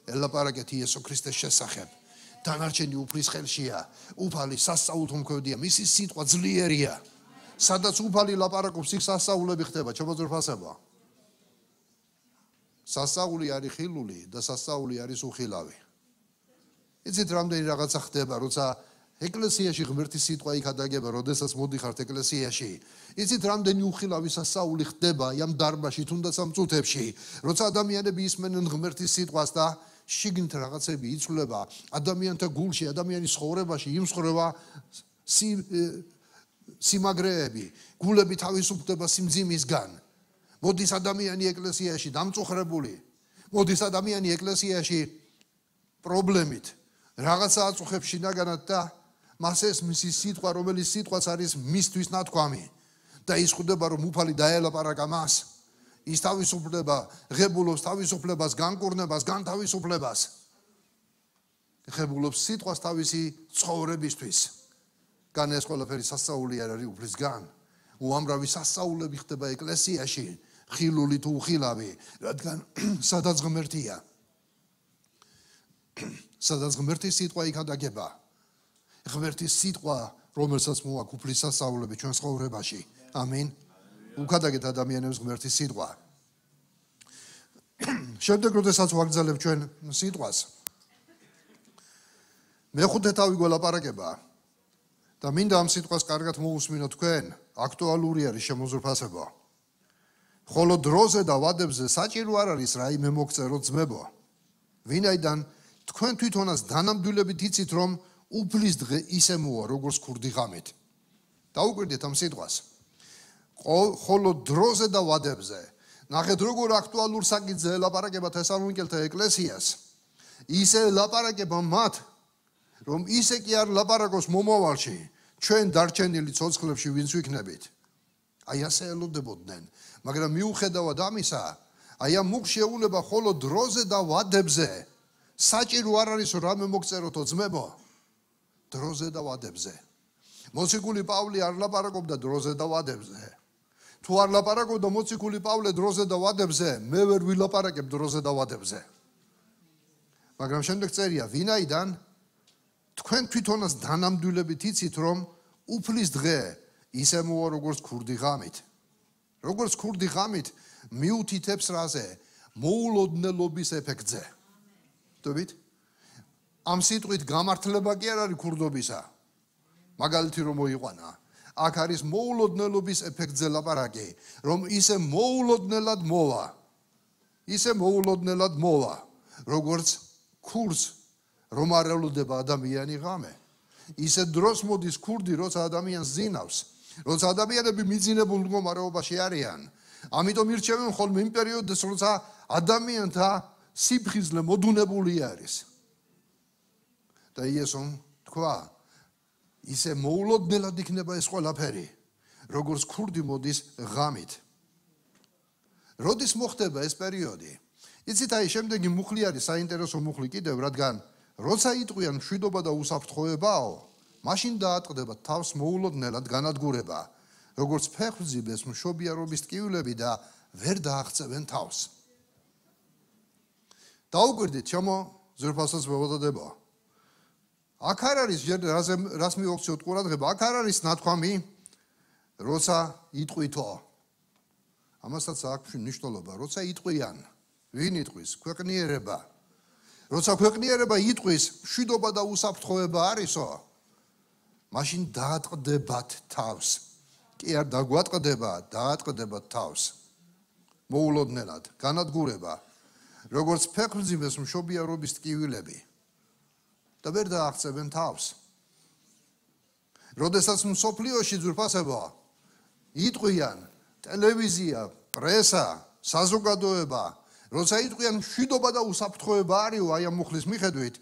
ელაპარაკეთ იესო ქრისტეს შესახებ. დანარჩენი უფლის ხელშია. უფალი სასწაულთო მქვევდია, მისი სიტყვა ძლიერია. სადაც უფალი ლაპარაკობს, იქ სასწაულები ხდება, ჩამოძრფასება. სასწაული არის ხილული და სასწაული არის უხილავი. იცით რამდენი რაღაცა ხდება, როცა ეკლესიაში ღმერთის სიტყვა იქ ადაგება, როდესაც მოდიხართ ეკლესიაში. იცით რამდენი უხილავი სასწაული ხდება ამ დარბაზში, თუნდაც ამ წუთებში, როცა ადამიანები ისმენენ ღმერთის სიტყვას და შიგნით რაღაცები იცვლება, ადამიანთა გულში, ადამიანის ცხოვრებაში იმსხვრევა სიმაგრეები, გულები თავისუფლდება სიმძიმისგან. მოდის ადამიანი ეკლესიაში დამწუხრებული, მოდის ადამიანი ეკლესიაში პრობლემით, რაღაცა აწუხებს შინაგანად და მას ეს მისი სიტყვა, რომელიც სიტყვაც არის მისთვის ნათქვამი და ის ხვდება რომ უფალი დაელაპარაკა მას. ის თავისუფლება, ღებულობს თავისუფლებას, განკურნებას, განთავისუფლებას. ღებულობს სიტყვას თავისი ცხოვრებისთვის. გან ეს ყველაფერი სასწაული არ არის უფლისგან. უამრავი სასწაულები ხდება ეკლესიაში, ხილული თუ უხილავი, რადგან სადაც ღმერთია. სადაც ღმერთის სიტყვა იქ ადაგება. ღმერთის სიტყვა, რომელსაც მოაქვს უფლის სასწაულები ჩვენ ცხოვრებაში. ამინ. უკადაგეთ ადამიანებს ღმერთის სიტყვა. შემდეგ როდესაც ვაგრძელებ ჩვენ სიტყვას, მეხუთე თავი გველაპარაკება და მინდა ამ სიტყვას კარგად მოусმინოთ თქვენ, აქტუალური არის შემოზრფასება. ხოლო დროზე და ვადებზე საჭირო არ არის რაიმე მოგწერო ძმებო. ვინაიდან თქვენ თვითონაც დანამდვილებით იცით რომ უფლის დღე ისე მოვა როგორც ქურდი ღამით. დაუკვირდით ამ სიტყვას. ხოლო დროზე და ვადებზე. ნახეთ როგორ აქტუალურ საკითხზე ელაპარაკება თესალონიკელთა ეკლესიას. ისე ელაპარაკება მათ, რომ ისე კი არ ლაპარაკობს მომავალში, ჩვენ დარჩენილი ცოცხლებში ვინც ვიქნებით. აი ასე ელოდებოდნენ, მაგრამ მიუხედავად ამისა, აი ამ მუქ შეუნება ხოლო დროზე და ვადებზე საჭირო არ არის რამე მოგწეროთო ძმებო. დროზე და ვადებზე. მოციქული პავლე არ ლაპარაკობდა დროზე და ვადებზე. თუ არ ლაპარაკობდა მოციქული პავლე დროზე და ვადებზე, მე ვერ ვილაპარაკებ დროზე და ვადებზე. მაგრამ შემდეგ წერია, ვინაიდან თქვენ თვითონაც დანამდვილებით იცით რომ უფლის დღე ისე მოვა როგორც ქურდი ღამით. როგორც ქურდი ღამით მიუთითებს რაზე? მოულოდნელობის ეფექტზე. ხდებით? ამ სიტყვით გამართლება კი არ არის ქურდობისა. მაგალითი რომ მოიყვანა. აქ არის მოულოდნელობის ეფექტზე ლაპარაკი, რომ ისე მოულოდნელად მოვა. ისე მოულოდნელად მოვა, როგორც ქურს რომ არ ელოდება ადამიანი ღამე. ისე დროს მოდის ქურდი, როცა ადამიანს ზინავს, როცა ადამიანები მიძინებულ მდგომარეობაში არიან. ამიტომ ირჩევენ ხოლმე იმ პერიოდს, როცა ადამიანთა სიფხიზლე მოდუნებული არის. და იესომ თქვა, ისე მოულოდნელად იქნება ეს ყველაფერი, როგორც ქურდი მოდის ღამით. როდის მოხდება ეს პერიოდი? იცით, აი შემდეგი მუხლი არის საინტერესო მუხლი კიდევ, რადგან როცა იტყვიან მშვიდობა და უსაფრთხოებაო, მაშინ დაატყდება თავს მოულოდნელად განადგურება, როგორც ფეხმძიმეს მშობიარობის ტკივილები და ვერ დააღწევენ თავს. დაუკვირდით, ჩემო ზრფასოს მოვადდება. აქ არ არის რას მივაქციოთ ყურადღება, აქ არ არის ნათქვამი, როცა იტყვითო ამასაც აქვს მნიშვნელობა როცა იტყვიან ვინ იტყვის ქვეყნიერება როცა ქვეყნიერება იტყვის მშვიდობა და უსაფრთხოება არისო მაშინ დაატყდებათ თავს კი არ დაგვატყდება დაატყდებათ თავს მოულოდნელად განადგურება როგორც ფეხმძიმეს მშობიარობის ტკივილები და ვერ დააღწევენ თავს როდესაც მსოფლიოში ძვირფასება იტყვიან ტელევიზია პრესა საზოგადოება როცა იტყვიან მშვიდობა და უსაფრთხოება არისო აი ამ მუხლის მიხედვით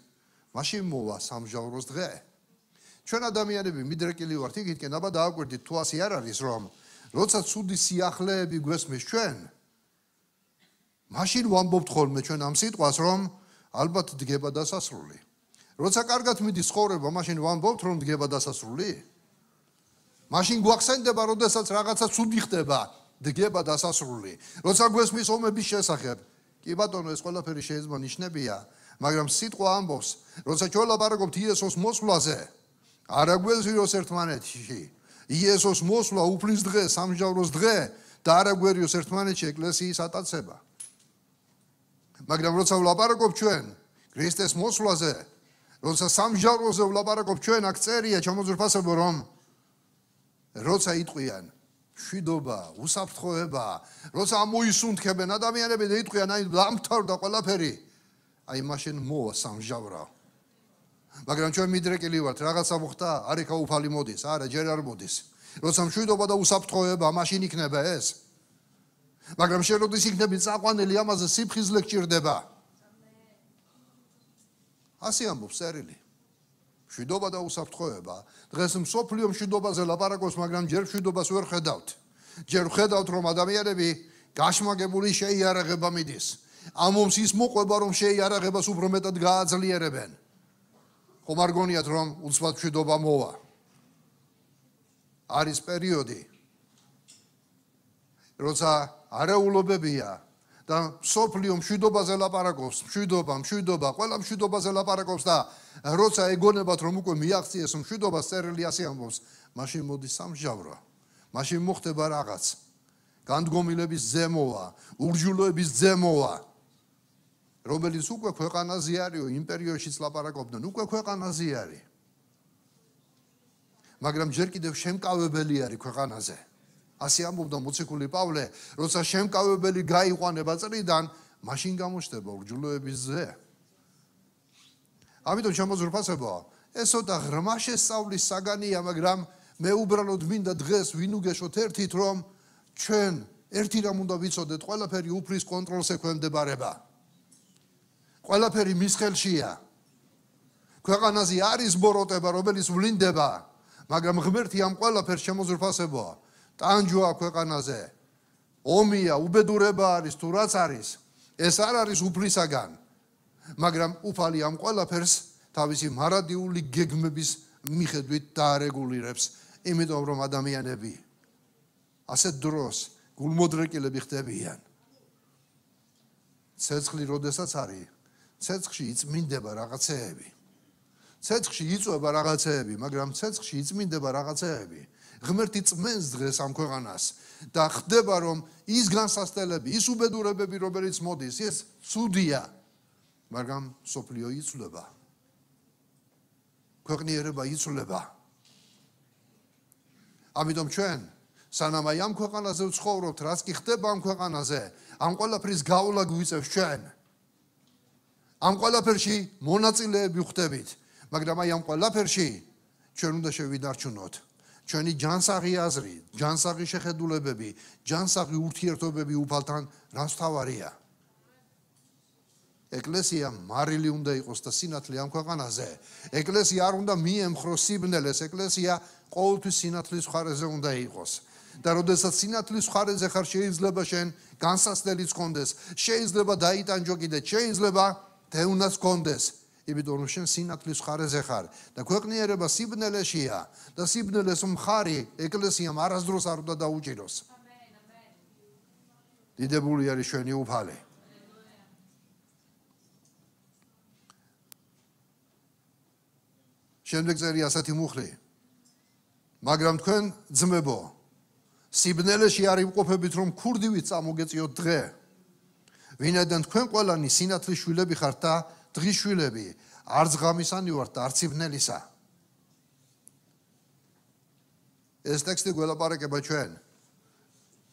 მაშინ მოვა სამჟავროს დღე ჩვენ ადამიანები მიდრეკილი ვართ იგითკენ აბა დააკვირდით თუ ასე არ არის რომ როცა ცუდი სიახლეები გვესმის ჩვენ მაშინ ვამბობთ ხოლმე ჩვენ ამ სიტყვას რომ ალბათ დგება დასასრული როცა კარგად მიდის ცხოვრება მაშინ ვამბობთ რომ დგება დასასრული მაშინ გვახსენდება როდესაც რაღაცა ცუდი ხდება დგება დასასრული როცა გვესმის ომების შესახებ კი ბატონო ეს ყველაფერი შეიძლება ნიშნებია მაგრამ სიტყვა ამბობს როცა ჩვენ ლაპარაკობთ იესოს მოსვლაზე არ აგვეზიოს ერთმანეთში იესოს მოსვლა უფლის დღე სამჟავროს დღე და არ აგვერიოს ერთმანეთში ეკლესიის ატაცება მაგრამ როცა ვლაპარაკობ ჩვენ ქრისტეს მოსვლაზე როცა სამჟავროზე ვლაპარაკობ ჩვენ აქ წერია ჩამოძვრფასებო რომ როცა იტყვიან მშვიდობა უსაფრთხოება როცა ამოისუნთქებენ ადამიანები და იტყვიან აი დამთავრდა ყველაფერი აი მაშინ მოვა სამჟავრა მაგრამ ჩვენ მიდრეკილი ვართ რაღაცა მოხდა არ იქა უფალი მოდის არა ჯერ არ მოდის როცა მშვიდობა და უსაფრთხოება მაშინ იქნება ეს მაგრამ შენ როდის იქნები წაყვანილი ამაზე სიფხიზლე გჭირდება ასე ამბობს წერილი მშვიდობა და უსაფრთხოება დღეს მსოფლიო მშვიდობაზე ლაპარაკობს მაგრამ ჯერ მშვიდობას ვერ ხედავთ ჯერ ხედავთ რომ ადამიანები გაშმაგებული შეიარაღება მიდის ამ ომს ის მოყვება რომ შეიარაღებას უფრო მეტად გააძლიერებენ ხომ არ გონიათ რომ უცბად მშვიდობა მოვა არის პერიოდი როცა არეულობებია და სოფლიო მშვიდობაზე ლაპარაკობს მშვიდობა ყველა მშვიდობაზე ლაპარაკობს და როცა ეგონებათ რომ უკვე მიაღწიეს მშვიდობას წერილი ასე ამბობს მაშინ მოდის სამჟავრო მაშინ მოხდება რაღაც განდგომილების ზემოვა ურჯულოების ზემოვა რომელიც უკვე ქვეყანაზე არისო იმპერიოშიც ლაპარაკობდნენ უკვე ქვეყანაზე არის მაგრამ ჯერ კიდევ შემკავებელი არის ქვეყანაზე ასე ამბობდა მოციქული პავლე როცა შემკავებელი გაიყვანება წრიდან მაშინ გამოჩნდება ურჯულოების ზე ამიტომ შემოძვრფასებო ეს ცოტა ღრმა შესწავლის საგანია მაგრამ მე უბრალოდ მინდა დღეს ვინ უგეშოთ ერთით რომ ჩვენ ერთი რამ უნდა ვიცოდეთ ყველაფერი უფლის კონტროლს ექვემდებარება ყველაფერი მის ხელშია ქვეყანაზე არის ბოროტება რომელიც ვლინდება მაგრამ ღმერთი ამ ყველაფერს შემოძვრფასებო ტანჯვა ქვეყანაზე ომია უბედურება არის თუ რაც არის ეს არ არის უფლისაგან მაგრამ უფალი ამ ყველაფერს თავისი მარადიული გეგმების მიხედვით დაარეგულირებს იმიტომ რომ ადამიანები ასეთ დროს გულმოდრეკილები ხდებიან ცეცხლი როდესაც არის ცეცხლში იწმინდება რაღაცეები ცეცხლში იწვება რაღაცეები მაგრამ ცეცხლში იწმინდება რაღაცეები ღმერთი წმენს დღეს ამ ქვეყანას და ხდება რომ ის განსასწრებელი ის უბედურებები რომელიც მოდის ეს ცუდია მაგრამ სოფლიო იცვლება ქვეყნიერება იცვლება ამიტომ ჩვენ სანამ აი ამ ქვეყანაზე ვცხოვრობთ რაც კი ხდება ამ ქვეყანაზე ამ ყველაფრის გავლა გვიწევს ჩვენ ამ ყველაფერში მონაწილეები ვხდებით მაგრამ აი ამ ყველაფერში ჩვენ უნდა შევიდარჩუნოთ ჩვენი ჯანსაღი აზრი, ჯანსაღი შეხედულებები, ჯანსაღი ურთიერთობები უფალთან რაც თავარია. ეკლესია მარილი უნდა იყოს და სინათლე ამ ქვეყანაზე. ეკლესია არ უნდა მიემხროს სიბნელეს, ეკლესია ყოველთვის სინათლის მხარეზე უნდა იყოს. და როდესაც სინათლის მხარეზე ხარ შეიძლება შენ განსასწრებიც გქონდეს, შეიძლება დაიტანჯო კიდე, შეიძლება თევნაც გქონდეს. იმიტომ რომ შენ სინათლის მხარეზე ხარ და ქვეყნიერება სიბნელეშია და სიბნელეს მხარი ეკლესიამ არასდროს არ უნდა დაუჭიროს. დიდებული არის ჩვენი უფალი. შემდეგ წერია ასეთი მუხლი. მაგრამ თქვენ ძმებო, სიბნელეში არ იმყოფებით, რომ ქურდივით წამოგეწიოთ დღე. ვინაიდან თქვენ ყველანი სინათლის შვილები ხართ და დღის შვილები, არც ღამისანი ვართ და არც სიბნელისა. ეს ტექსტი გველაპარაკება ჩვენ,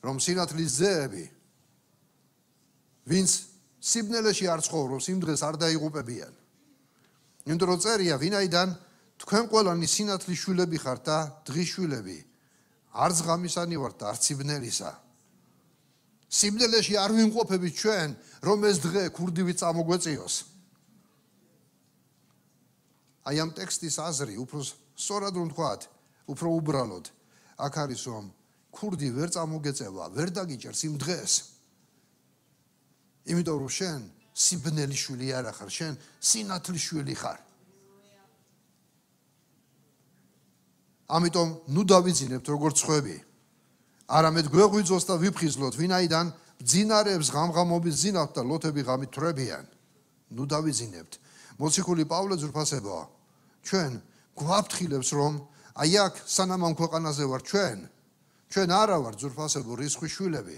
რომ სინათლის ძეები, ვინც სიბნელეში არ ცხოვრობს, იმ დღეს არ დაიღუპებიან. იმიტომ რომ წერია, ვინაიდან თქვენ ყველანი სინათლის შვილები ხართ და დღის შვილები, არც ღამისანი ვართ და არც სიბნელისა. სიბნელეში არ ვიმყოფებით ჩვენ, რომ ეს დღე ქურდივით წამოგვეწიოს. აი ამ ტექსტის აზრი უფრო სწორად რომ ვთქვათ, უფრო უბრალოდ, აქ არის რომ ქურდი ვერ წამოგეწევა, ვერ დაგიჭერს იმ დღეს. იმიტომ რომ შენ სიბნელის შვილი არ ხარ, შენ სინათლის შვილი ხარ. ამიტომ ნუ დავიძინებთ როგორც ხვები. არამედ გვეღვიძოს და ვიფხიზლოთ, ვინაიდან ბძინარეებს ღამღამობით ზინავთ და ლოთები ღამით თვრებიან. ნუ დავიძინებთ. მოციქული პავლე ძვირფასებაა. ჩვენ გვაფრთხილებს რომ აი აქ სანამ ამ ქვეყანაზე ვარ ჩვენ არა ვართ ძვირფასებო რისხვის შვილები.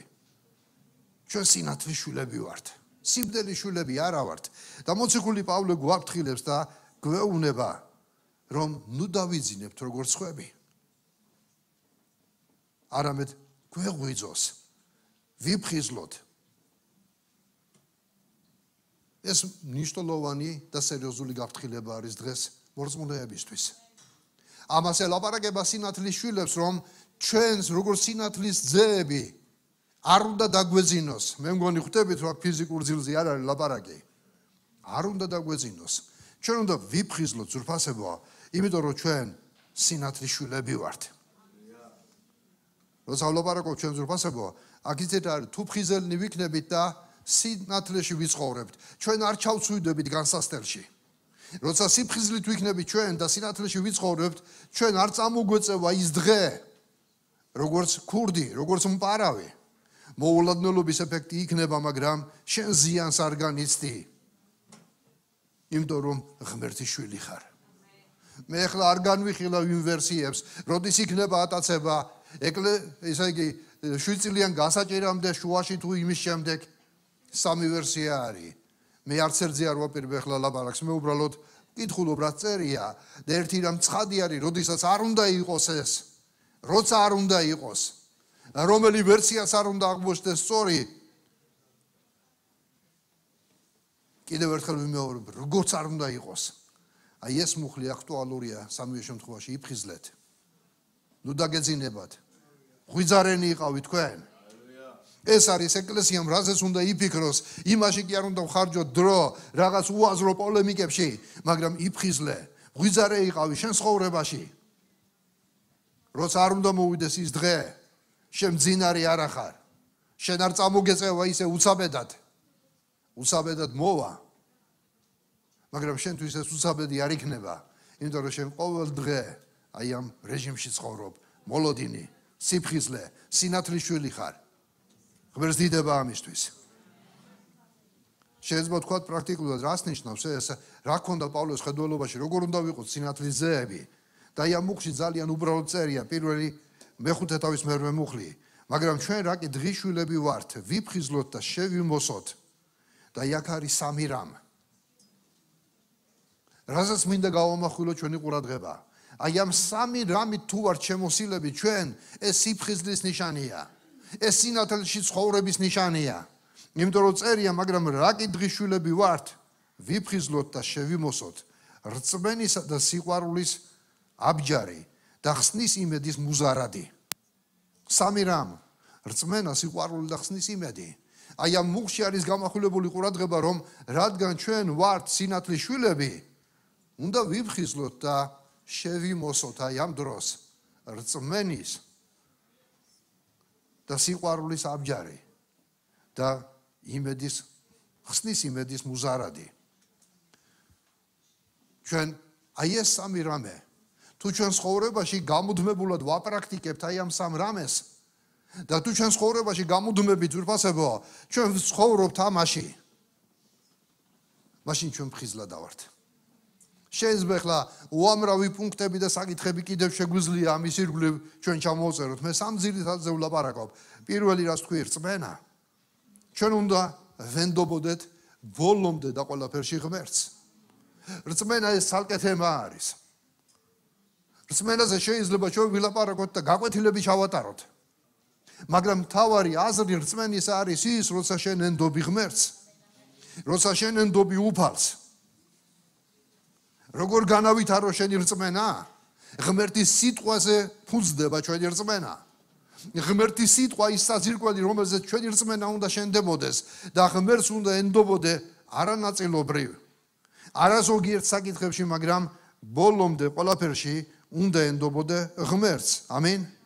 ჩვენ სინათლის შვილები ვართ. სიბნელის შვილები არა ვართ. და მოციქული პავლე გვაფრთხილებს და გვეუბნება რომ ნუ დავიძინებთ როგორც ხვები. არამედ გვეღვიძოს, ვიფხიზლოთ. ეს მნიშვნელოვანი და სერიოზული გაფრთხილება არის დღეს მორწმუნეებისთვის. ამას ელაპარაკება სინათლის შვილებს, რომ ჩვენს როგორც სინათლის ძეები არ უნდა დაგვეძინოს. მე მგონი ხვდებით, რომ ფიზიკურ ძილზე არ არის ლაპარაკი. არ უნდა დაგვეძინოს. ჩვენ უნდა ვიფხიზლოთ ძვირფასებოა, იმიტომ რომ ჩვენ სინათლის შვილები ვართ. როცა ვლაპარაკობ ჩვენ ძვირფასებოა, აქ იცით არის თუ ფხიზელნი ვიქნებით და სინათლეში ვიცხოვრებთ, ჩვენ არ ჩავცვიდებით განსასწრებში. როცა სიფხიზლით ვიქნებით ჩვენ და სინათლეში ვიცხოვრებთ, ჩვენ არ წამოგვეწევა ის დღე, როგორც ქურდი, როგორც მპარავი. მოულოდნელობის ეფექტი იქნება, მაგრამ შენ ზიანს არ განიცდი. იმიტომ რომ ღმერთის შვილი ხარ. მე ახლა არ განვიხილავ იმ ვერსიებს, როდის იქნება ატაცება, ესე იგი 7 წლიან გასაჭირამდე შუაში თუ იმის შემდეგ 3 ვერსია არის. მე არც ერთზე არ ვაპირებ ახლა ლაპარაკს, მე უბრალოდ ვკითხულობ რა წერია და ერთი რამ ცხადი არის, როდესაც არ უნდა იყოს ეს, როცა არ უნდა იყოს, რომელი ვერსიას არ უნდა აღმოჩნდეს სწორი. კიდევ ერთხელ ვიმეორებ, როგორც არ უნდა იყოს. აი ეს მუხლი აქტუალურია სამივე შემთხვევაში, იფხიზლეთ. ნუ დაგეძინებათ. ღვიძარენი იყავით თქვენ. ეს არის ეკლესიამ რაზეც უნდა იფიქროს, იმაში კი არ უნდა ვხარჯოთ დრო რაღაც უაზრო პოლემიკებში, მაგრამ იფხიზლე. ღვიძარე იყავი შენ ცხოვრებაში. როცა არ უნდა მოვიდეს ის დღე, შენ მძინარი არ ახარ. შენ არ წამოგეწევა ისე უცაბედად. უცაბედად მოვა. მაგრამ შენთვის ეს უცაბედი არ იქნება, იმიტომ რომ შენ ყოველ დღე აი ამ რეჟიმში ცხოვრობ, მოლოდინი, სიფხიზლე, სინათლის შვილი ხარ. ღმერთს დიდება ამისთვის. შეიძლება თქვა პრაქტიკულად რას ნიშნავს ეს, რა ქონდა პავლეს ხედველობაში, როგორ უნდა ვიყოთ სინათლის ძეები. და აი ამ მუხლში ძალიან უბრალოდ წერია, პირველი მეხუთე თავის მერვე მუხლი, მაგრამ ჩვენ რა კი დღის შვილები ვართ, ვიფხიზლოთ და შევიმოსოთ. და აი აქ არის სამი რამ. რაზეც მინდა გავამახვილოთ ჩვენი ყურადღება. აი ამ სამი რამით თუ ვართ შემოსილები ჩვენ, ეს სიფხიზლის ნიშანია. ეს სინათლეში ცხოვრების ნიშანია. იმიტომ რომ წერია, მაგრამ რა კი დღის შვილები ვართ, ვიფხიზლოთ და შევიმოსოთ რწმენისა და სიყვარულის აბჯარი და ხსნის იმედის მუზარადი. სამი რამ, რწმენა, სიყვარული და ხსნის იმედი. აი ამ მუხლში არის გამახვილებული ყურადღება, რომ რადგან ჩვენ ვართ სინათლის შვილები, უნდა ვიფხიზლოთ და შევიმოსოთ აი ამ დროს რწმენის და სიყვარულის აბჯარი და იმედის, ხსნის იმედის მუზარადი. ჩვენ აი ეს სამი რამე, თუ ჩვენ ცხოვრებაში გამუდმებულად ვაპრაქტიკებთ აი ამ სამ რამეს და თუ ჩვენ ცხოვრებაში გამუდმებით ძვირფასებოა, ჩვენ ცხოვრობთ ამაში, მაშინ ჩვენ ფხიზლა დავართ. შეიძლება ახლა უამრავი პუნქტები და საკითხები კიდევ შეგვიძლია ამის ირგვლივ ჩვენ ჩამოვწეროთ. მე სამ ძირითადზე ვლაპარაკობ. პირველი რაც თქვი, რწმენა. ჩვენ უნდა ვენდობოდეთ ბოლომდე და ყველაფერში ღმერთს. რწმენა ეს ცალკე თემა არის. რწმენაზე შეიძლება ჩვენ ვილაპარაკოთ და გაკვეთილები ჩავატაროთ. მაგრამ მთავარი აზრი რწმენის არის ის, როცა შენ ენდობი ღმერთს. როცა შენ ენდობი უფალს. როგორ განავითარო შენი რწმენა? ღმერთის სიტყვაზე ფუძდება ჩვენი რწმენა. ღმერთის სიტყვა ის საძირკველი, რომელზეც ჩვენი რწმენა უნდა შენდებოდეს და ღმერთს უნდა ენდობოდე არანაწილობრივ. არა ზოგიერთ საკითხებში, მაგრამ ბოლომდე ყველაფერში უნდა ენდობოდე ღმერთს. ამინ.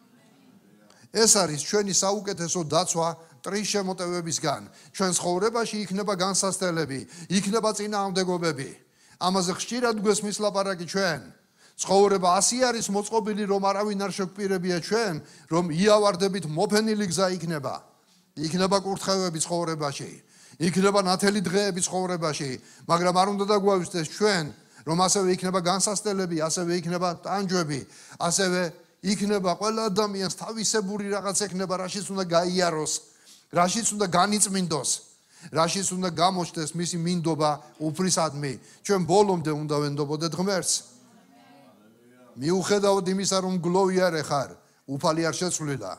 ეს არის ჩვენი საუკეთესო დაცვა ტრის შემოტევებისგან. ჩვენ ცხოვრებაში იქნება განსასწრებელი, იქნება წინააღმდეგობები. ამაზე ხშირად გვესმის ლაპარაკი ჩვენ. ცხოვრება ასე არის მოწყობილი, რომ არავინ არ შეგვპირებია ჩვენ, რომ იავარდებით მოფენილი გზა იქნება. იქნება კურთხევები ცხოვრებაში, იქნება ნათელი დღეები ცხოვრებაში, მაგრამ არ უნდა დაგვავიწყდეს ჩვენ, რომ ასევე იქნება განსასწრებელი, ასევე იქნება ტანჯვები, ასევე იქნება ყველა ადამიანს თავისებური რაღაც ექნება, რაშიც უნდა გაიაროს, რაშიც უნდა განიწმინდოს, რაშიც უნდა გამოჩნდეს მისი მინდობა უფლისადმი. ჩვენ ბოლომდე უნდა ვენდობოდეთ ღმერთს. მიუხედავად იმისა, რომ გლოვიარე ხარ, უფალი არ შეცვლილა.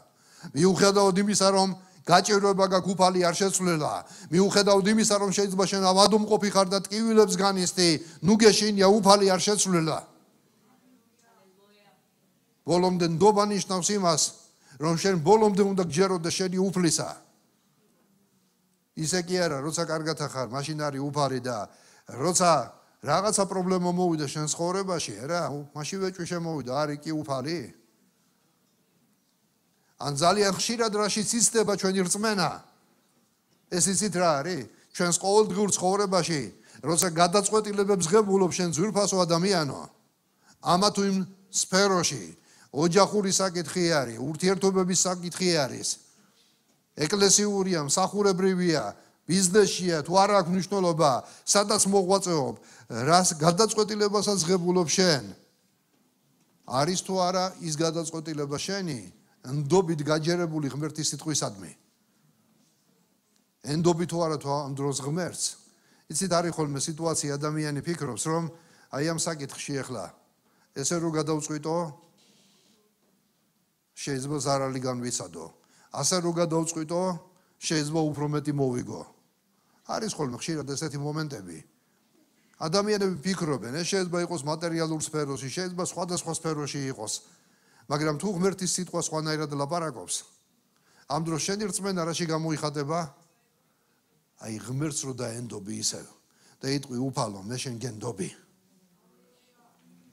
მიუხედავად იმისა, რომ გაჭირვება გაქვს, უფალი არ შეცვლილა. მიუხედავად იმისა, რომ შეიძლება შენ ავადმყოფი ხარ და ტკივილებს განისთი, ნუ გეშინია, უფალი არ შეცვლილა. ბოლომდე ნდობა ნიშნავს იმას, რომ შენ ბოლომდე უნდა გჯეროდეს შენი უფლისა. ისე კი არა, როცა კარგად ხარ, მაშინ არის უფალი და როცა რაღაცა პრობლემა მოვიდა შენ ცხოვრებაში, რა, მაშინ ვეჭვი შემოვიდა, არის კი უფალი. ან ძალიან ხშირად რაშიც იცდება ჩვენი რწმენა. ეს იცით რა არის? ჩვენს ყოველდღიურ ცხოვრებაში, როცა გადაწყვეტილებებს ღებულობ შენ ძვირფასო ადამიანო, ამა თუ იმ სფეროში, ოჯახური საკითხი არის, ურთიერთობების საკითხი არის, ეკლესიურია, მსახურებრივია, ბიზნესია, თუ არ აქვს მნიშვნელობა, სადაც მოღვაწეობ, რას გადაწყვეტილებასაც ღებულობ შენ. არის თუ არა ის გადაწყვეტილება შენი, ნდობით გაჯერებული ღმერთის სიტყვისადმი. ენდობი თუ არა თუ ამ დროს ღმერთს. იცით, არის ხოლმე სიტუაცია, ადამიანი ფიქრობს, რომ აი ამ საკითხში ახლა ესე რო გადავწყვიტო, შეიძლება ზარალი განვიცადო. ასე რო გადავწყვიტო, შეიძლება უფრო მეტი მოვიგო. არის ხოლმე ხშირად ესეთი მომენტები. ადამიანები ფიქრობენ, ეს შეიძლება იყოს მატერიალურ სფეროში, შეიძლება სხვადასხვა სფეროში იყოს, მაგრამ თუ ღმერთის სიტყვა სხვანაირად ლაპარაკობს, ამ დროს შენი რწმენა რაში გამოიხატება? აი ღმერთს რო დაენდობი ისევ და იტყვი უფალო, მე შენ გენდობი.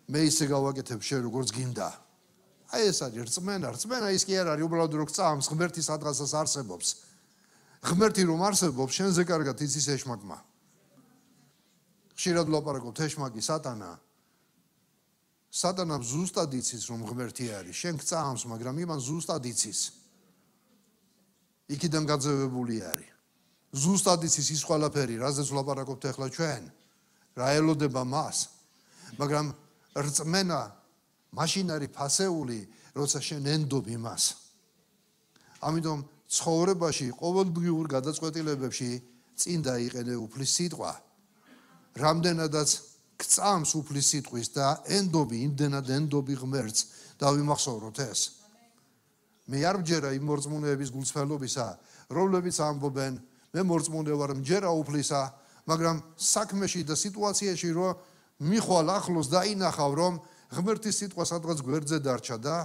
მე ისე გავაკეთებ შენ როგორც გინდა. აი ეს არის რწმენა. რწმენა ის კი არ არის უბრალოდ რო გწამს ღმერთის ადგილას არსებობს. ღმერთი რომ არსებობს, შენზე კარგად იცის ეშმაკმა. ხშირად ვლაპარაკობთ ეშმაკი სატანა. სატანამ ზუსტად იცის რომ ღმერთი არის. შენ გწამს, მაგრამ იმან ზუსტად იცის. იქიდან გაძევებული არის. ზუსტად იცის ის ყველაფერი, რაზეც ვლაპარაკობთ ახლა ჩვენ. რა ელოდება მას. მაგრამ რწმენა მაშინ არის ფასეული, როცა შენ ენდობ იმას. ამიტომ ცხოვრებაში, ყოველდღიურ გადაწყვეტილებებში წინ დაიყენე უფლის სიტყვა. რამდენადაც გწამს უფლის სიტყვის და ენდობი, იმდენად ენდობი ღმერთს და ვიმახსოვროთ ეს. მე არ მჯერა იმ მორწმუნეების გულწრფელობისა, რომლებიც ამბობენ, მე მორწმუნე ვარ, მჯერა უფლისა, მაგრამ საქმეში და სიტუაციაში რომ მიხვალ ახლოს დაინახავ, რომ ღმერთის სიტყვა სადღაც გვერდზე დარჩა და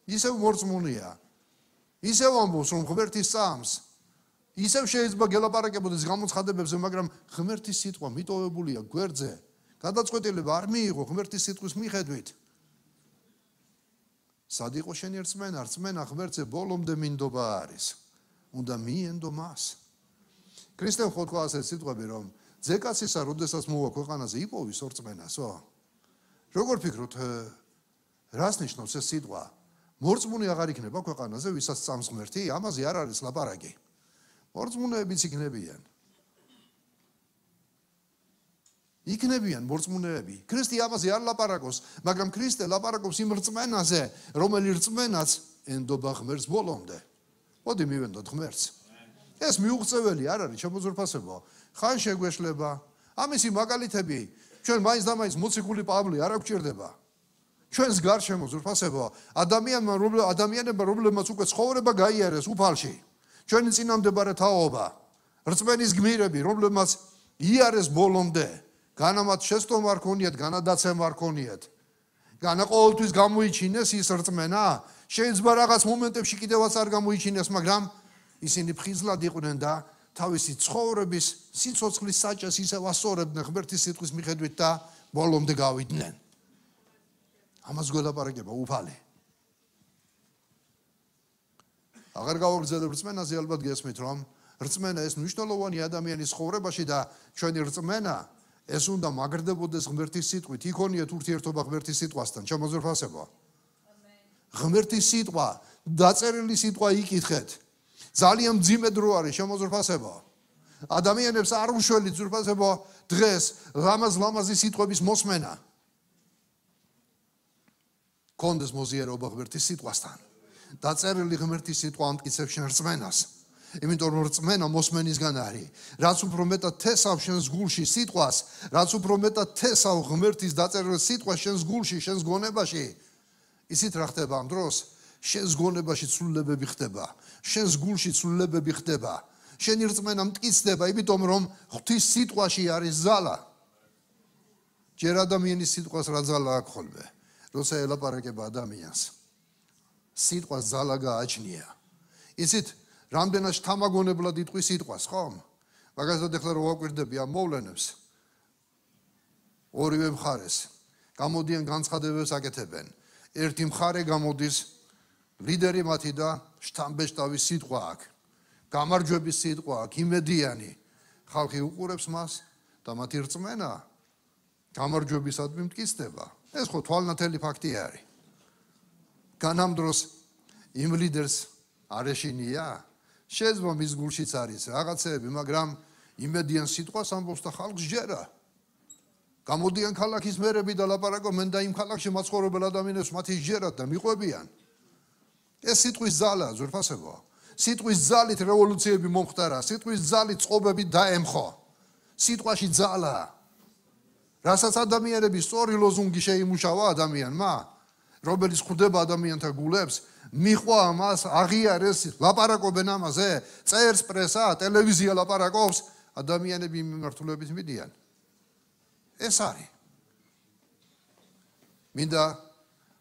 ისევ მორწმუნეა. ისევ ამბობს, რომ ღმერთი სწამს. ისევ შეიძლება გელაპარაკებოდეს გამოცხადებებზე, მაგრამ ღმერთის სიტყვა მიტოვებულია გვერდზე. გადაწყვეტილება არ მიიღო ღმერთის სიტყვის მიხედვით. სად იყო შენი რწმენა? რწმენა ღმერთზე ბოლომდე მინდობა არის. უნდა მიენდო მას. ქრისტე ხო თქვა ასეთ სიტყვები, რომ ძეკაცისა, როდესაც მოვა ქვეყანაზე, იპოვის ორწმენასო. როგორ ფიქრობთ, რას ნიშნავს ეს სიტყვა? მორწმუნე აღარ იქნება ქვეყანაზე, ვისაც წამს ღმერთი? ამაზე არ არის ლაპარაკი. მორწმუნეებიც იქნებიან. იქნებიან მორწმუნეები. ქრისტე ამაზე არ ლაპარაკობს, მაგრამ ქრისტე ლაპარაკობს იმ რწმენაზე, რომელიც რწმენაც ენდობა ღმერთს ბოლომდე. მოდი მივენდოთ ღმერთს. ეს მიუღწეველი არ არის, შემოძვირფასებო. ხან შეგვეშლება. ამისი მაგალითები ჩვენ მაინც და მაინც მოციქული პავლე არ გვჭირდება. ჩვენს გარშემო ზურფასებო, ადამიანებმა რომლებმაც უკვე ცხოვრება გაიარეს უფალში. ჩვენი წინამდებარე თაობა, რწმენის გმირები, რომლებმაც იარეს ბოლომდე, განა მათ შეცდომა არ ქონიათ, განა დაცემა არ ქონიათ. განა ყოველთვის გამოიჩინეს ის რწმენა, შეიძლება რაღაც მომენტებში კიდევაც არ გამოიჩინეს, მაგრამ ისინი ფხიზლად იყვნენ და თავისი ცხოვრების სიცოცხლის საჭეს ისევ ასწორებდნენ ღმერთის სიტყვის მიხედვით და ბოლომდე გავიდნენ. ამას გველაპარაკება უფალი. აღარ გავაგრძელებ რწმენაზე, ალბათ გესმით, რომ რწმენა ეს მნიშვნელოვანი ადამიანის ცხოვრებაში და ჩვენი რწმენა ეს უნდა მაგრდებოდეს ღმერთის სიტყვით, იქონიეთ ურთიერთობა ღმერთის სიტყვასთან, შემოძვირფასებო. ღმერთის სიტყვა, დაწერილი სიტყვა იკითხეთ. ძალიან მძიმე დრო არის, შემოძვირფასებო. ადამიანებს არ უშველით ზურფასებო დღეს ლამაზი სიტყვების მოსმენა. კონდეს მოზიარობა ღმერთის სიტყვასთან. დაწერილი ღმერთის სიტყვა ამტკიცებს შენ რწმენას. იმიტომ რომ რწმენა მოსმენისგან არის. რაც უფრო მეტად თესავ შენს გულში სიტყვას, რაც უფრო მეტად თესავ ღმერთის დაწერილ სიტყვას შენს გულში, შენს გონებაში, ისიც რა ხდება ამ დროს? შენს გონებაში ცვლილებები ხდება, შენს გულში ცვლილებები ხდება, შენი რწმენა მტკიცდება, იმიტომ რომ ღვთის სიტყვაში არის ზალა. ჯერ ადამიანის სიტყვას რა ზალა აქვს ხოლმე, როცა ელაპარაკება ადამიანს. სიტყვას ზალა გააჩნია. ისიც რამდენად შთამაგონებლად იტყვის სიტყვას, ხო? მაგალითად ეხლა რო ვაკვირდები ამ მოვლენებს, ორივე მხარეს გამოდიან განცხადებებს აკეთებენ. ერთი მხარე გამოდის ლიდერი მათი და შთამბეჭდავის სიტყვა აქვს. გამარჯვების სიტყვა აქვს, იმედიანი. ხალხი უყურებს მას და მათი რწმენა გამარჯვებისადმი მტკიცდება. ეს ხო თვალნათელი ფაქტი არის. განამ დროს იმ ლიდერს არ ეშინია? შეიძლება მის გულშიც არის რაღაცეები, მაგრამ იმედიან სიტყვას ამბობს და ხალხს ჯერა. გამოდიან ქალაქის მერები და ლაპარაკობენ და იმ ქალაქში მაცხოვრებელ ადამიანებს მათი ჯერათ და მიყვებიან. ეს სიტყვის ზალა, ზურფასებო. სიტყვის ზალით რევოლუციები მომხდარა, სიტყვის ზალით წყობები დაემხო. სიტყვაში ზალა. რასაც ადამიანები სწორი ლოზუნგი შეიმუშავა ადამიანმა, რომელიც ხვდება ადამიანთა გულებს, მიხვა მას, აღიარეს, ლაპარაკობენ ამაზე, წერს პრესა, ტელევიზია ლაპარაკობს, ადამიანები მიმართულებით მიდიან. ეს არის. მინდა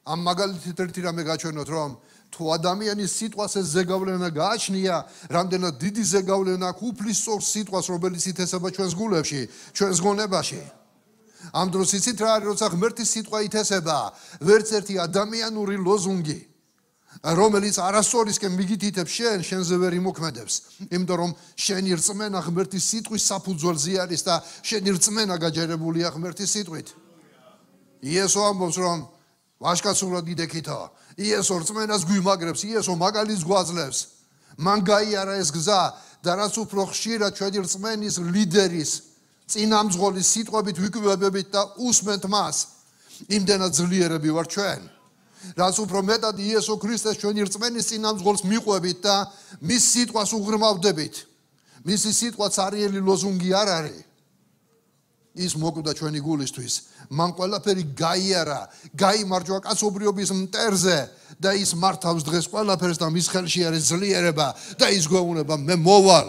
ამ მაგალითით ერთი რამე გაჩვენოთ, რომ თუ ადამიანის სიტყვას ეს ზეგავლენა გააჩნია, რამდენად დიდი ზეგავლენა აქვს უფლის სწორ სიტყვას, რომელიც ითესება ჩვენს გულებში, ჩვენს გონებაში. ამ დროს იცით რა არის, როცა ღმერთის სიტყვა ითესება, ვერც ერთი ადამიანური ლოზუნგი, რომელიც არასწორისკენ მიგითითებს შენზე ვერ იმოქმედებს, იმიტომ რომ შენი რწმენა ღმერთის სიტყვის საფუძველზე არის და შენი რწმენა გაჯერებულია ღმერთის სიტყვით. იესო ამბობს, რომ ვაჟკაცურად იდექითო, იესო რწმენას გვიმაგრებს, იესო მაგალითს გვაძლევს. მან გაიარა ეს გზა და რაც უფრო ხშირად ჩვენი რწმენის ლიდერის წინამძღოლის სიტყვებით ვიკვებებით და უსმენთ მას, იმდენად ძლიერები ვარ ჩვენ. რაც უფრო მეტად იესო ქრისტეს ჩვენი რწმენის წინამძღოლს მიყვებით და მის სიტყვას უღრმავდებით. მისი სიტყვა цаრიელი ლოზუნგი არ არის. ის მოკვდა ჩვენი გულისთვის. მან ყველაფერი გაიარა, გაიმარჯვა კაცობრიობის მტერზე და ის მართავს დღეს ყველაფერს და მის ხელში არის ძლიერება და ის გვეუბნება მე მოვალ.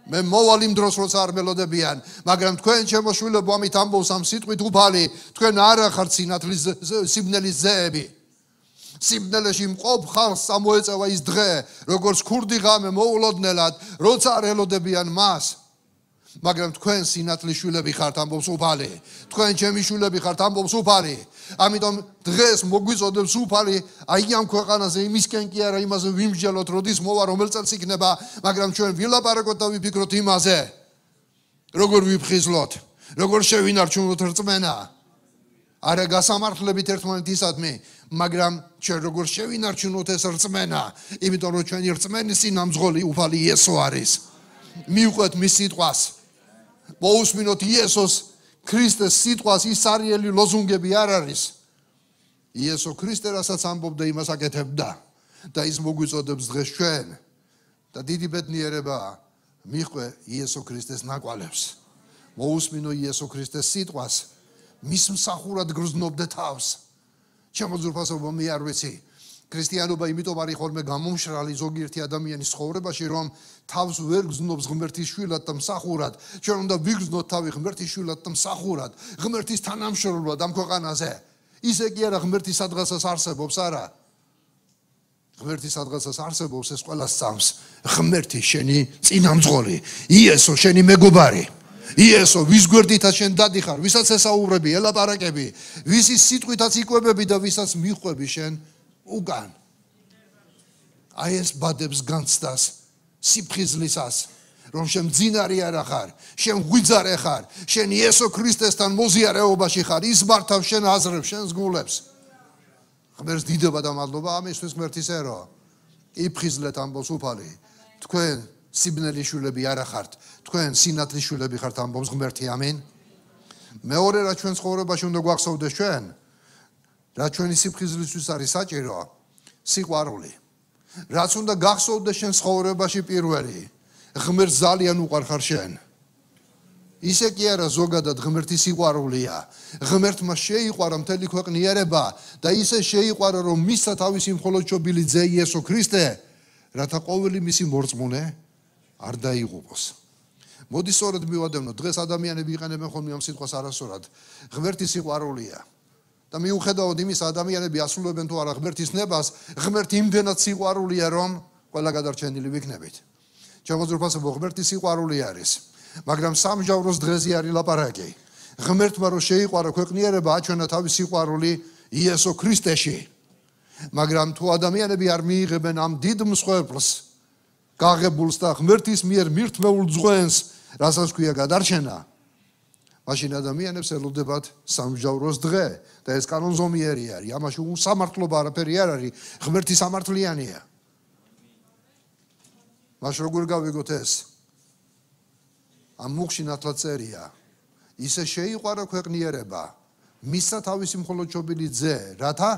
მე მოვალ იმ დროს როცა არ მელოდებიან, მაგრამ თქვენ შემოშვილებო ამით ამბობს ამ სიტყვით უფალი, თქვენ არ ახართ სიბნელის ძეები. სიბნელეში მყოფ ხალხს ამოეწევა ის დღე, როგორც ქურდი ღამე მოულოდნელად, როცა არ ელოდებიან მას. მაგრამ თქვენ სინათლის შვილები ხართ, ამბობს უფალი. თქვენ ჩემი შვილები ხართ, ამბობს უფალი. ამიტომ დღეს მოგვიწოდებს უფალი, აი ამ ქვეყანაზე იმისკენ კი არა იმაზე ვიმსჯელოთ, როდის მოვა, რომელ წელს იქნება, მაგრამ ჩვენ ვილაპარაკოთ და ვიფიქროთ იმაზე, როგორ ვიფხიზლოთ, როგორ შევინარჩუნოთ რწმენა. არა გასამართლებით ერთმანეთისადმი, მაგრამ ჩვენ როგორ შევინარჩუნოთ ეს რწმენა, იმიტომ რომ ჩვენი რწმენის წინამძღოლი უფალი იესო არის. მიუყვეთ მის სიტყვას. მოусმინოთ იესოს ქრისტეს სიტყვას ის არიელი ლოზუნგები არ არის. იესო ქრისტე რასაც ამბობდა იმას აკეთებდა და ის მოგვიწოდებს დღეს ჩვენ და დიდი ბედნიერებაა მიხვე იესო ქრისტეს ნაკვალებს. მოусმინო იესო ქრისტეს სიტყვას მის მსახურად გრძნობდე თავს. ჩემო ძვირფასობა მე არ ვიცი ქრისტიანობა იმიტომ არის ხოლმე გამომშრალი ზოგიერთი ადამიანის ცხოვრებაში რომ თავს ვერ გრძნობს ღმერთის შვილად და მსახურად. ჩვენ უნდა ვიგრძნოთ თავი ღმერთის შვილად და მსახურად ღმერთის თანამშრომლად ამ ქვეყანაზე. ისე კი არა ღმერთი სადღაცას არსებობს არა. ღმერთი სადღაცას არსებობს ეს ყველა სწამს. ღმერთი შენი წინამძღოლი, იესო შენი მეგობარი. იესო ვის გვერდითაც შენ დადიხარ, ვისაც ესაუბრები, ელაპარაკები, ვისის სიტყვითაც იკვებები და ვისაც მიხვები შენ უკან. აი ეს ბადებს განცდას სიფხიზლისას, რომ შენ მძინარი არა ხარ, შენ ღვიძარე ხარ, შენ იესო ქრისტესთან მოზიარეობაში ხარ, ის მართავს შენ აზრებს, შენს გულებს. ღმერთს დიდება და მადლობა ამისთვის ღმერთის ერო. იფხიზლეთ ამბობს უფალი. თქვენ სიბნელის შვილები არა ხართ, თქვენ სინათლის შვილები ხართ ამბობს ღმერთი. ამინ. მეორე რა ჩვენ ცხოვრებაში უნდა გვახსოვდეს ჩვენ, რა ჩვენი სიფხიზლისთვის არის საჭირო, სიყვარული. რაც უნდა გახსოვდეს შენ ცხოვრებაში პირველი, ღმერთს ძალიან უყვარხარ შენ. ისე კი არა ზოგადად ღმერთის სიყვარულია. ღმერთმა შეიყვარა მთელი ქვეყნიერება და ისე შეიყვარა რომ მისცა თავისი მხოლოდ შობილი ძე იესო ქრისტე, რათა ყოველი მისი მორწმუნე არ დაიღუპოს. მოდი სწორად მივადევნოთ, დღეს ადამიანები იყენებენ ხოლმე ამ სიტყვას არასწორად. ღმერთის სიყვარულია. და მიუხედავად იმისა ადამიანები ასრულებენ თუ არა ღმერთის ნებას, ღმერთი იმდენად სიყვარულია რომ ყველა გადარჩენილი ვიქნებით. ჩემო ძვირფასებო ღმერთის სიყვარული არის. მაგრამ სამჟავროს დღეზე არის ლაპარაკი. ღმერთმა რო შეიყვარა ქვეყნიერება აჩვენა თავის სიყვარული იესო ქრისტეში. მაგრამ თუ ადამიანები არ მიიღებენ ამ დიდ მსხვერპლს, გაღებულს და ღმერთის მიერ მირთმეულ ძღვენს, რასაც ქვია გადარჩენა, მაშინ ადამიანებს ელოდებათ სამჟავროს დღე და ეს კანონზომიერი არის. ამაში უსამართლობა არაფერი არ არის, ღმერთი სამართლიანია. მას როგორ გავიგოთ ეს? ამ მუხში ნათლად წერია, ისე შეიყვარა ქვეყნიერება, მისცა თავისი მხოლოდ შობილი ძე, რათა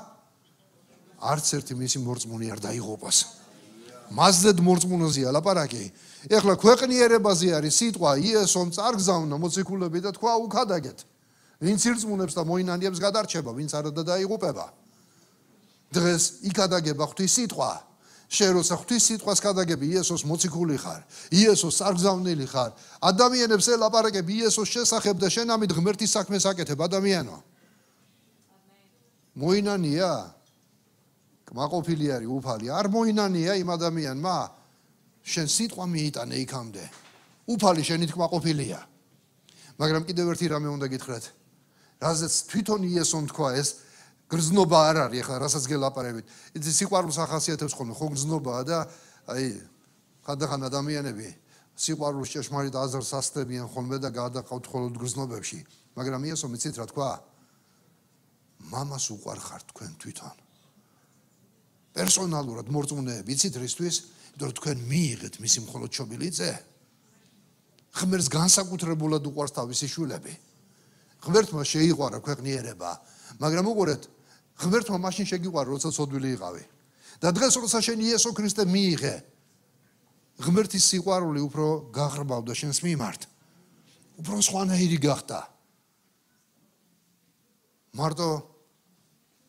არც ერთი მისი მორწმუნე არ დაიღუპოს. მასზედ მორწმუნოზეა ლაპარაკი. ეხლა ქვეყნიერებაზე არის სიტყვა, იესომ წარგზავნა მოციქულები და თქვა უკადაგეთ. ვინც ირწმუნებს და მოინანიებს გადარჩება, ვინც არა და დაიღუპება. დღეს იქადაგება ღვთის სიტყვა. შენ როცა ღვთის სიტყვას გადაგები, იესოს მოციქული ხარ, იესოს წარგზავნილი ხარ, ადამიანებს ელაპარაკები იესოს შესახებ და შენ ამით ღმერთის საქმეს აკეთებ ადამიანო. მოინანია? კმაყოფილი არის უფალი, არ მოინანია იმ ადამიანმა, შენ სიტყვა მიიტანე იქამდე. უფალი შენით კმაყოფილია. მაგრამ კიდევ ერთი რამე უნდა გითხრათ. რაზეც თვითონ იესომ თქვა ეს გრძნობა არ არის, ახლა რასაც გელაპარებით. იცი სიყვარულს ახასიათებს ხოლმე, ხო გრძნობაა და აი ხანდახან ადამიანები სიყვარულს ჭეშმარიტ აზრს ასწრებიან ხოლმე და გადაყავთ მხოლოდ გრძნობებში. მაგრამ იესომ იცით რა თქვა? მამას უყვარხართ თქვენ თვითონ. პერსონალურად მორწმუნეები, იცით რისთვის? იმიტომ რომ თქვენ მიიღეთ მისი მხოლოდ შობილი ძე. ღმერთს განსაკუთრებულად უყვარს თავისი შვილები. ღმერთმა შეიყვარა ქვეყნიერება, მაგრამ უყურეთ, ღმერთმა მაშინ შეგიყვარა, როცა ცოდვილი იყავი. და დღეს როცა შენ იესო ქრისტე მიიღე, ღმერთის სიყვარული უფრო გაღრმავდა შენს მიმართ. უფრო სხვანაირი გახდა. მარტო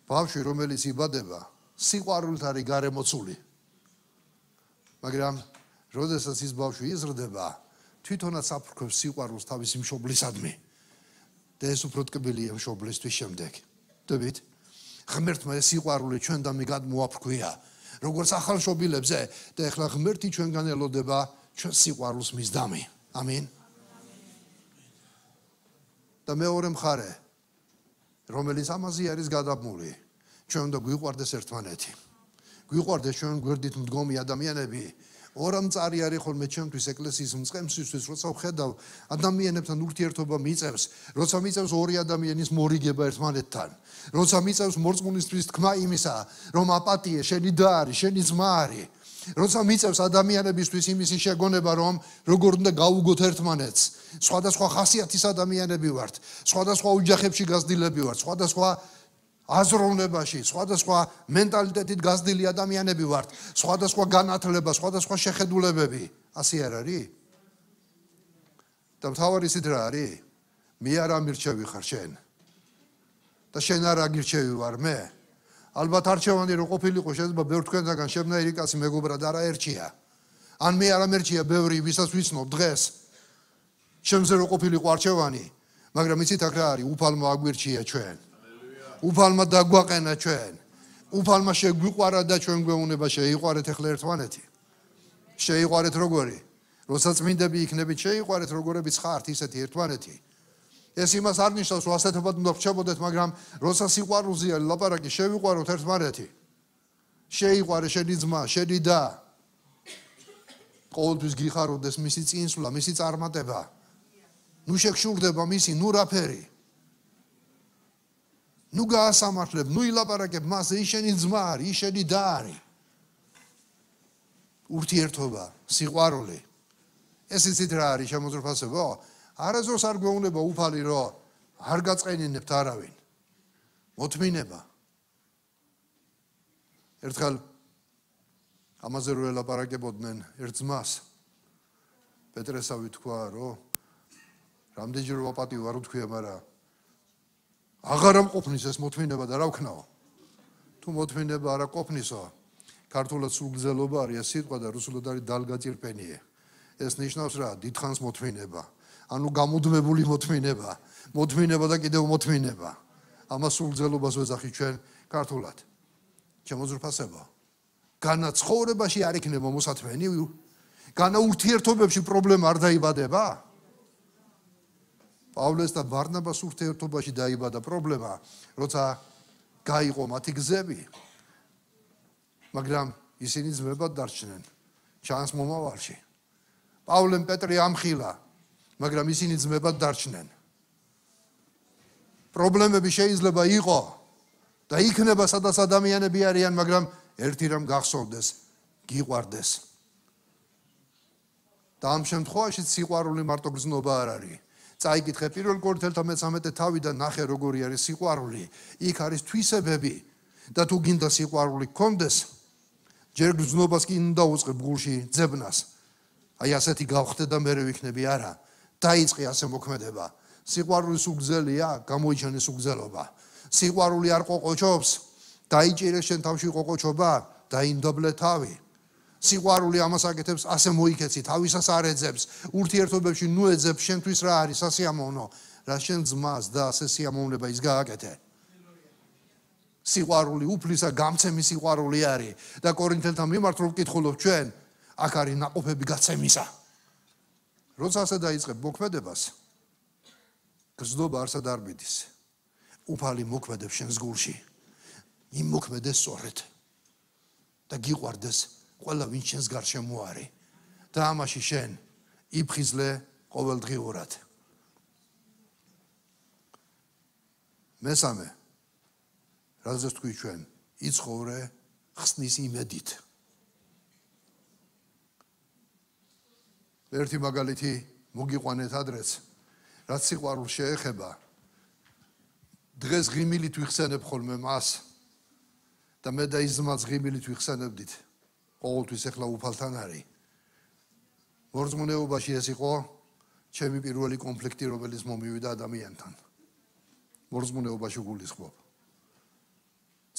ბავშვი რომელიც იბადება, სიყვარულით არის გარემოცული. მაგრამ როდესაც ის ბავშვი იზრდება, თვითონაც აფრქვევს სიყვარულს თავისი მშობლისადმი. და ეს უფრო ტკბილია მშობლისთვის შემდეგ. დებით, ღმერთმა ეს სიყვარული ჩვენდამი გადმოაფრქვია, როგორც ახალშობილებზე და ეხლა ღმერთი ჩვენგან ელოდება ჩვენ სიყვარულს მისდამი. ამინ. და მეორე მხარე, რომელიც ამაზე არის გადაბმული, ჩვენ უნდა გვიყვარდეს ერთმანეთი. გვიყვარდეს ჩვენ გვერდით მდგომი ადამიანები. ორამწარი არის ხოლმე ჩემთვის ეკლესიის მწყემსისთვის, როცა ვხედავ ადამიანებთან ურთიერთობა მიწევს, როცა მიწევს ორი ადამიანის მორიგება ერთმანეთთან, როცა მიწევს მორწმუნისთვის თქმა იმისა, რომ აპატიე შენი და არის, შენი ძმა არის, როცა მიწევს ადამიანებისთვის იმისი შეგონება, რომ როგორ უნდა გაუგოთ ერთმანეთს. სხვადასხვა ხასიათის ადამიანები ვართ, სხვადასხვა ოჯახებში გაზრდილები ვართ, სხვადასხვა აზროვნებაში, სხვადასხვა მენტალიტეტით გაზრდილი ადამიანები ვართ, სხვადასხვა განათლება, სხვადასხვა შეხედულებები. ასე არ არის? და მთავარი ისიც რა არის? მე არ ამირჩევი ხარ შენ. და შენ არ აგირჩევი ვარ მე. ალბათ არჩევანი რო ყოფილიყო შეიძლება ბევრ თქვენთაგან შემნაირი კაცი მეგობრად არ აერჩია. ან მე არ ამერჩია ბევრი ვისაც ვიცნობ დღეს. შემზე რო ყოფილიყო არჩევანი, მაგრამ იცით აქ რა არის? უფალმა აგვირჩია ჩვენ. უფალმა დაგვაყენა ჩვენ. უფალმა შეგვიყვარა და ჩვენ გვეუბნება შეიყვარეთ ახლა ერთმანეთი. შეიყვარეთ როგორი? როცა წმინდები იქნებით შეიყვარეთ როგორებიც ხართ ისეთი ერთმანეთი. ეს იმას არ ნიშნავს რომ ასეთებად უნდა ვრჩებოდეთ, მაგრამ როცა სიყვარულზეა ლაპარაკი შევიყვაროთ ერთმანეთი. შეიყვარე შენი ძმა, შენი და ყოველთვის გიხაროდეს მისი წინსვლა, მისი წარმატება. ნუ შეგშურდება მისი, ნუ რაფერი. ნუ გაასამართლებ, ნუ ილაპარაკებ მასზე, ის შენი ძმა არის, ის შენი და არის. ურთიერთობა, სიყვარული. ეს იცით რა არის შემოძრფასებო? არასდროს არ გვეუბნება უფალი, რომ არ გაწყენინებთ არავინ. მოთმინება. ერთხელ ამაზე რო ელაპარაკებოდნენ ერთ ძმას, პეტრესავი თქვა, რომ რამდენჯერ ვაპატივ არ ვთქვია, მაგრამ აღარ ამყოფნის ეს მოთმინება და რა ვქნაო? თუ მოთმინება არ აკופნისო, ქართულად სულგზელობა არის სიტყვა და რუსულად არის დალგაწირპენიე. ეს ნიშნავს რა? დიდხანს მოთმინება. ანუ გამუდმებული მოთმინება. მოთმინება და კიდევ მოთმინება. ამას სულგზელობას ვეძახით ჩვენ ქართულად. შემოძრფასება. განა ცხოვრებაში არ იქნება მოსათმენი? განა ურთიერთობებში პრობლემა არ დაიბადება? პავლეს და ბარნაბას ურთიერთობაში დაიბადა პრობლემა, როცა გაიყო მათი გზები. მაგრამ ისინი ძმებად დარჩნენ ჩანს მომავალში. პავლემ პეტრე ამხილა, მაგრამ ისინი ძმებად დარჩნენ. პრობლემები შეიძლება იყო და იქნება სადაც ადამიანები არიან, მაგრამ ერთი რამ გახსოვდეს, გიყვარდეს. და ამ შემთხვევაში სიყვარული მარტო გრძნობა არ არის. წაიკითხე პირველ კორინთელთა მე-13 თავიდან ნახე როგორი არის სიყვარული. იქ არის თვისებები და თუ გინდა სიყვარული გქონდეს, ჯერ გრძნობას კი უნდა უწყებ გულში ძებნას. აი ასეთი გავხდე და მე ვიქნები არა. დაიწყე ასე მოქმედება. სიყვარული სუგზელია, გამოიჩენე სუგზელობა. სიყვარული არ ყოყოჩობს, დაიჭირე შენ თავში ყოყოჩობა, დაინდობლე თავი. სიყვარული ამას აკეთებს, ასე მოიქეცი, თავისას არ ეძებს, ურთიერთობებში ნუ ეძებს, შენთვის რა არის სასიამოვნო, რა შენ ძმას და ასე სიამოვნება ის გააკეთე. სიყვარული უფლისა გამცემი სიყვარული არის და კორინთელთა მიმართ რომ ვკითხულობ ჩვენ, აქ არის ნაყოფები გაცემისა. როცა ასე დაიწყებ მოქმედებას, გრძნობა არსად არ მიდის. უფალი მოქმედებს შენს გულში. იმ მოქმედეს სწორედ და გიყვარდეს ყველა ვინც შენს გარშემო არის და ამაში შენ იფხიზლე ყოველდღიურად. მესამე, რაზეც თქვი ჩვენ, იცხოვრე ხსნის იმედით. ერთი მაგალითი მოგიყვანეთ ადრეც, რაც სიყვარულს შეეხება. დღეს ღიმილით ვიხსენებ ხოლმე მას და მე და ის ძმაც ღიმილით ვიხსენებდით. ყოველთვის ახლა უფალთან არის. მორწმუნეობაში ეს იყო ჩემი პირველი კონფლიქტი, რომელიც მომივიდა ადამიანთან. მორწმუნეობაში გულისხმობ.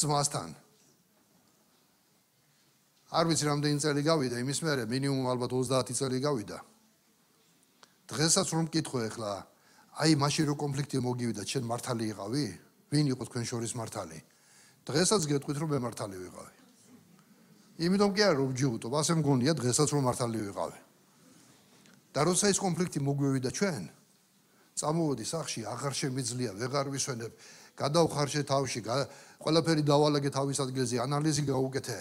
ძმასთან. არ ვიცი რამდენი წელი გავიდა, იმის მერე მინიმუმ ალბათ 30 წელი გავიდა. დღესაც რომ მკითხო ახლა, აი მაშინ რო კონფლიქტი მოგივიდა, შენ მართალი იყავი? ვინ იყო თქვენ შორის მართალი? დღესაც გეტყვით რომ მე მართალი ვიყავი. იმიტომ კი არა რომ ვჯიუტობ, ასე მგონია დღესაც რომ მართალი ვიყავი. და როცა ეს კონფლიქტი მოგვივიდა ჩვენ, წამოვედი სახში, აღარ შემიძლია, ვეღარ ვისვენებ, გადავხარშე თავში, ყველაფერი დავალაგე თავის ადგილზე, ანალიზი გავუკეთე.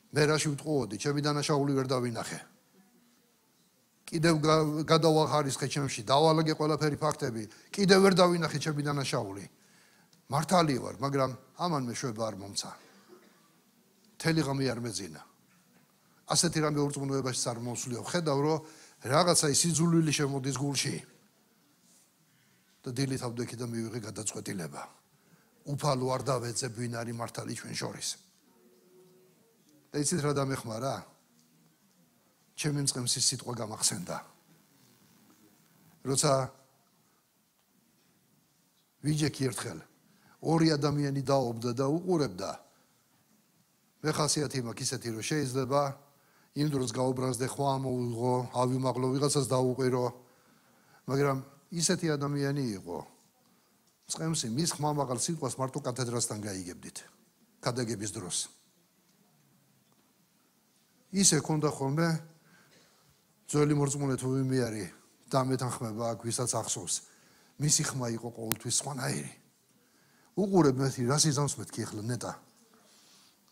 მე რაში ვტყუოდი, ჩემი დანაშაული ვერ დავინახე. კიდევ გადავახარისხე ჩემში, დავალაგე ყველაფერი ფაქტები, კიდევ ვერ დავინახე ჩემი დანაშაული. მართალი ვარ, მაგრამ ამან მეშვება არ მომცა. მთელი ღამე არ მეძინა. ასეთი რამე ურწმუნოებაში არ მოსვლიო. ხედავ რომ რაღაცა სიძულვილი შემოდის გულში. და დილით ავდექი და მივიღე გადაწყვეტილება. უფალო არ დავეძებ ვინ არის მართალი ჩვენ შორის. და იცით რა დამეხმარა? ჩემი მწყემსის სიტყვა გამახსენდა. როცა ვიჯექი ერთხელ ორი ადამიანი დაობდა და უყურებდა. მე ხასიათი მაქვს ისეთი რომ შეიძლება იმ დროს გაუბრაზდე ხვა მოუიღო, ავიმაღლო ვიღაცას დაუყირო, მაგრამ ისეთი ადამიანი იყო. მწყემსი მის ხმამაღალ სიტყვას მარტო კათედრასთან გაიგებდით ქადაგების დროს. ისე ქონდა ხოლმე ძველი მორწმუნე თუ ვინმე არის დამეთანხმება აქ ვისაც ახსოვს. მისი ხმა იყო ყოველთვის სხვანაირი. უყურებ მეთქი რა სიზამს მეთქი ახლა ნეტა.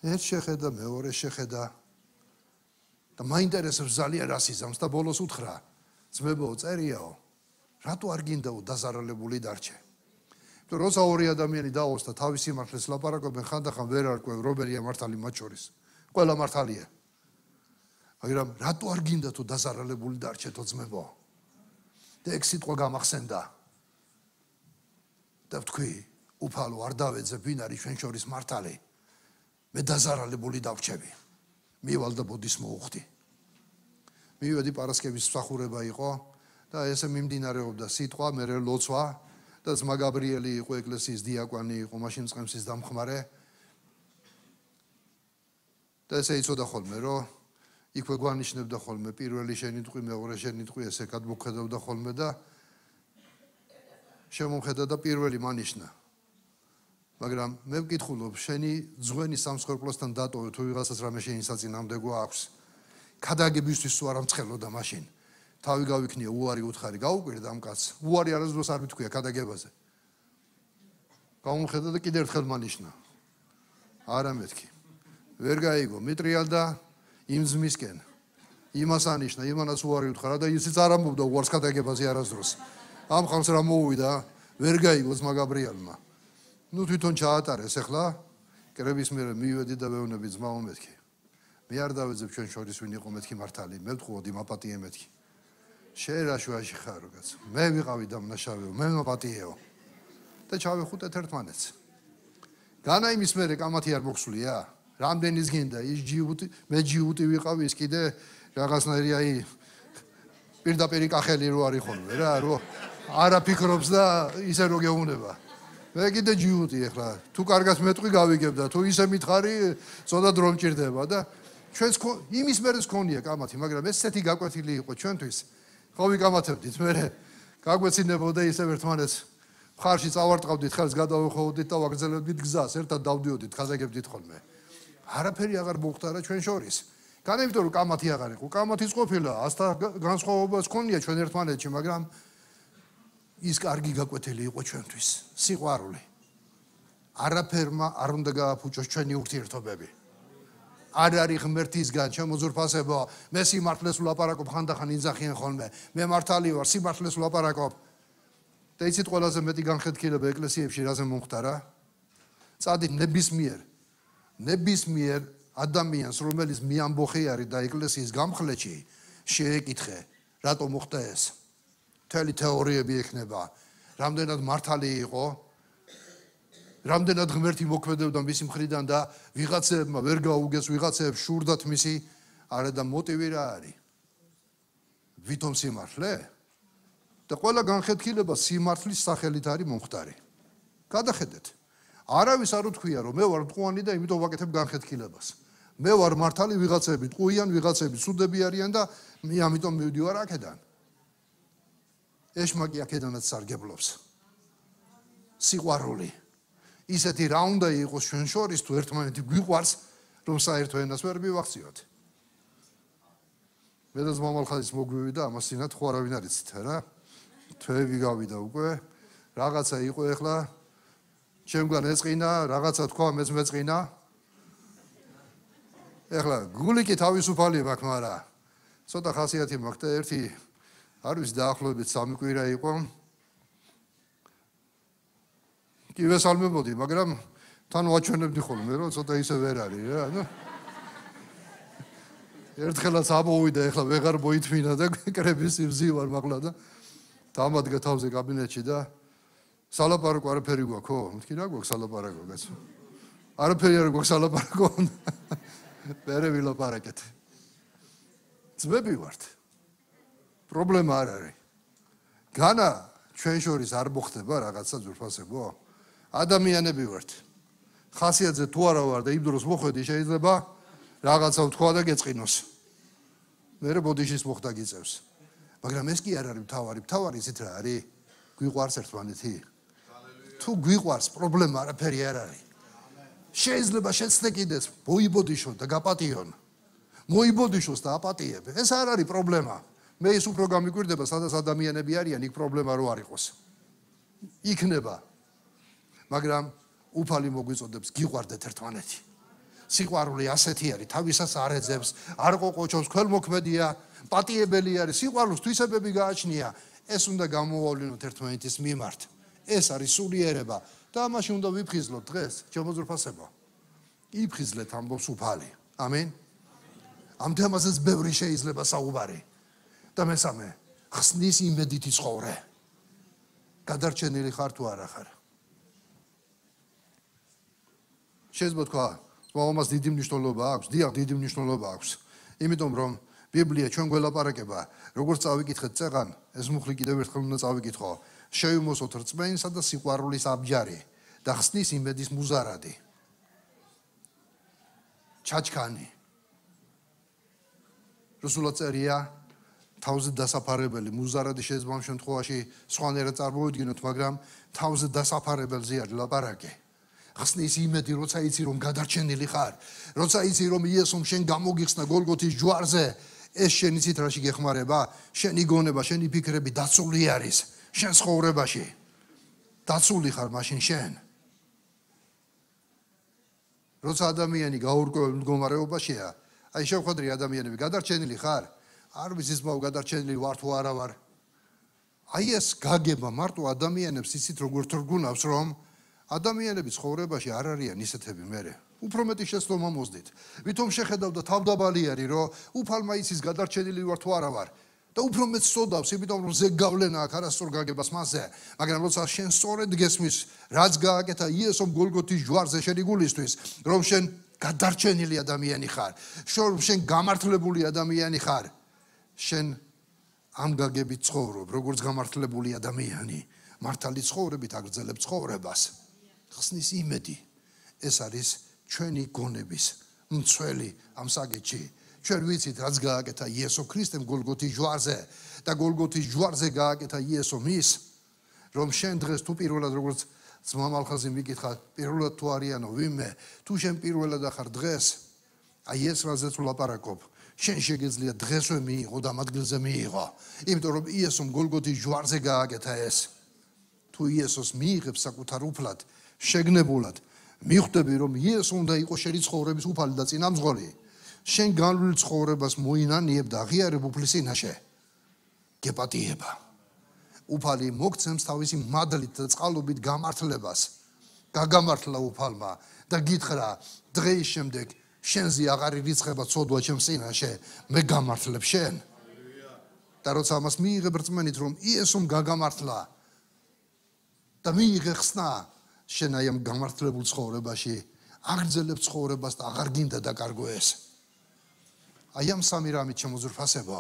ერთ შეხედა, მეორე შეხედა და მაინტერესებს ძალიან რა სიზამს და ბოლოს უთხრა: ძმებო, წერიაო, რატო არ გინდაო დაზარალებული დარჩე? იმიტომ როცა ორი ადამიანი დაოს და თავის სიმართლეს ლაპარაკობენ, ხანდახან ვერ არკვევ რომელია მართალი მათ შორის. ყველა მართალია. მაგრამ რატო არ გინდა თუ დაზარალებული დარჩეთო ძმებო? და ეგ სიტყვა გამახსენდა. და ვთქვი, უფალო არ დავეძებ ვინ არის ჩვენ შორის მართალი. მე დაზარალებული დავრჩები. მივალ და ბოდის მოუხდი. მივედი პარასკევის მსახურება იყო და ესე მიმდინარეობდა სიტყვა, მერე ლოცვა და ძმა გაბრიელი იყო ეკლესიის დიაკვანი იყო, მაშინ მწყემსის დამხმარე. და ესე იცოდა ხოლმე რომ იქვე გვანიშნებდა ხოლმე პირველი შენიტყვი, მეორე შენიტყვი, ესე გადმოხედავდა ხოლმე და შემომხედა და პირველი მანიშნა. მაგრამ მე ვკითხულობ, შენი ძღვენი სამსხვერპლოსთან დატოვე თუ ვიღაცას რამე შეინსაწინამდეგო აქვს. ქადაგებისთვის თუ არ ამწყელოდა მაშინ. თავი გავიქნია უარი უთხარი, გაუკვირდა ამ კაცს. უარი არასდროს არ მithქვია ქადაგებაზე. გამომხედა და კიდევ ერთხელ მანიშნა. არა მეთქი. ვერ გაიგო, მიტრიალდა იმ ძმისკენ. იმას ანიშნა, იმანაც უარი უთხრა და ისიც არ ამბობდა უარს ქადაგებაზე არასდროს. ამ ხალხს რა მოუვიდა, ვერ გაიგო ძმა გაბრიელმა. ნუ თვითონ ჩაატარეს ახლა, კრების მერე მივედი და ვეუბნები ძმაო მეთქი. მე არ დავეძებ ჩვენ შორის ვინ იყო მეთქი მართალი, მე ვთხოვდი მაპატიე მეთქი. შენ რა შუაში ხარ კაცო? მე ვიყავი დამნაშავეო, მე მაპატიეო. და ჩავეხუტეთ ერთმანეთს. განა იმის მერე კამათი არ მოხსვლია? რამდენის გინდა ის ჯიუტი, მე ჯიუტი ვიყავი, ის კიდე რაღაცნაირი აი პირდაპირ კახელი რო არის ხოლმე რა, რო არა ფიქრობს და ისე რო გეუბნება. მე კიდე ჯიუტი ახლა, თუ კარგად მეტყვი გავიგებ და თუ ისე მითხარი, წოდად რომ მჭირდება და ჩვენს იმის მერე გქონია კამათი, მაგრამ ესეთი გაკვეთილი იყო ჩვენთვის. ხო ვიკამათებდით, მე გაგვეცინებოდა ისე ერთმანეთს მხარში წავარტყავდით, ხელს გადავეხოვდით და ვაგრძელებდით გზას, ერთად დავდიოდით, ხაზაგებდით ხოლმე. არაფერი აღარ მოხდარა ჩვენ შორის. განვიტო რომ კამათი აღარ იყო, კამათიც ყოფილა, ასთა განსხვავებაც ქონია ჩვენ ერთმანეთში, მაგრამ ის კარგი გაკვეთილი იყო ჩვენთვის, სიყვარული. არაფერმა არ უნდა გააფუჭოს ჩვენი ურთიერთობები. არ არის ღმერთისგან შემოძურფასება, მე სიმართლეს ვლაპარაკობ, ხანდახან ინძახიან ხოლმე, მე მართალი ვარ, სიმართლეს ვლაპარაკობ. და იცით ყველაზე მეტი განხეთქილება ეკლესიებში რაზე მომხდარა? წადით ნებისმიერ ადამიანს, რომელიც მიამბოხი არის და ეკლესიის გამხლეთში, შეეკითხე, რატო მოხდა ეს? მთელი თეორიები ექნება, რამდენად მართალი იყო, რამდენად ღმერთი მოქმედებდა მისი მხრიდან და ვიღაცებმა ვერ გაუგეს, ვიღაცებს შურდათ მისი, არა და მოტივი რა არის? ვითომ სიმართლე? და ყველა განხეთქილება სიმართლის სახელით არის მომხდარი. გადახედეთ. არავის არ უთქვია რომ მე ვარ მტყუანი და იმიტომ ვაკეთებ განხეთქილებას. მე ვარ მართალი, ვიღაცები ტყუიან, ვიღაცები ცუდები არიან და მე ამიტომ მივდივარ აქედან. ეშმაკი აქედანაც სარგებლობს. სიყვარული. ისეთი რა უნდა იყოს ჩვენ შორის თუ ერთმანეთი გვიყვარს, რომ საერთო ენას ვერ მივახციოთ. მე და მამალხაზის მოგვივიდა ამას წინათ ხო არავინ არ იცით რა? თვეები გავიდა უკვე, რაღაცა იყო ახლა ჩემგან ეწყინა, რაღაცა თქვა მეც მეწყინა. ახლა გულიკი თავისუფალი მაქვს, მაგრამ ცოტა ხასიათი მაქვს და ერთი არ ვიცი დაახლოებით 3 კვირა იყო. კი ვესალმებოდი, მაგრამ თან ვაჩვენებდი ხოლმე, რომ ცოტა ისე ვერ არის რა. ერთხელაც ამოვიდა, ეხლა ვეღარ მოითმინა და კრების იმზივარ მაღლა და დამადგა თავზე კაბინეტში და სალაპარაკო არაფერი გვაქვს, ხო? მეთქი რა გვაქვს სალაპარაკო, კაცო? არაფერი არ გვაქვს სალაპარაკო. მერე ვილაპარაკეთ. ძმები ვართ. პრობლემა არ არის. განა ჩვენ შორის არ მოხდება რაღაცა ძვირფასებო. ადამიანები ვართ. ხასიათზე თუ არა ვარ და იმ დროს მოხვედი შეიძლება რაღაცა ვთქვა და გეწყინოს. მერე ბოდიშის მოხდა გიწევს. მაგრამ ეს კი არ არის მთავარი. მთავარი ისეთ რა არის? გვიყვარს ერთმანეთი. თუ გვიყვარს, პრობლემა არაფერი არ არის. შეიძლება შეცდე კიდეც მოიბოდიშო და გაპატიონ. მოიბოდიშოს და აპატიებ. ეს არ არის პრობლემა. მე ის უფრო გამიკვირდება, სადაც ადამიანები არიან, იქ პრობლემა რო არ იყოს. იქნება. მაგრამ უფალი მოგვიწოდებს გიყვარდეთ ერთმანეთი. სიყვარული ასეთი არის, თავისას არ ეძებს, არ ყოყოჩობს, ქველმოქმედია, პატიებელი არის, სიყვარულს თვისებები გააჩნია. ეს უნდა გამოავლინოთ ერთმანეთის მიმართ. ეს არის სულიერება და ამაში უნდა ვიფხიზლოთ დღეს, შემოძრფასება. იფხიზლეთ ამბობს უფალი. ამენ. ამ თემაზეც ბევრი შეიძლება საუბარი. და მესამე, ხსნის იმედით იცხოვრე. გადარჩენილი ხარ თუ არა ხარ? შეიძლება თქვა, მამას დიდი მნიშვნელობა აქვს, დიახ, დიდი მნიშვნელობა აქვს. იმიტომ რომ ბიბლია ჩვენ გველაპარაკება, როგორც წავიკითხეთ წეღან, ეს მუხლი კიდევ ერთხელ უნდა წავიკითხო. შეიმოსოთ რწმენისა და სიყვარულის აბჯარი და ხსნის იმედის მუზარადი. ჩაჩქანი. რუსულად წერია თავზე დასაფარებელი მუზარადი შეიძლება ამ შემთხვევაში სხვანაირად წარმოვიდგინოთ, მაგრამ თავზე დასაფარებელზე არის ლაპარაკი. ხსნის იმედი, როცა იცი რომ გადარჩენილი ხარ, როცა იცი რომ იესომ შენ გამოგიხსნა გოლგოთის ჯვარზე, ეს შენი ცით რაში გეხმარება, შენი გონება, შენი ფიქრები დაცული არის შენ ცხოვრებაში. დაცული ხარ მაშინ შენ. როცა ადამიანი გაურკვეველ მდგომარეობაშია, აი შევხვედრი ადამიანები გადარჩენილი ხარ? არ ვიცი ზმაო გადარჩენილი ვარ თუ არა ვარ. აი ეს გაგება მარტო ადამიანებს იცით როგორ თრგუნავს რომ ადამიანები ცხოვრებაში არ არიან ისეთები მერე. უფრო მეტი შეცდომა მოსდით. ვითომ შეხედავ და თავდაბალი არის რომ უფალმა იცის გადარჩენილი ვარ თუ არა ვარ. და უფრო მეტ სწოდავს, იმიტომ რომ ზეგავლენა აქ არასწორ გაგებას მასზე. მაგრამ როცა შენ სწორედ გესმის, რაც გააკეთა იესომ გოლგოთის ჯვარზე შენი გულისთვის, რომ შენ გადარჩენილი ადამიანი ხარ, რომ შენ გამართლებული ადამიანი ხარ, შენ ამ გაგებით ცხოვრობ, როგორც გამართლებული ადამიანი, მართალი ცხოვრებით აგრძელებ ცხოვრებას. ხსნის იმედი. ეს არის ჩვენი გონების მცველი ამ საკითხში. ჩვენ ვიცით რაც გააკეთა იესო ქრისტემ გოლგოთის ჯვარზე და გოლგოთის ჯვარზე გააკეთა იესო მის, რომ შენ დღეს თუ პირველად როგორც ძმა მალხაზი მიკითხა, პირველად თუ არიანო ვინმე, თუ შენ პირველად ახარ დღეს, აი ეს რაზეც ვლაპარაკობ, შენ შეგეძლია დღესვე მიიღო და ამ ადგილზე მიიღო, იმიტომ რომ იესომ გოლგოთის ჯვარზე გააკეთა ეს. თუ იესოს მიიღებს საკუთარ უფლად, შეგნებულად, მიხვდები რომ იესო უნდა იყოს შენი ცხოვრების უფალი და წინამძღოლი. შენ განვლილ ცხოვრებას მოინანიებ და აღიარებ უფლის წინაშე. გეპატიება. უფალი მოგცემს თავისი მადლით და წყალობით გამართლებას. გაგამართლა უფალმა და გითხრა დღეის შემდეგ შენზე აღარ ირიცხება ცოდვა ჩემს წინაშე, მე გამართლებ შენ. და როცა ამას მიიღებ რწმენით რომ იესომ გაგამართლა და მიიღე ხსნა, შენ აი ამ გამართლებულ ცხოვრებაში აგრძელებ ცხოვრებას და აღარ გინდა დაკარგო ეს. აი ამ სამი რამით შემოძვრფასება,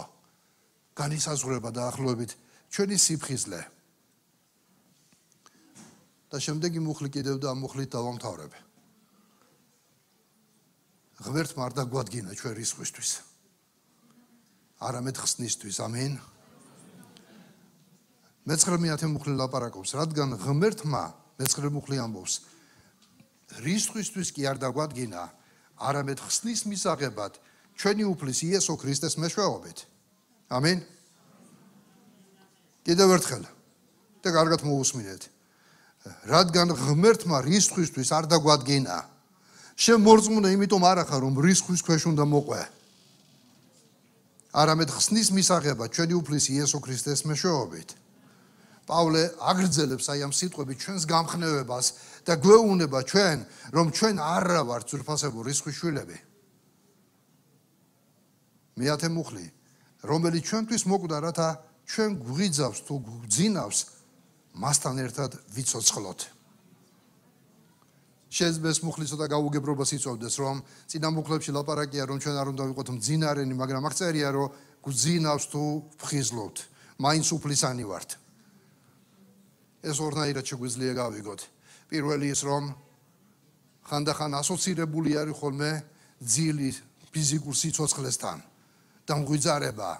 განისაზღვრება დაახლოებით ჩვენი სიფხიზლე. და შემდეგი მუხლი კიდევ და ამ მუხლით დავამთავრებ. ღმერთმა არ დაგვადგინა ჩვენ რისხვისთვის. არამედ ხსნისთვის, ამენ. მე-19 მუხლი ლაპარაკობს, რადგან ღმერთმა მე-19 მუხლი ამბობს, რისხვისთვის კი არ დაგვადგინა, არამედ ხსნის მისაღებად ჩვენი უფლის იესო ქრისტეს მეშვეობით. ამენ. კიდევ ერთხელ და კარგად მოусმინეთ. რადგან ღმერთმა რისხვისთვის არ დაგვადგინა, შენ მორწმუნე იმიტომ არ ახარ რომ რისხვის ქვეშ უნდა მოყვე. არამედ ხსნის მისაღებად ჩვენი უფლის იესო ქრისტეს მეშვეობით. პავლე აგრძელებს აი ამ სიტყვებით ჩვენს გამხნევებას და გვეუბნება ჩვენ, რომ ჩვენ არ ვართ ძვირფასებო რისხვის შვილები. მეათე მუხლი, რომელიც ჩვენთვის მოკვდა, რათა ჩვენ გვიძავს თუ გვძინავს, მასთან ერთად ვიცოცხლოთ. შეიძლება ეს მუხლი ცოტა გაუგებრობას იწვევდეს, რომ წინა მუხლებში ლაპარაკია, რომ ჩვენ არ უნდა ვიყოთ მძინარენი, მაგრამ აქ წერია, რომ გვძინავს თუ ვხიზლობთ, მაინც უფლისანი ვართ. ეს ორნაირად შეგვიძლია გავიგოთ. პირველი ის, რომ ხანდახან ასოცირებული არის ხოლმე ძილი ფიზიკურ სიცოცხლესთან და მღვიძარება.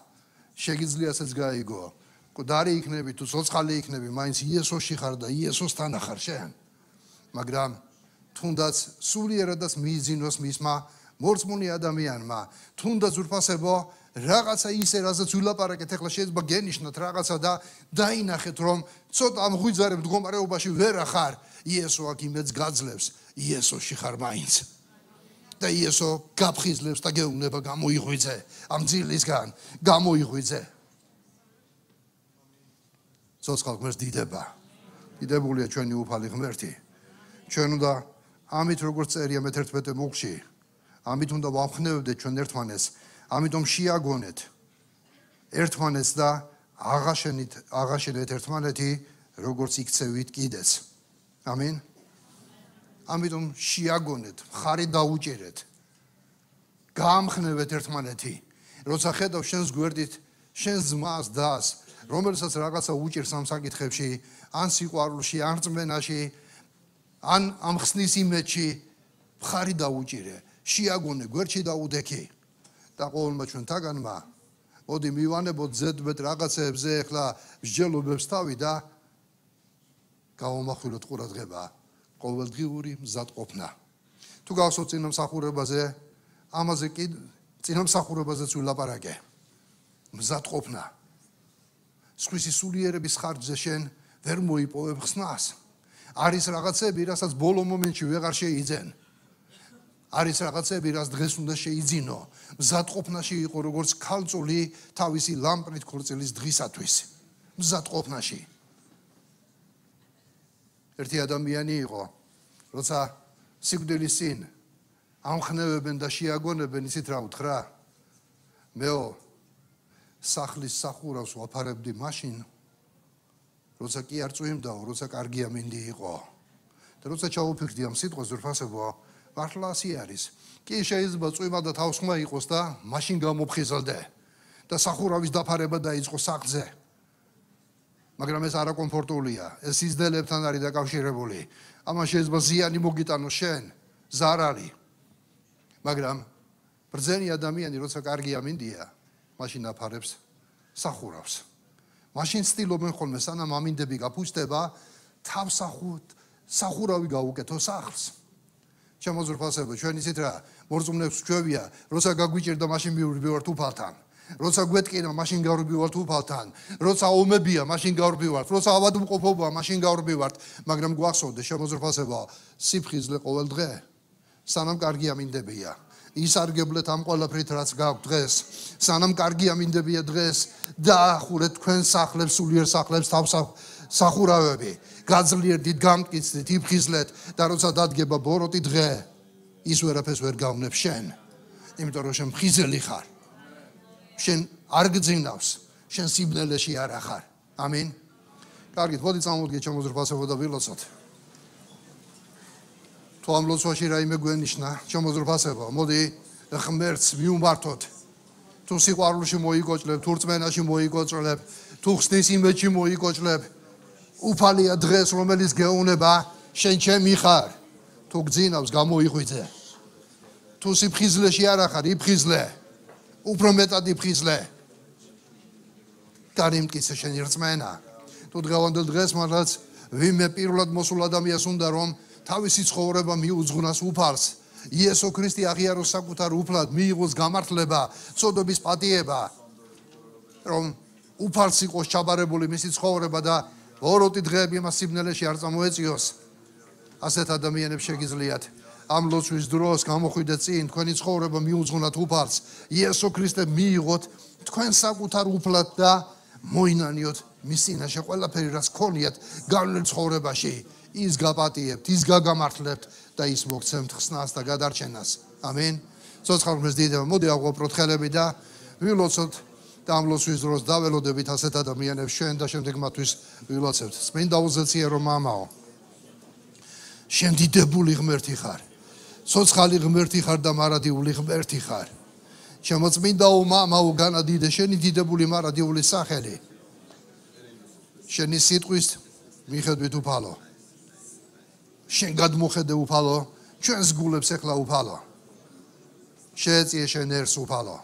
შეგიძლია ესეც გაიგო. მკვდარი იქნები თუ ცოცხალი იქნები, მაინც იესოში ხარ და იესოსთან ხარ შენ. მაგრამ თუნდაც სულიერადაც მიიძინოს მისმა მორწმუნე ადამიანმა, თუნდაც ურფასებო რაღაცა ისე, რასაც ვილაპარაკეთ, ახლა შეიძლება გენიშნოთ რაღაცა და დაინახეთ, რომ ცოტა მღვიძარებ მდგომარეობაში ვერ ახარ, იესო აქ იმედს გაძლევს, იესოში ხარ მაინც. და იესო გაფხიზლებს და გეუბნება გამოიღვიძე, ამ ძილისგან გამოიღვიძე. ცოცხალ ღმერთს დიდება. დიდებულია ჩვენი უფალი ღმერთი. ჩვენ უნდა ამით როგორც წერია მე-11 მუხლში, ამით უნდა ვამხნევებდეთ ჩვენ ერთმანეთს, ამიტომ შეაგონეთ ერთმანეთს და აღაშენეთ ერთმანეთი, როგორც იქცევით კიდეც. ამინ. ამიტომ შეაგონეთ, მხარი დაუჭერეთ. გაამხნევეთ ერთმანეთი. როცა ხედავ შენს გვერდით, შენს ძმას დას, რომელსაც რაღაცა უჭირს ამ საკითხებში, ან სიყვარულში, ან რწმენაში, ან ამ ხსნის იმედში, მხარი დაუჭირე, შეაგონე, გვერდში დაუდექი. და ყოველმა ჩვენთაგანმა მოდი მივანებოთ ზედმეტ რაღაცეებზე ახლა მსჯელობებს თავი და გავამახვილოთ ყურადღება, ყოველდღიური მზადყოფნა. თუ გავსვოთ წინამსახურებაზე, ამაზე კი წინამსახურებაზეც ვილაპარაკე. მზადყოფნა. სხვისი სულიერების ხარჯზე შენ ვერ მოიპოვებ ხსნას. არის რაღაცები, რასაც ბოლო მომენტში ვეღარ შეიძენ. არის რაღაცები, რაც დღეს უნდა შეიძინო. მზადყოფნაში იყო როგორც ქალწული თავისი ლამპრით ქორწილის დღისათვის. მზადყოფნაში. ერთი ადამიანი იყო, როცა სიკვდილის წინ ამხნევებენ და შეაგონებენ, ისიც რა უთხრა? მეო სახლის სახურავს ვაფარებდი მაშინ, როცა კი არ წვიმდაო, როცა კარგი ამინდი იყო. და როცა ჩაუფიქრდი ამ სიტყვას ზურფასებო, მართლა ასე არის. კი შეიძლება წვიმა და თავსხმა იყოს და მაშინ გამოფხიზლდე და სახურავის დაფარება დაიწყო სახლზე. მაგრამ ეს არაკომფორტულია, ეს სიზდელებთან არის დაკავშირებული. ამან შეიძლება ზიანი მოგიტანოს შენ, ზარალი. მაგრამ ბრძენი ადამიანი, როცა კარგი ამინდია, მაშინ აფარებს სახურავს. მაშინ ცდილობენ ხოლმე სანამ ამინდები გაფუძდება, სახურავი გაუკეთო სახლს. შემოზრფასებო, ჩვენ ისეთ რა მორწმუნეებს ჩვევია, როცა გაგვიჭირდა მაშინ მივდივართ უფალთან. როცა გვეტკინა, მაშინ გავრბივართ უფალთან. როცა ომებია, მაშინ გავრბივართ. როცა ავადმყოფობაა, მაშინ გავრბივართ. მაგრამ გვახსოვდეს, შემოზრფასებო, სიფხიზლე ყოველ დღე, სანამ კარგი ამინდებია. ისარგებლეთ ამ ყველაფრით, რაც გაქვთ დღეს. სანამ კარგი ამინდებია დღეს, დაახურეთ თქვენ სახლებს, სულიერ სახლებს, სახურავები. გაძლიერდით, გამტკიცდით, იფხიზლეთ და როცა დადგება ბოროტი დღე, ის ვერაფერს ვერ გავნებ შენ. იმიტომ რომ შენ მხიზელი ხარ. შენ არ გძინავს, შენ სიბნელეში არ ახარ. ამინ. კარგით, მოდი წამოვდგეთ შემოზრფასებო და ვილოცოთ. თუ ამ ლოცვაში რაიმე გვენიშნა, შემოზრფასებო, მოდი ღმერთს მიუმართოთ. თუ სიყვარულში მოიგოჭლებ, თუ რწმენაში მოიგოჭლებ, თუ ხსნის იმედში მოიგოჭლებ, უფალია დღეს, რომელიც გეუბნება, შენ ჩემი ხარ. თუ გძინავს, გამოიღვიძე. თუ სიფხიზლეში არ ახარ, იფხიზლე. უფრო მეტად იფხიზლე. გარიმტკიცე შენი რწმენა. თუ დღევანდელ დღეს მართლაც ვინმე პირველად მოსულ ადამიანს უნდა რომ თავისი ცხოვრება მიუძღვნას უფალს. იესო ქრისტე აღიაროს საკუთარ უფლად, მიიღოს გამართლება, წოდების პატიება. რომ უფალს იყოს ჩაბარებული მისი ცხოვრება და ბოროტი დღეები მას სიბნელეში არ წამოეწიოს. ასეთ ადამიანებს შეგიძლიათ ამ ლოცვის დროს გამოხვიდეთ წინ, თქვენი ცხოვრება მიუძღვნათ უფალს. იესო ქრისტე მიიღოთ თქვენ საკუთარ უფლად და მოინანიოთ მის წინაშე ყველაფერი, რაც გქონიათ გავლენ ცხოვრებაში. ის გაპატიებთ, ის გაგამართლებთ და ის მოგცემთ ხსნას და გადარჩენას. ამინ. ცოცხალ ღმერთს დიდება. მოდი აღვაბროთ ხელები და ვილოცოთ და ამ ლოცვის დროს დაველოდებით ასეთ ადამიანებს შენ და შემდეგ მათთვის ვილოცებთ. წმინდა უზეციერო მამაო, შენ დიდებული ღმერთი ხარ. ცოცხალი ღმერთი ხარ და მარადიული ღმერთი ხარ. შემოწმინდაო მამაო, განადიდე შენი დიდებული მარადიული სახელი. შენი სიტყვის მიხედვით უფალო. შენ გადმოხედე უფალო, ჩვენს გულებს ეხლა უფალო. შეეწიე შენ ერს უფალო.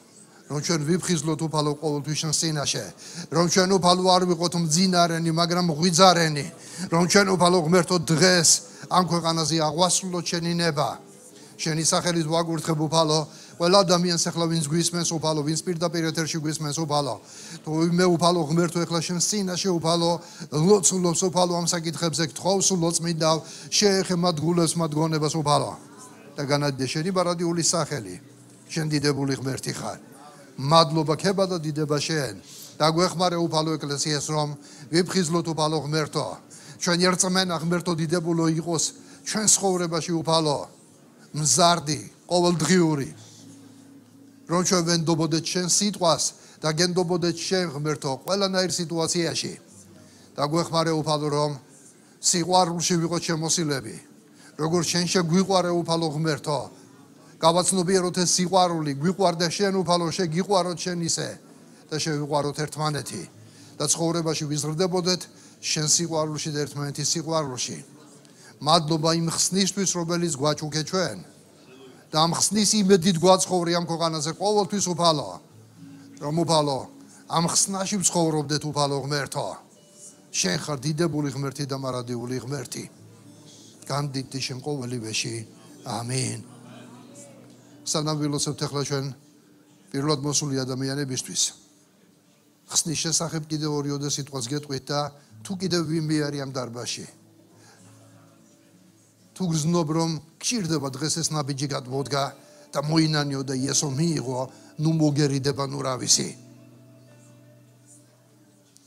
რომ ჩვენ ვიფხიზლოთ უფალო ყოველთვის შენ წინაშე. რომ ჩვენ უფალო არ ვიყოთ მძინარენი, მაგრამ ღვიძარენი. რომ ჩვენ უფალო ღმერთო დღეს ამ ქვეყანაზე აღვასრულოთ შენი ნება. შენი სახელით ვაგურთხებ უფალო, ყველა ადამიანს ეხლა ვინც გვისმენს უფალო, ვინც პირდაპირ ეთერში გვისმენს უფალო. თუ მე უფალო ღმერთო ეხლა შენ წინაშე უფალო, ლოცულობს უფალო ამ საკითხებზე, გთხოვს ლოცმიდავ, შეეხე მათ გულებს, მათ გონებას უფალო. და განადიდე შენი მარადიული სახელი. შენ დიდებული ღმერთი ხარ. მადლობა ქება და დიდება შენ. და გვეხმარე უფალო ეკლესიას რომ ვიფხიზლოთ უფალო ღმერთო. ჩვენ ერწმენა ღმერთო დიდებულო იყოს ჩვენ ცხოვრებაში უფალო. მზარდი, ყოველდღიური. რომ ჩვენ ვენდობოდეთ შენ სიტყვას და გენდობოდეთ შენ ღმერთო ყველანაირ სიტუაციაში. და გვეხმარე უფალო რომ სიყვარულში ვიყოთ შემოსილები. როგორც შენ შეგვიყვარე უფალო ღმერთო. გავაცნობიეროთ ეს სიყვარული, გვიყვარდა შენ უფალო, შეგიყვაროთ შენ ისე და შევიყვაროთ ერთმანეთი და ცხოვრებაში ვიზრდებოდეთ შენ სიყვარულში და ერთმანეთის სიყვარულში. მადლობა იმ ხსნისთვის, რომელიც გვაჩუქე ჩვენ და ამ ხსნის იმედით გვაცხოვრი ამ ქვეყანაზე ყოველთვის უფალო. რომ უფალო ამ ხსნაში ვცხოვრობდეთ უფალო ღმერთო. შენ ხარ დიდებული ღმერთი და მარადიული ღმერთი. განდიდდი შენ ყოველივეში. ამინ. სანამ ვილოცებთ ახლა ჩვენ პირველად მოსული ადამიანებისთვის. ხსნის შესახებ კიდევ ორიოდე სიტყვას გეტყვით და თუ კიდევ ვინმე არის ამ დარბაზში. თუ გრძნობ რომ გჭირდება დღეს ეს ნაბიჯი გადმოდგა და მოინანიო და იესო მიიღო, ნუ მოგერიდება ნუ რა ვიცი.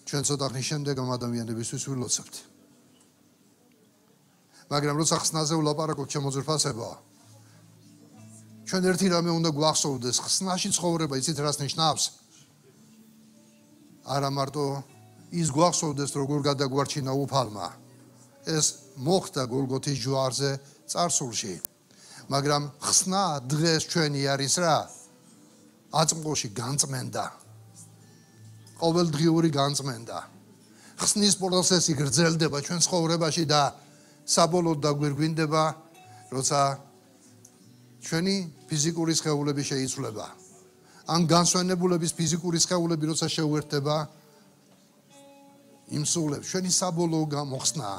ჩვენ ცოტა ხნის შემდეგ ამ ადამიანებისთვის ვილოცებთ. მაგრამ როცა ხსნაზე ვლაპარაკობთ შემოძვირფასებო, ჩვენ ერთი რამე უნდა გვახსოვდეს, ხსნაში ცხოვრება იცით რას ნიშნავს? არა მარტო ის გვახსოვდეს როგორ გადაგვარჩინა უფალმა. ეს მოხდა გოლგოთის ჯვარზე წარსულში. მაგრამ ხსნა დღეს ჩვენი არის რა? აწმყოში განწმენდა. ყოველდღიური განწმენდა. ხსნის პროცესი გრძელდება ჩვენ ცხოვრებაში და საბოლოოდ დაგვირგვინდება, როცა ჩვენი ფიზიკური სხეულები შეიცვლება. ან განსვენებულების ფიზიკური სხეულები როცა შეუერთდება იმ სულებს, ჩვენი საბოლოო გამოხსნა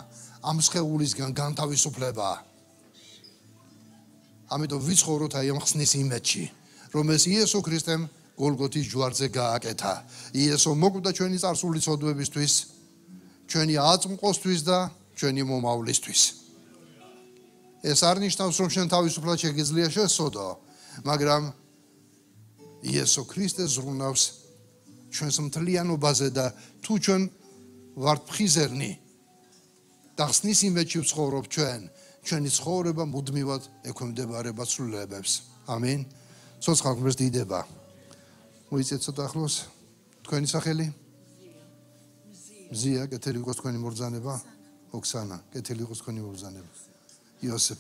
ამ სხეულისგან განთავისუფლება. ამიტომ ვიცხოვროთ აი ამ ხსნის იმედში, რომ ეს იესო ქრისტემ გოლგოთის ჯვარზე გააკეთა. იესო მოკვდა ჩვენი წარსული ცოდვებისთვის, ჩვენი აწმყოსთვის და ჩვენი მომავლისთვის. ეს არ ნიშნავს, რომ შენ თავისუფლად შეგიძლია შესწოდო, მაგრამ იესო ქრისტე ზრუნავს ჩვენს მთლიანობაზე და თუ ჩვენ ვართ ფხიზერნი და ხსნის იმედში ვცხოვრობ ჩვენ, ჩვენი ცხოვრება მუდმივად ექვემდებარება ცვლილებებს. ამინ. ცოცხალ ღმერთს დიდება. მოიწეთ ცოტა ახლოს თქვენი სახელი? მზია, კეთილი იყოს თქვენი მობრძანება. ოქსანა, კეთილი იყოს თქვენი მობრძანება. იოსებ.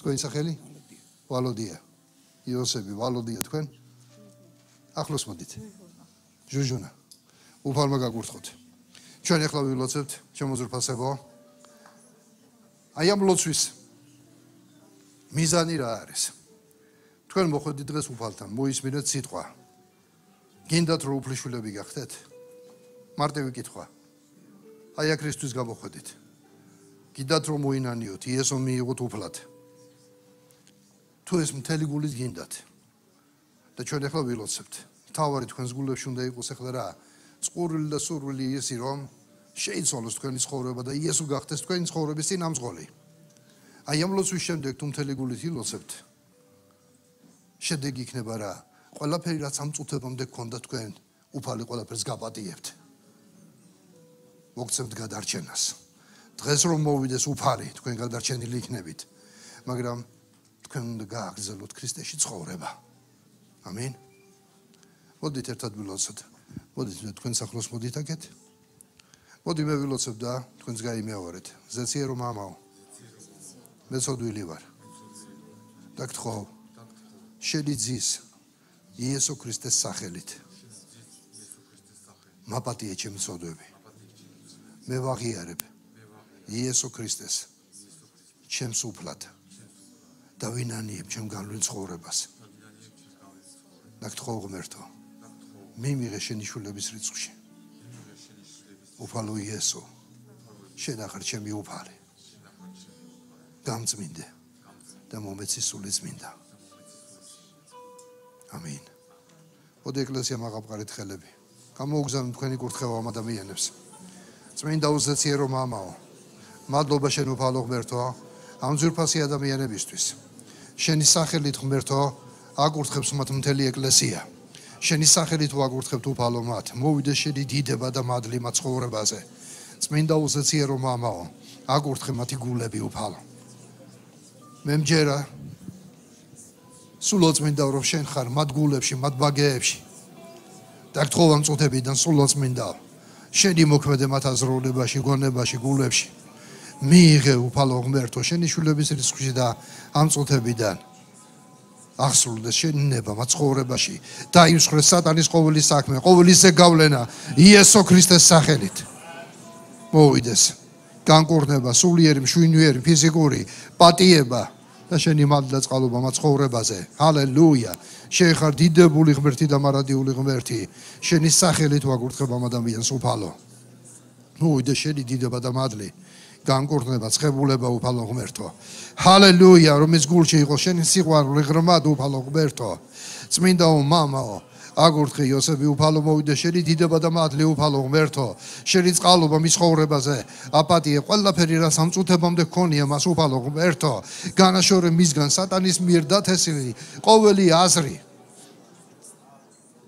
თქვენი სახელი? ვალოდია. იოსები, ვალოდია თქვენ? ახლოს მოდით. ჟუჟუნა. უფალმა გაგურთხოთ. ჩვენ ახლა ვილოცებთ, შემოძვირფასებო. აი ამ ლოცვის მიზანი რა არის? თქვენ მოხვედით დღეს უფალთან, მოისმინეთ სიტყვა. გინდათ რომ უფლისშვილები გახდეთ? მარტივი კითხვა. აი აქ ქრისტეს გამოხვედით. გინდათ რომ მოინანიოთ, იესო მიიღოთ უფლად. თუ ეს მთელი გულით გინდათ და ჩვენ ახლა ვილოცებთ. თავარი თქვენს გულებში უნდა იყოს ახლა რა? წყურვილი და სურვილი ისი რომ შეიცვალოს თქვენი ცხოვრება და იესო გახდეს თქვენი ცხოვრების წინამძღოლი. აი ამ ლოცვის შემდეგ თუ მთელი გულით ილოცებთ, შედეგი იქნება რა? ყველაფერი რაც ამ წუთებამდე გქონდა თქვენ, უფალი ყველაფერს გაპატიებთ. მოგცემთ გადარჩენას. დღეს რომ მოვიდეს უფალი, თქვენ გადარჩენილი იქნებით. მაგრამ თქვენ უნდა გააგრძელოთ ქრისტეში ცხოვრება. ამინ. მოდით ერთად ვილოცოთ. მოდით თქვენ სახლოს მოდით აქეთ. მოდი მე ვილოცებ და თქვენს გაიმეორეთ. ზეციერო მამაო. მე ცოდვილი ვარ. და გთხოვ შენი ძის იესო ქრისტეს სახელით. მაპატიე ჩემი ცოდვები. მე ვაღიარებ იესო ქრისტეს ჩემს უფლად და ვინანიებ ჩემ განვლილ ცხოვრებას. და გთხოვ ღმერთო მიმიღე შენი შვილების რიცხვში. უფალო იესო შენახარ ჩემი უფალი. გამწმინდე და მომეცი სული წმინდა. ამინ. მოდი ეკლესია მაღალყარეთ ხელები. გამოუგზავნოთ თქვენი კურთხევა ამ ადამიანებს. წმინდა უზეციერო მამაო, მადლობა შენ უფალო ღმერთო, ამ ძვირფასი ადამიანებისთვის. შენი სახელით ღმერთო, აკურთხებს მათ მთელი ეკლესია. შენი სახელით ვაკურთხებთ უფალო მათ. მოვიდე შენი დიდება და მადლი მათ ცხოვრებაზე. წმინდა უზეციერო მამაო, აკურთხე მათი გულები უფალო. მე მჯერა სულოწმინდა რომ შენ ხარ მათ გულებში, მათ ბაგეებში. და გთხოვ ამ წუთებიდან სულოწმინდა შენი მოქმედე მათ აზროვნებაში, გონებაში, გულებში. მიიღე უფალო ღმერთო შენი შვილების რიცხვში და ამ წუთებიდან აღსრულდეს შენი ნება მათ ცხოვრებაში. დაიმსხვრეს სატანის ყოველი საქმე, ყოველი ზეგავლენა იესო ქრისტეს სახელით. მოვიდეს განკურნება, სულიერი, მშვენიერი, ფიზიკური პატიება და შენი მადლი და წყალობა მათ ცხოვრებაზე. ჰალელუია. შენ ხარ დიდებული ღმერთი და მარადიული ღმერთი. შენი სახელით ვაკურთხებ ამ ადამიანს უფალო. მოვიდე შენი დიდება და მადლი. განკურნება, ცხებულება უფალო ღმერთო. ჰალელუია, რომ ეს გულში იყოს შენი სიყვარული ღრმად უფალო ღმერთო. წმინდაო მამაო, აგურთხე იოსები უფალო მოვიდე შენი დიდება და მადლი უფალო ღმერთო. შენი წყალობა მის ცხოვრებაზე. აპატიე ყველაფერი რა სამწუთებამდე გქონია მას უფალო ღმერთო. განაშორე მისგან სატანის მიერ დათესილი ყოველი აზრი,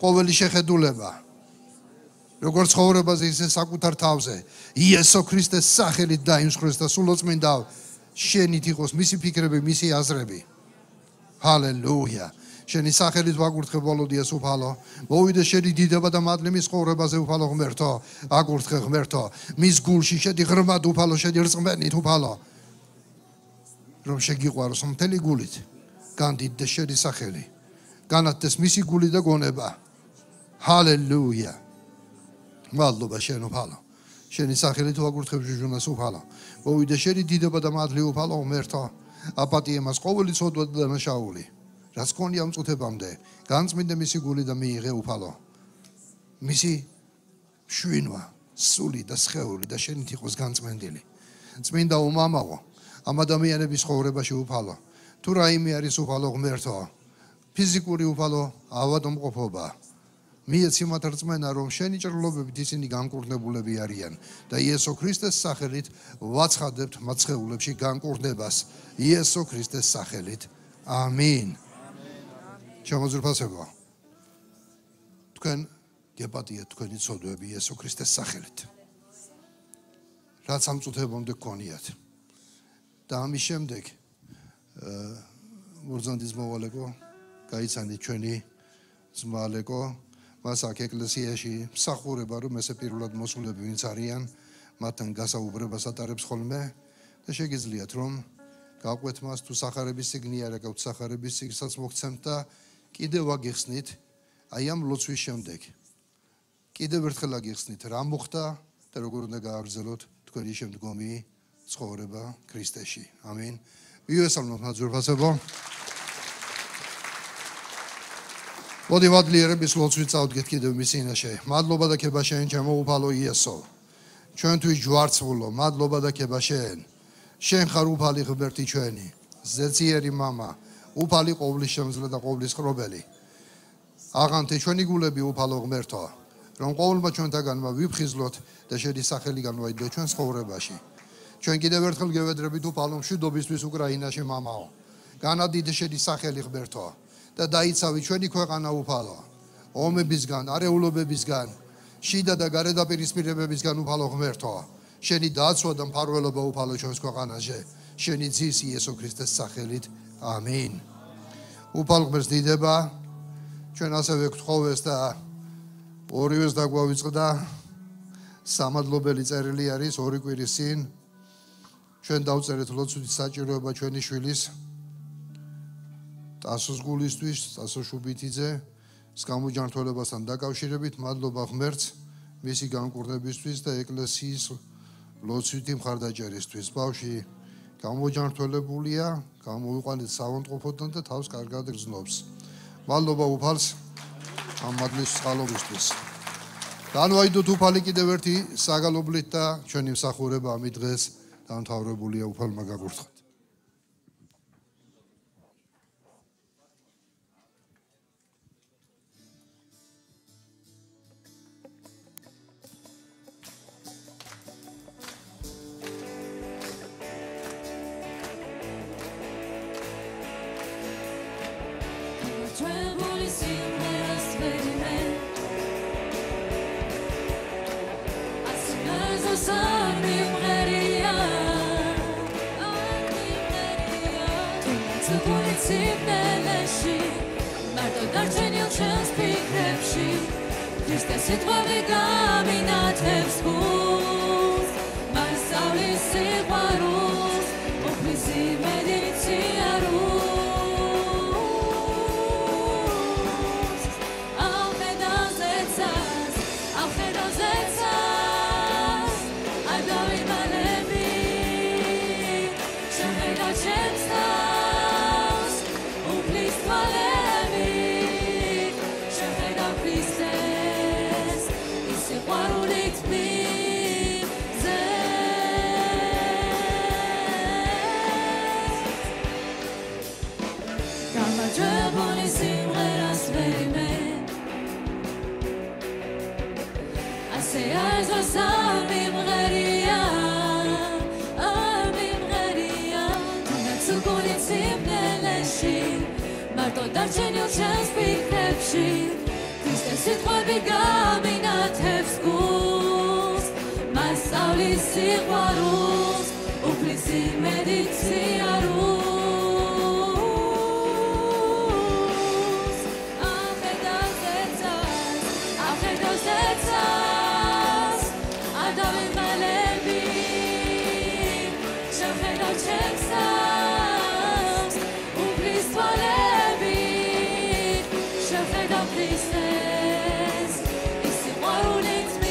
ყოველი შეხედულება. როგორც ცხოვრებაზე ისე საკუთარ თავზე იესო ქრისტეს სახელით დაიმსხვრეს და სულოწმინდა შენით იყოს მისი ფიქრები, მისი აზრები. ჰალელუია. შენი სახელით ვაკურთხებ ვალოდიას უფალო. მოვიდე შენი დიდება და მადლი მის ცხოვრებაზე უფალო ღმერთო. აკურთხე ღმერთო მის გულში შედი ღრმად უფალო, შედი რწმენით უფალო. რომ შეგიყვაროს მთელი გულით. განდიდდეს შენი სახელი. განათდეს მისი გული და გონება. ჰალელუია. მადლობა შენ უფალო. შენი სახელით ვაკურთხებ ჟუჟუნას უფალო. მოვიდე შენი დიდება და მადლი უფალო ღმერთო. აპატიე მას ყოველი ცოდვა და დანაშაული. რაც ქონია ამ წუთებამდე, განწმინდე მისი გული და მიიღე უფალო. მისი შვინვა, სული და სხეული და შენით იყოს განწმენდილი. წმინდა უმამაო, ამ ადამიანების ცხოვრებაში უფალო. თუ რაიმე არის უფალო ღმერთო, ფიზიკური უფალო ავადმყოფობა. მიეცი მათ რწმენა, რომ შენი ჭრილობებით ისინი განკურნებულები არიან და იესო ქრისტეს სახელით ვაცხადებთ მათ სხეულებში განკურნებას. იესო ქრისტეს სახელით. ამინ. შემოძვრფასება. თქვენ გეპატიეთ თქვენი ცოდვები იესო ქრისტეს სახელით. რაც ამ წუთებამდე გქონიათ. და ამის შემდეგ მურძანდის მოვალეკო გაიცანით ჩვენი ძმა ალეკო, მას აქ ეკლესიაში მსახურება, რომ ესე პირველად მოსულები ვინც არიან, მათთან გასაუბრებას ატარებს ხოლმე და შეგიძლიათ რომ გაყვეთ მას თუ სახარების წიგნი არ აქვს სახარების წიგნსაც მოგცემთ და კიდევ აგიხსნით აი ამ ლოცვის შემდეგ. კიდევ ერთხელ აგიხსნით რა მოხდა და როგორ უნდა გააგრძელოთ თქვენი შემდგომი ცხოვრება ქრისტეში. ამინ. მიესალმოთ მათ ძვირფასებო. მოდი მადლიერების ლოცვით წავდგეთ კიდევ მის წინაშე. მადლობა და ქება შენ ჩემო უფალო იესო. ჩვენთვის ჯვარცმულო, მადლობა და ქება შენ. შენ ხარ უფალი ღმერთი ჩვენი, ზეციერი მამა, უფალი ყოვლის შემძლე და ყოვლის ხრობელი. აღანთე ჩვენი გულები უფალო ღმერთო, რომ ყოველმა ჩვენთაგანმა ვიფხიზლოთ და შენი სახელი განვაიდოთ ჩვენ ცხოვრებაში. ჩვენ კიდევ ერთხელ გევედრებით უფალო მშვიდობისთვის უკრაინაში მამაო. განადიდე შენი სახელი ღმერთო და დაიცავი ჩვენი ქვეყანა უფალო. ომებისგან, არეულობებისგან, შიდა და გარე დაპირისპირებებისგან უფალო ღმერთო. შენი დაცვა და მფარველობა უფალო ჩვენს ქვეყანაზე. შენი ძის იესო ქრისტეს სახელით. ამინ. უფალ ღმერთს დიდება, ჩვენ ასევე გთხოვეს და ორივეს დაგვავიწყდა სამადლობელი წერილი არის 2 კვირის წინ. ჩვენ დავწერეთ ლოცვითი საჭიროება ჩვენი შვილის ტასოს გულისთვის, ტასო შუბითიძე გამოჯანმრთელებასთან დაკავშირებით. მადლობა ღმერთს მისი განკურნებისთვის და ეკლესიის ლოცვითი მხარდაჭერისთვის. ბავშვი გამოჯანმრთელებულია, გამოიყვანეთ საავადმყოფოდან და თავს კარგად გრძნობს. მადლობა უფალს ამ მადლის წყალობისთვის. განვაიდოთ უფალი კიდევ ერთი საგალობლით და ჩვენი მსახურება ამით დღეს დამთავრებულია. უფალმა გაგურთხოთ. Trembling simplest verime As a sun mimreria To put it simpleleshi Marto darchenil chance pikrepshi Christes sitvavi gaminatevs guz Marsavli sigvarus Oplisi mediciarus Darchenil chance pikrepshi Christes sitvavi gaminatevs guz Marsavli sigvarus Uplisi mediciarus Afedozetsas Adavim malevi Shemchedal chemsas Uplis tvalevi Christes, is it what it's me?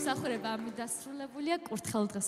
მსახურება ამით დასრულებულია. კურთხეულ დღეს